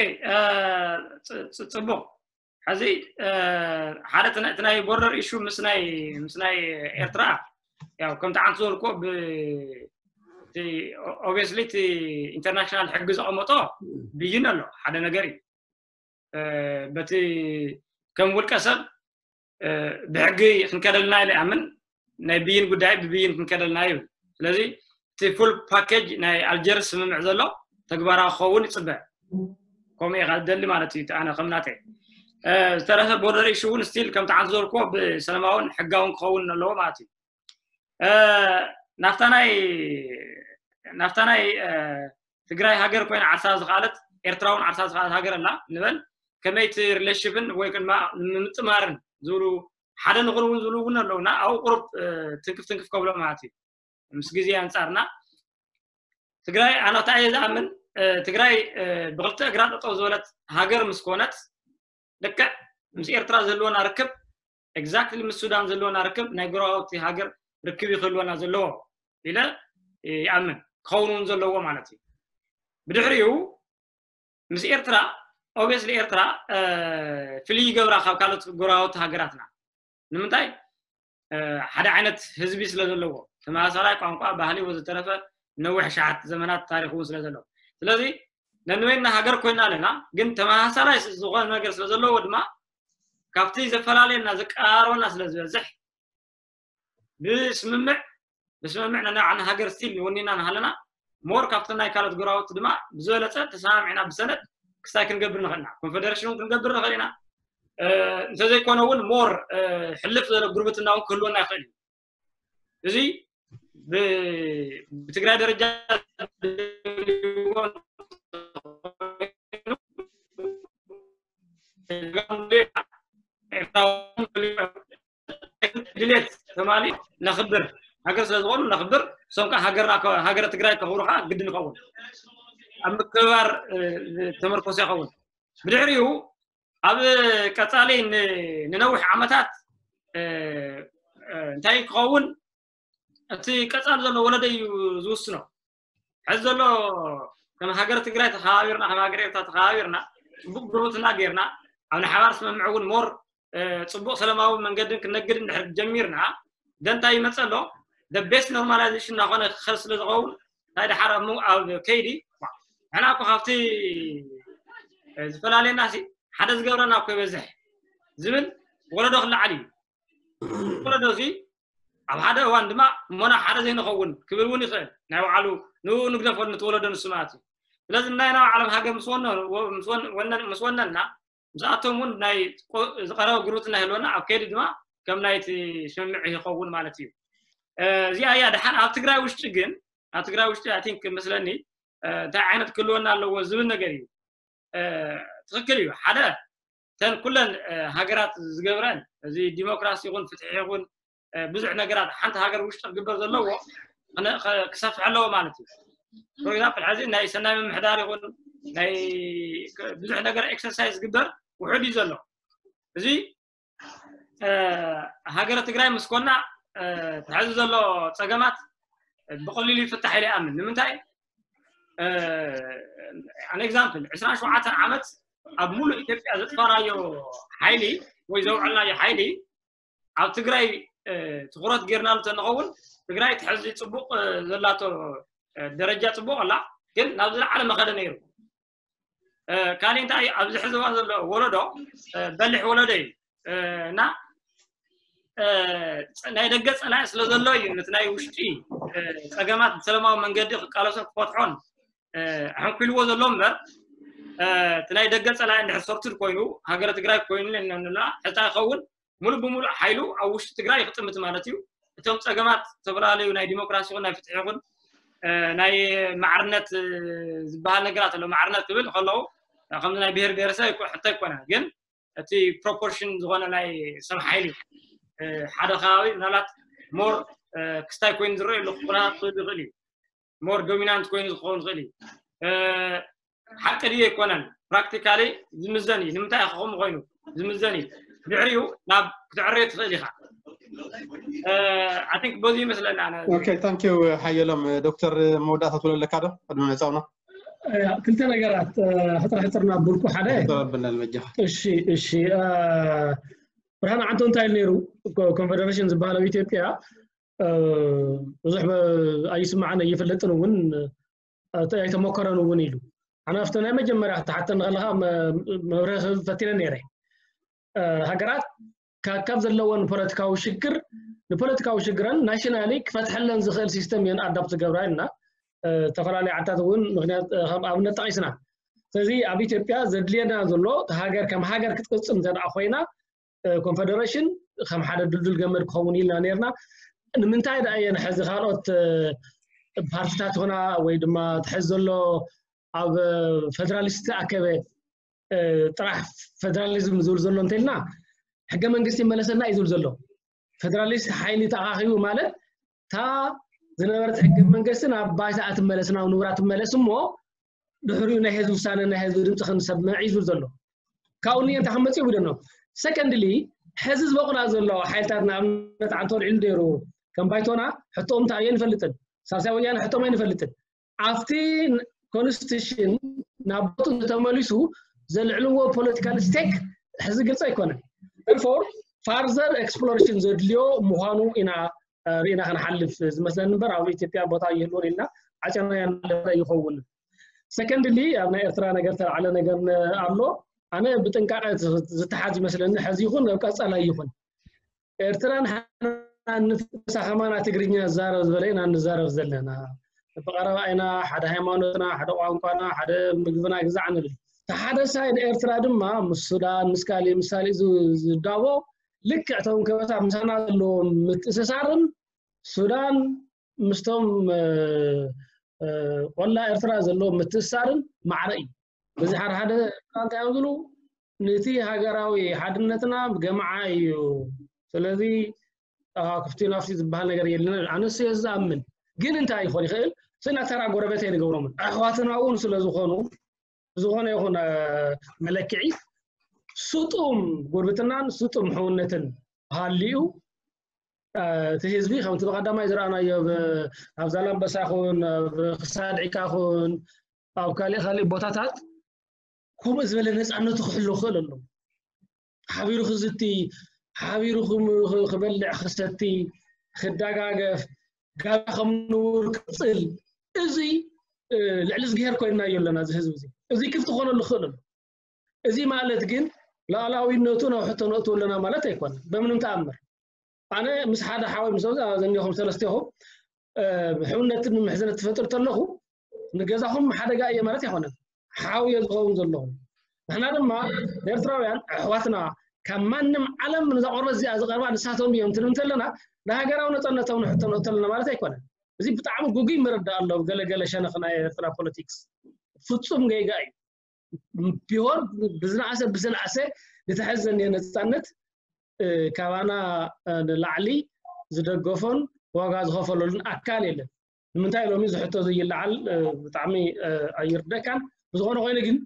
ጽቡቅ ሕዚ ሓደ እቲ ናይ ቦርደር ኢሹ ምስ ናይ ምስ ናይ ኤርትራ ያው ከምቲ ዓንቱ ዝበልኮ ብ obviously እቲ ኢንተርናሽናል ሕጊ ዘቐመጦ ብይን ኣሎ ሓደ ነገር እዩ በቲ ከም ውልቀ ሰብ ብሕጊ ክንከደልና ኢለ ኣምን ናይ ብይን ጉዳይ ብብይን ክንከደልና ይብል ስለዚ እቲ ፉል ፓኬጅ ናይ ኣልጀርስ ስምምዕ ዘሎ ተግባራዊ ክኸውን ይፅበ። ከምኡ ኢኻ ዝደሊ ማለት እዩ። ኣነ ከም ናተይ ዝተረፈ ቦርደር ኢሹ እውን ስቲል ከም ተዓዘብኩዎ ብሰላማውን ሕጋውን ክኸውን ኣለዎ ማለት እዩ። ናፍታ ናይ ናፍታ ናይ ትግራይ ሃገር ኮይና ዓርሳ ዝኸኣለት፣ ኤርትራ እውን ዓርሳ ዝኸኣለት ሃገር ኣላ ንበል። ከመይ እቲ ሪሌሽንሽፕን ወይ ድማ ንምጥማርን ዝብሉ ሓደ ንኹን እውን ዝብሉ እውን ኣለውና። ኣብኡ ቁሩብ ትንክፍ ትንክፍ ከብሎ ማለት እዩ። ምስ ግዜ ኣንጻርና ትግራይ ኣነ እንታይ እየ ዝኣምን፣ ትግራይ ብክልተ እግራ ጠጠው ዝበለት ሃገር ምስ ኮነት ልክዕ ምስ ኤርትራ ዘለወና ርክብ ኤግዛክትሊ ምስ ሱዳን ዘለወና ርክብ ናይ ጎረባብቲ ሃገር ርክብ ይክህልወና ዘለዎ ኢለ ይኣምን፣ ክኸውን እውን ዘለዎ ማለት እዩ። ብድሕሪኡ ምስ ኤርትራ ኦብስሊ ኤርትራ ፍልይ ይገብራ ካብ ካልኦት ጎረባብቲ ሃገራትና። ንምንታይ? ሓደ ዓይነት ህዝቢ ስለ ዘለዎ፣ ተመሳሳላይ ቋንቋ፣ ባህሊ ወዘተረፈ ነዊሕ ሸሓት ዘመናት ታሪክ እውን ስለ ዘለዎ። ስለዚ ነንበይና ሃገር ኮይና ኣለና፣ ግን ተመሳሳላይ ዝኾነ ነገር ስለ ዘለዎ ድማ ካብቲ ዘፈላለየና ዘቀራርበና ስለ ዝበዝሕ ብስምምዕ ብስምምዕ ነናይ ዓና ሃገር ስቲል ወኒና እናሃለና ሞር ካብቲ ናይ ካልኦት ጎረባብቲ ድማ ብዝበለፀ ተሰማሚዕና ብሰነድ ክስታይ ክንገብር ንኽእል ኢና። ኮንፌደሬሽን እውን ክንገብር ንኽእል ኢና። እንተዘይኮነ እውን ሞር ሕልፍ ዝበለ ጉርብትና እውን ክህልወና ይኽእል እዩ። እዚ ብትግራይ ደረጃ ድሌት ተማሊ ነኽብር፣ ሃገር ስለ ዝኾኑ ነኽብር። እሶም ከዓ ሃገርና ሃገረ ትግራይ ከኽብሩ ከዓ ግድን ይኸውን። ኣብ ምክብባር ተመርኮሰ ይኸውን። ብድሕሪኡ ኣብ ቀፃሊ ንነዊሕ ዓመታት እንታይ ክኸውን እቲ ቀፃሊ ዘሎ ወለደ እዩ ዝውስኖ። ሕዚ ዘሎ ከም ሃገር ትግራይ ተኸባቢርና፣ ከም ሃገር ኤርትራ ተኸባቢርና፣ ፅቡቅ ጉርብትና ጌርና ኣብ ንሓባር ስምምዕ እውን ሞር ፅቡቅ ሰላማዊ መንገድን ክነግድ እንድሕር ጀሚርና ደንታ ይመፀ ኣሎ። ቤስት ኖርማላይዜሽን እናኾነ ክኸል ስለ ዝኸውን ናይ ድሓር ኣብ ከይዲ ንሕና እኮ ካብቲ ዝፈላለየና ሓደ ዝገብረና እኮ ይበዝሕ ዝብል ወለዶ ክለዓል እዩ። ወለዶ እዚ ኣብ ሓደ እዋን ድማ እሞና ሓደ ዘይንኸውን ክብል እውን ይኽእል። ናይ ባዕሉ ንኡ ንግደፎ ንትወለዶ ንሱ ማለት እዩ። ስለዚ ናይ ናይ ዓለም ሃገር ምስ ወነና ምስኣቶም እውን ናይ ዝቀረበ ጉርብትና ይህልወና ኣብ ከይዲ ድማ ከም ናይቲ ስምምዕ ይኸውን ማለት እዩ። እዚኣ እያ ድሓን ኣብ ትግራይ ውሽጢ ግን ኣብ ትግራይ ውሽጢ ኣይ ቲንክ መስለኒ እንታይ ዓይነት ክህልወና ኣለዎ ዝብል ነገር እዩ። ትኽክል እዩ። ሓደ ተን ኩለን ሃገራት ዝገብረን እዚ ዲሞክራሲ ይኹን ፍትሒ ይኹን ብዙሕ ነገራት ሓንቲ ሃገር ውሽጢ ክግበር ዘለዎ ክሰፍሕ ኣለዎ ማለት እዩ። ፎር ኤግዛምፕል ሕዚ ናይ ሰናይ ምምሕዳር ይኹን ናይ ብዙሕ ነገር ኤክሰርሳይዝ ዝግበር ውሑድ እዩ ዘሎ። እዚ ሃገረ ትግራይ ምስ ኮና ተሕዚ ዘሎ ፀገማት ብቀሊሉ ይፍታሕ ኢለ ይኣምን። ንምንታይ? ኣን ኤግዛምፕል ዕስራን ሸውዓተን ዓመት ኣብ ሙሉእ ኢትዮጵያ ዘጥፋናዮ ሓይሊ ወይ ዘውዕልናዮ ሓይሊ ኣብ ትግራይ ትኩረት ጌርናሉ ተንኸውን ትግራይ ትሕዚ ፅቡቅ ዘላቶ ደረጃ ፅቡቅ ኣላ፣ ግን ናብ ዝለዓለ መኸደ ነይሩ። ካሊእ እንታይ ኣብዚ ሕዚ እዋን ዘሎ ወለዶ በሊሕ ወለዶ እዩ እና ናይ ደገ ፀላኢ ስለ ዘሎ እዩ ነቲ ናይ ውሽጢ ፀገማት ብሰላማዊ መንገዲ ክቃለሶን ክፈትሖን ሕንኩልዎ ዘሎ እምበር እቲ ናይ ደገ ፀላኢ እንድሕር ሰርቱድ ኮይኑ ሃገረ ትግራይ ኮይኑ ንብላ ሕታ ይኸውን ሙሉእ ብሙሉእ ሓይሉ ኣብ ውሽጢ ትግራይ ክጥምት ማለት እዩ። እቶም ፀገማት ዝተፈላለዩ ናይ ዲሞክራሲ ይኹን ናይ ፍትሒ ይኹን ናይ ማዕርነት ዝበሃል ነገራት ኣሎ። ማዕርነት ክብል ከለዉ ከምዚ ናይ ብሄር ብሄረሰብ ሕቶ ኣይኮነን፣ ግን እቲ ፕሮፖርሽን ዝኾነ ናይ ሰብ ሓይሊ ሓደ ከባቢ ምናልባት ሞር ክስታይ ኮይኑ ዝረአየሉ ክኾና ክኽእል ይኽእል እዩ። ሞር ዶሚናንት ኮይኑ ዝኸውን ይኽእል እዩ። ሓቂ ድዩ ኣይኮነን? ፕራክቲካሊ ዝምዘን እዩ። ንምንታይ ከምኡ ኮይኑ ዝምዘን እዩ። ድሕሪኡ ናብ ክትዕርዮ ትኽእል ኢኻ። ኣይ ቲንክ በዚ ይመስለኒ ኣነ። ኦኬ፣ ታንክ ዩ ሓየሎም። ዶክተር መወዳእታ ትብሎ ኣለካ ዶ ቅድሚ ምዕፃውና? ክልተ ነገራት ሕፅር ሕፅር ናብልኩ ሓደ ተባብልና ንመጃኻ። እሺ እሺ። ብርሃን ዓንቶ እንታይ ኢሉ ነይሩ? ኮንፌደሬሽን ዝበሃል ኣብ ኢትዮጵያ ብዙሕ ኣይስማዕን ኣይፍለጥን እውን ኣይተሞከረን እውን ኢሉ። ኣነ ኣብቲ ናይ መጀመርያ ክትሓተኒ ከለካ መብርሂ ክህብ ፈቲነ ነይረ። ሃገራት ካብ ዘለወን ፖለቲካዊ ሽግር ንፖለቲካዊ ሽግረን ናሽናሊ ክፈትሐለን ዝኽእል ሲስተም እየን ኣዳፕት ዝገብራ ኢልና። ዝተፈላለዩ ዓድታት እውን ምክንያት ከም ኣብነት ጠቂስና። ስለዚ ኣብ ኢትዮጵያ ዘድልየና ዘሎ ሃገር ከም ሃገር ክትቅፅል እንተ ኮይና ኮንፈደሬሽን ከም ሓደ ድልዱል ገመድ ክኸውን ኢልና ነርና። ንምንታይ ደኣ እየን ሕዚ ካልኦት ፓርቲታት ይኹና ወይ ድማ ትሕዚ ዘሎ ኣብ ፌደራሊስት ኣከበ ጥራሕ ፌደራሊዝም ዝብል ዘሎ እንተልና ሕገ መንግስቲ ይመለሰና እዩ ዝብል ዘሎ። ፌደራሊስት ሓይሊ ተኣኻኺቡ ማለት እታ ዝነበረት ሕገ መንግስቲ ናብ ባይታ ትመለስ ናብ ንቡራ ትመለስ እሞ ድሕሪኡ ናይ ህዝቢ ውሳነ ናይ ህዝቢ ድምፂ ክንሰምዕ እዩ ዝብል ዘሎ። ካብኡ ንየ እንታይ ክመፅእ ይብደኖ። ሰከንድሊ ሕዚ ዝበቑላ ዘሎ ሓይልታት ንኣብነት ዓንቶ ልዕሉ ደይሩ ከም ባይቶና ሕቶኦም እንታይ እየ ንፈልጥን ሳልሳይ ወያነ ሕቶም ኣይንፈልጥን። ኣብቲ ኮንስቲቱሽን ናብ ቦቱ እንተመሊሱ ዘልዕልዎ ፖለቲካል ስቴክ ሕዚ ግልፂ ኣይኮነን። ፎር ፋርዘር ኤክስፕሎሬሽን ዘድልዮ ምዃኑ ኢና ርኢና ክንሓልፍ ዝመስለኒ እምበር ኣብ ኢትዮጵያ ቦታ ይህልዎን ኢልና ዓጨና ያለ ይኸውን። ሰከንድሊ ኣብ ናይ ኤርትራ ነገር ተላዕለ ነገር ኣሎ። ኣነ ብጥንቃቐ ዝተሓዝ ይመስለኒ ሕዚ ይኹን ኣብ ቀፃላይ ይኹን ኤርትራ ንሓና ንፍሳ ከማና ትግርኛ ዝዛረብ ዝበለ ኢና ንዛረብ ዘለና። ብቐረባ ኢና ሓደ ሃይማኖትና ሓደ ቋንቋና ሓደ ምግብና ግዛዕ ንብል። ሓደ ሳይድ ኤርትራ ድማ ምስ ሱዳን ምስ ካሊእ ምስ ካሊእ ዝዳቦ ልክዕ እቶም ከበሳ ምሳና ዘለዎም ምትእስሳርን ሱዳን ምስቶም ቆላ ኤርትራ ዘለዎም ምትእስሳርን ማዕረ እዩ። በዚ ሓደ ሓደ እንታይ እዮም ዝብሉ ነቲ ሃገራዊ ሓድነትና ገምዓ እዩ። ስለዚ ክፍቲ ናፍቲ ዝበሃል ነገር የለን። ኣነስ እየ ዝኣምን ግን እንታይ ይኾን ይኽእል ስና ተራ ጎረቤት ኣይንገብሮምን ኣሕዋትና እውን ስለ ዝኾኑ ዝኾነ ይኹን መለክዒ ስጡም ጉርብትናን ስጡም ሕውነትን ሃልዩ እቲ ህዝቢ ከምቲ ብቀዳማይ ዝረኣናዮ ኣብ ዛላምበሳ ኹን ኣብ ክሳድዒካ ኹን ኣብ ካሊእ ካሊእ ቦታታት ከምኡ ዝበለ ነፃነቱ ክሕሉ ክኽእል ኣሎ። ሓቢሩ ክዝቲ፣ ሓቢሩ ክበልዕ ክሰቲ፣ ክደጋገፍ፣ ጋራ ከም ንቡር ክፅል፣ እዚ ልዕሊ ዝግሄር ኮይንናዮ ኣለና። እዚ ህዝቢ እዚ እዚ ክፍቲ ክኾነሉ ክኽእል ኣሎ። እዚ ማለት ግን ላዕላዊነቱ ናብ ሕቶ ነእትዎ ኣለና ማለት ኣይኮነን በምንም ተኣምር። ኣነ ምስ ሓደ ሓወይ ምስ ዘኒኹም ሰለስቴኹም ሕውነትን ምሕዝነት ትፈጥር ተለኹ ንገዛኹም ሓደጋ እየ ማለት ኣይኮነን። ሓው እየ ዝኸውን ዘለኹም። ንሕና ድማ ኤርትራውያን ኣሕዋትና ካብ ማንም ዓለም ንዛ ቆርበት እዚኣ ዝቐርባ ንሳቶም እዮም ትብል እንተለና ንሃገራዊ ነፃነቶም ንሕቶ ነእቶ ኣለና ማለት ኣይኮነን። እዚ ብጣዕሚ ጉጉይ መረዳእ ኣሎ ገለገለ ሸነኽ ናይ ኤርትራ ፖለቲክስ ፍጹም ገይጋ እዩ። ቢሆን ብዝነኣሰ ብዝነኣሰ ዝተሐዘ ነፃነት ካባና ንላዕሊ ዝደገፎን ዋጋ ዝኸፈለሉን ኣካል የለን። ንምንታይ ሎሚ ዝሕቶ ዘይለዓል ብጣዕሚ ኣይርደካን። ብዝኾነ ኮይኑ ግን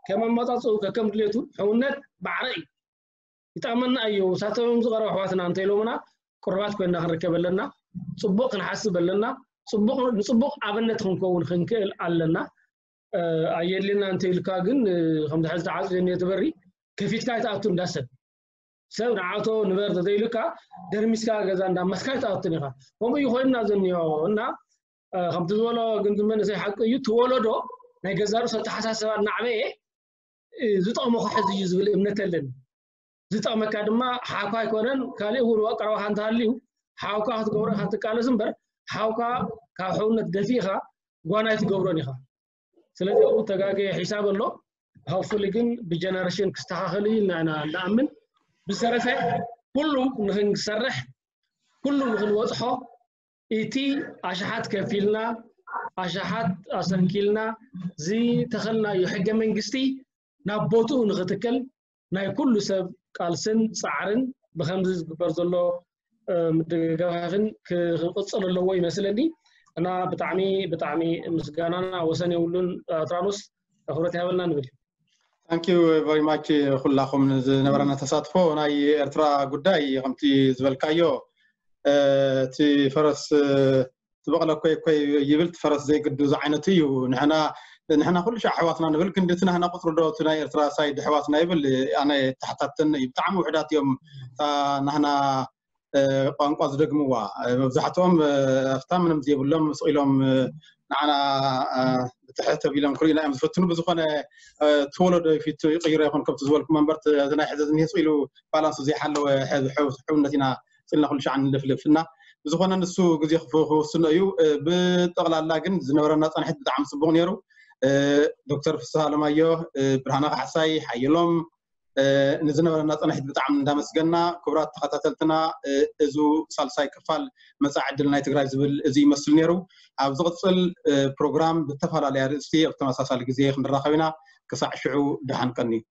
ከም ኣመፃፅኡ ከከም ድሌቱ ሕውነት ማዕረ እዩ። ይጠቕመና እዩ። ሳቶም ዝቐረቡ ኣሕዋትና እንተኢሎምና ቅሩባት ኮይና ክንርከብ ኣለና። ፅቡቕ ክንሓስብ ኣለና። ንፅቡቕ ኣብነት ክንከውን ክንክእል ኣለና። ኣየድልየና እንተኢልካ ግን ከምዚ ሕዚ ተዓፅዮ እኒኦ ትበሪ ከፊትካ ኣይትኣቱ እንዳሰብ ሰብ ንዓቶ ንበር ተዘይሉካ ደርሚስካ ገዛ እንዳመስካ ኣይትኣቱን ኢኻ። ከምኡ እዩ ኮይንና ዘኒኦ እና ከምቲ ዝበሎ ግን መንእሰይ ሓቂ እዩ። ትወለዶ ናይ ገዛ ርእሱ ኣተሓሳሰባ እናዕበየ ዝጠቕሞ ክሕዝ እዩ ዝብል እምነት ኣለኒ። ዝጠቕመካ ድማ ሓኳ ኣይኮነን ካሊእ እውን ቀረባኻ እንተሃልዩ ሓውካ ክትገብሮ ኢኻ ትቃለስ እምበር ሓውካ ካብ ሕውነት ደፊእኻ ጓናይ ትገብሮን ኢኻ። ስለዚ ኣብኡ ተጋገየ ሒሳብ ኣሎ። ሆፕፉሊ ግን ብጀነሬሽን ክስተኻኸል እዩ ኢልና ኢና ንኣምን። ብዝተረፈ ኩሉ ንክንሰርሕ ኩሉ ንክንበፅሖ እቲ ኣሽሓት ከፊልና ኣሽሓት ኣሰንኪልና ዝተኸልናዮ ሕገ መንግስቲ ናብ ቦትኡ ንክትከል ናይ ኩሉ ሰብ ቃልስን ጻዕርን ብከምዚ ዝግበር ዘሎ ምድግጋፍን ክቕፅል ኣለዎ ይመስለኒ። እና ብጣዕሚ ብጣዕሚ ምስጋናና ወሰን የብሉን። ኣትራኖስ ክብረት ይሃበልና ንብል። Thank you very much ኩላኹም ዝነበረና ተሳትፎ። ናይ ኤርትራ ጉዳይ ከምቲ ዝበልካዮ እቲ ፈረስ ትበቕለ ኮይ ኮይ ይብል ፈረስ ዘይግዱ ዝዓይነቱ እዩ። ንሕና ንሕና ኩሉ ሻዕ ኣሕዋትና ንብል ግን እቲ ናህና ቁፅሪ ዶ እቲ ናይ ኤርትራ ሳይድ ኣሕዋትና ይብል ኣነ ተሓታተኒ እዩ። ብጣዕሚ ውሕዳት እዮም እታ ናህና ቋንቋ ዝደግምዋ። መብዛሕትኦም ኣብታ ምንም ዘይብሎም ስቕ ኢሎም ንዓና ብትሕት ኣቢሎም ክርእዩና እዮም ዝፈትኑ። ብዝኾነ እቲ ወለዶ ፊቱ ይቕይሮ ይኹን ከምቲ ዝበልኩም እምበር እዚ ናይ ሕዚ ዝኒሄ ስቕ ኢሉ ባላንሱ ዘይሓለወ ሕውነት ኢና ኢልና ኩሉ ሻዕ ንልፍልፍ እና ብዝኾነ ንሱ ግዜ ክውስኖ እዩ። ብጠቕላላ ግን ዝነበረና ፃንሒት ብጣዕሚ ፅቡቕ ነይሩ። ዶክተር ፍስሃ ኣለማዮ፣ ብርሃነ ካሕሳይ፣ ሓየሎም፣ ንዝነበረና ፃንሒት ብጣዕሚ እንዳመስገና። ክቡራት ተኸታተልትና፣ እዚ ሳልሳይ ክፋል መፃኢ ዕድል ናይ ትግራይ ዝብል እዚ ይመስል ነይሩ። ኣብ ዝቕፅል ፕሮግራም ብተፈላለየ ኣርእስቲ ኣብ ተመሳሳሊ ግዜ ክንራኸብ ኢና። ክሳዕ ሽዑ ደሓን ቀንዩ።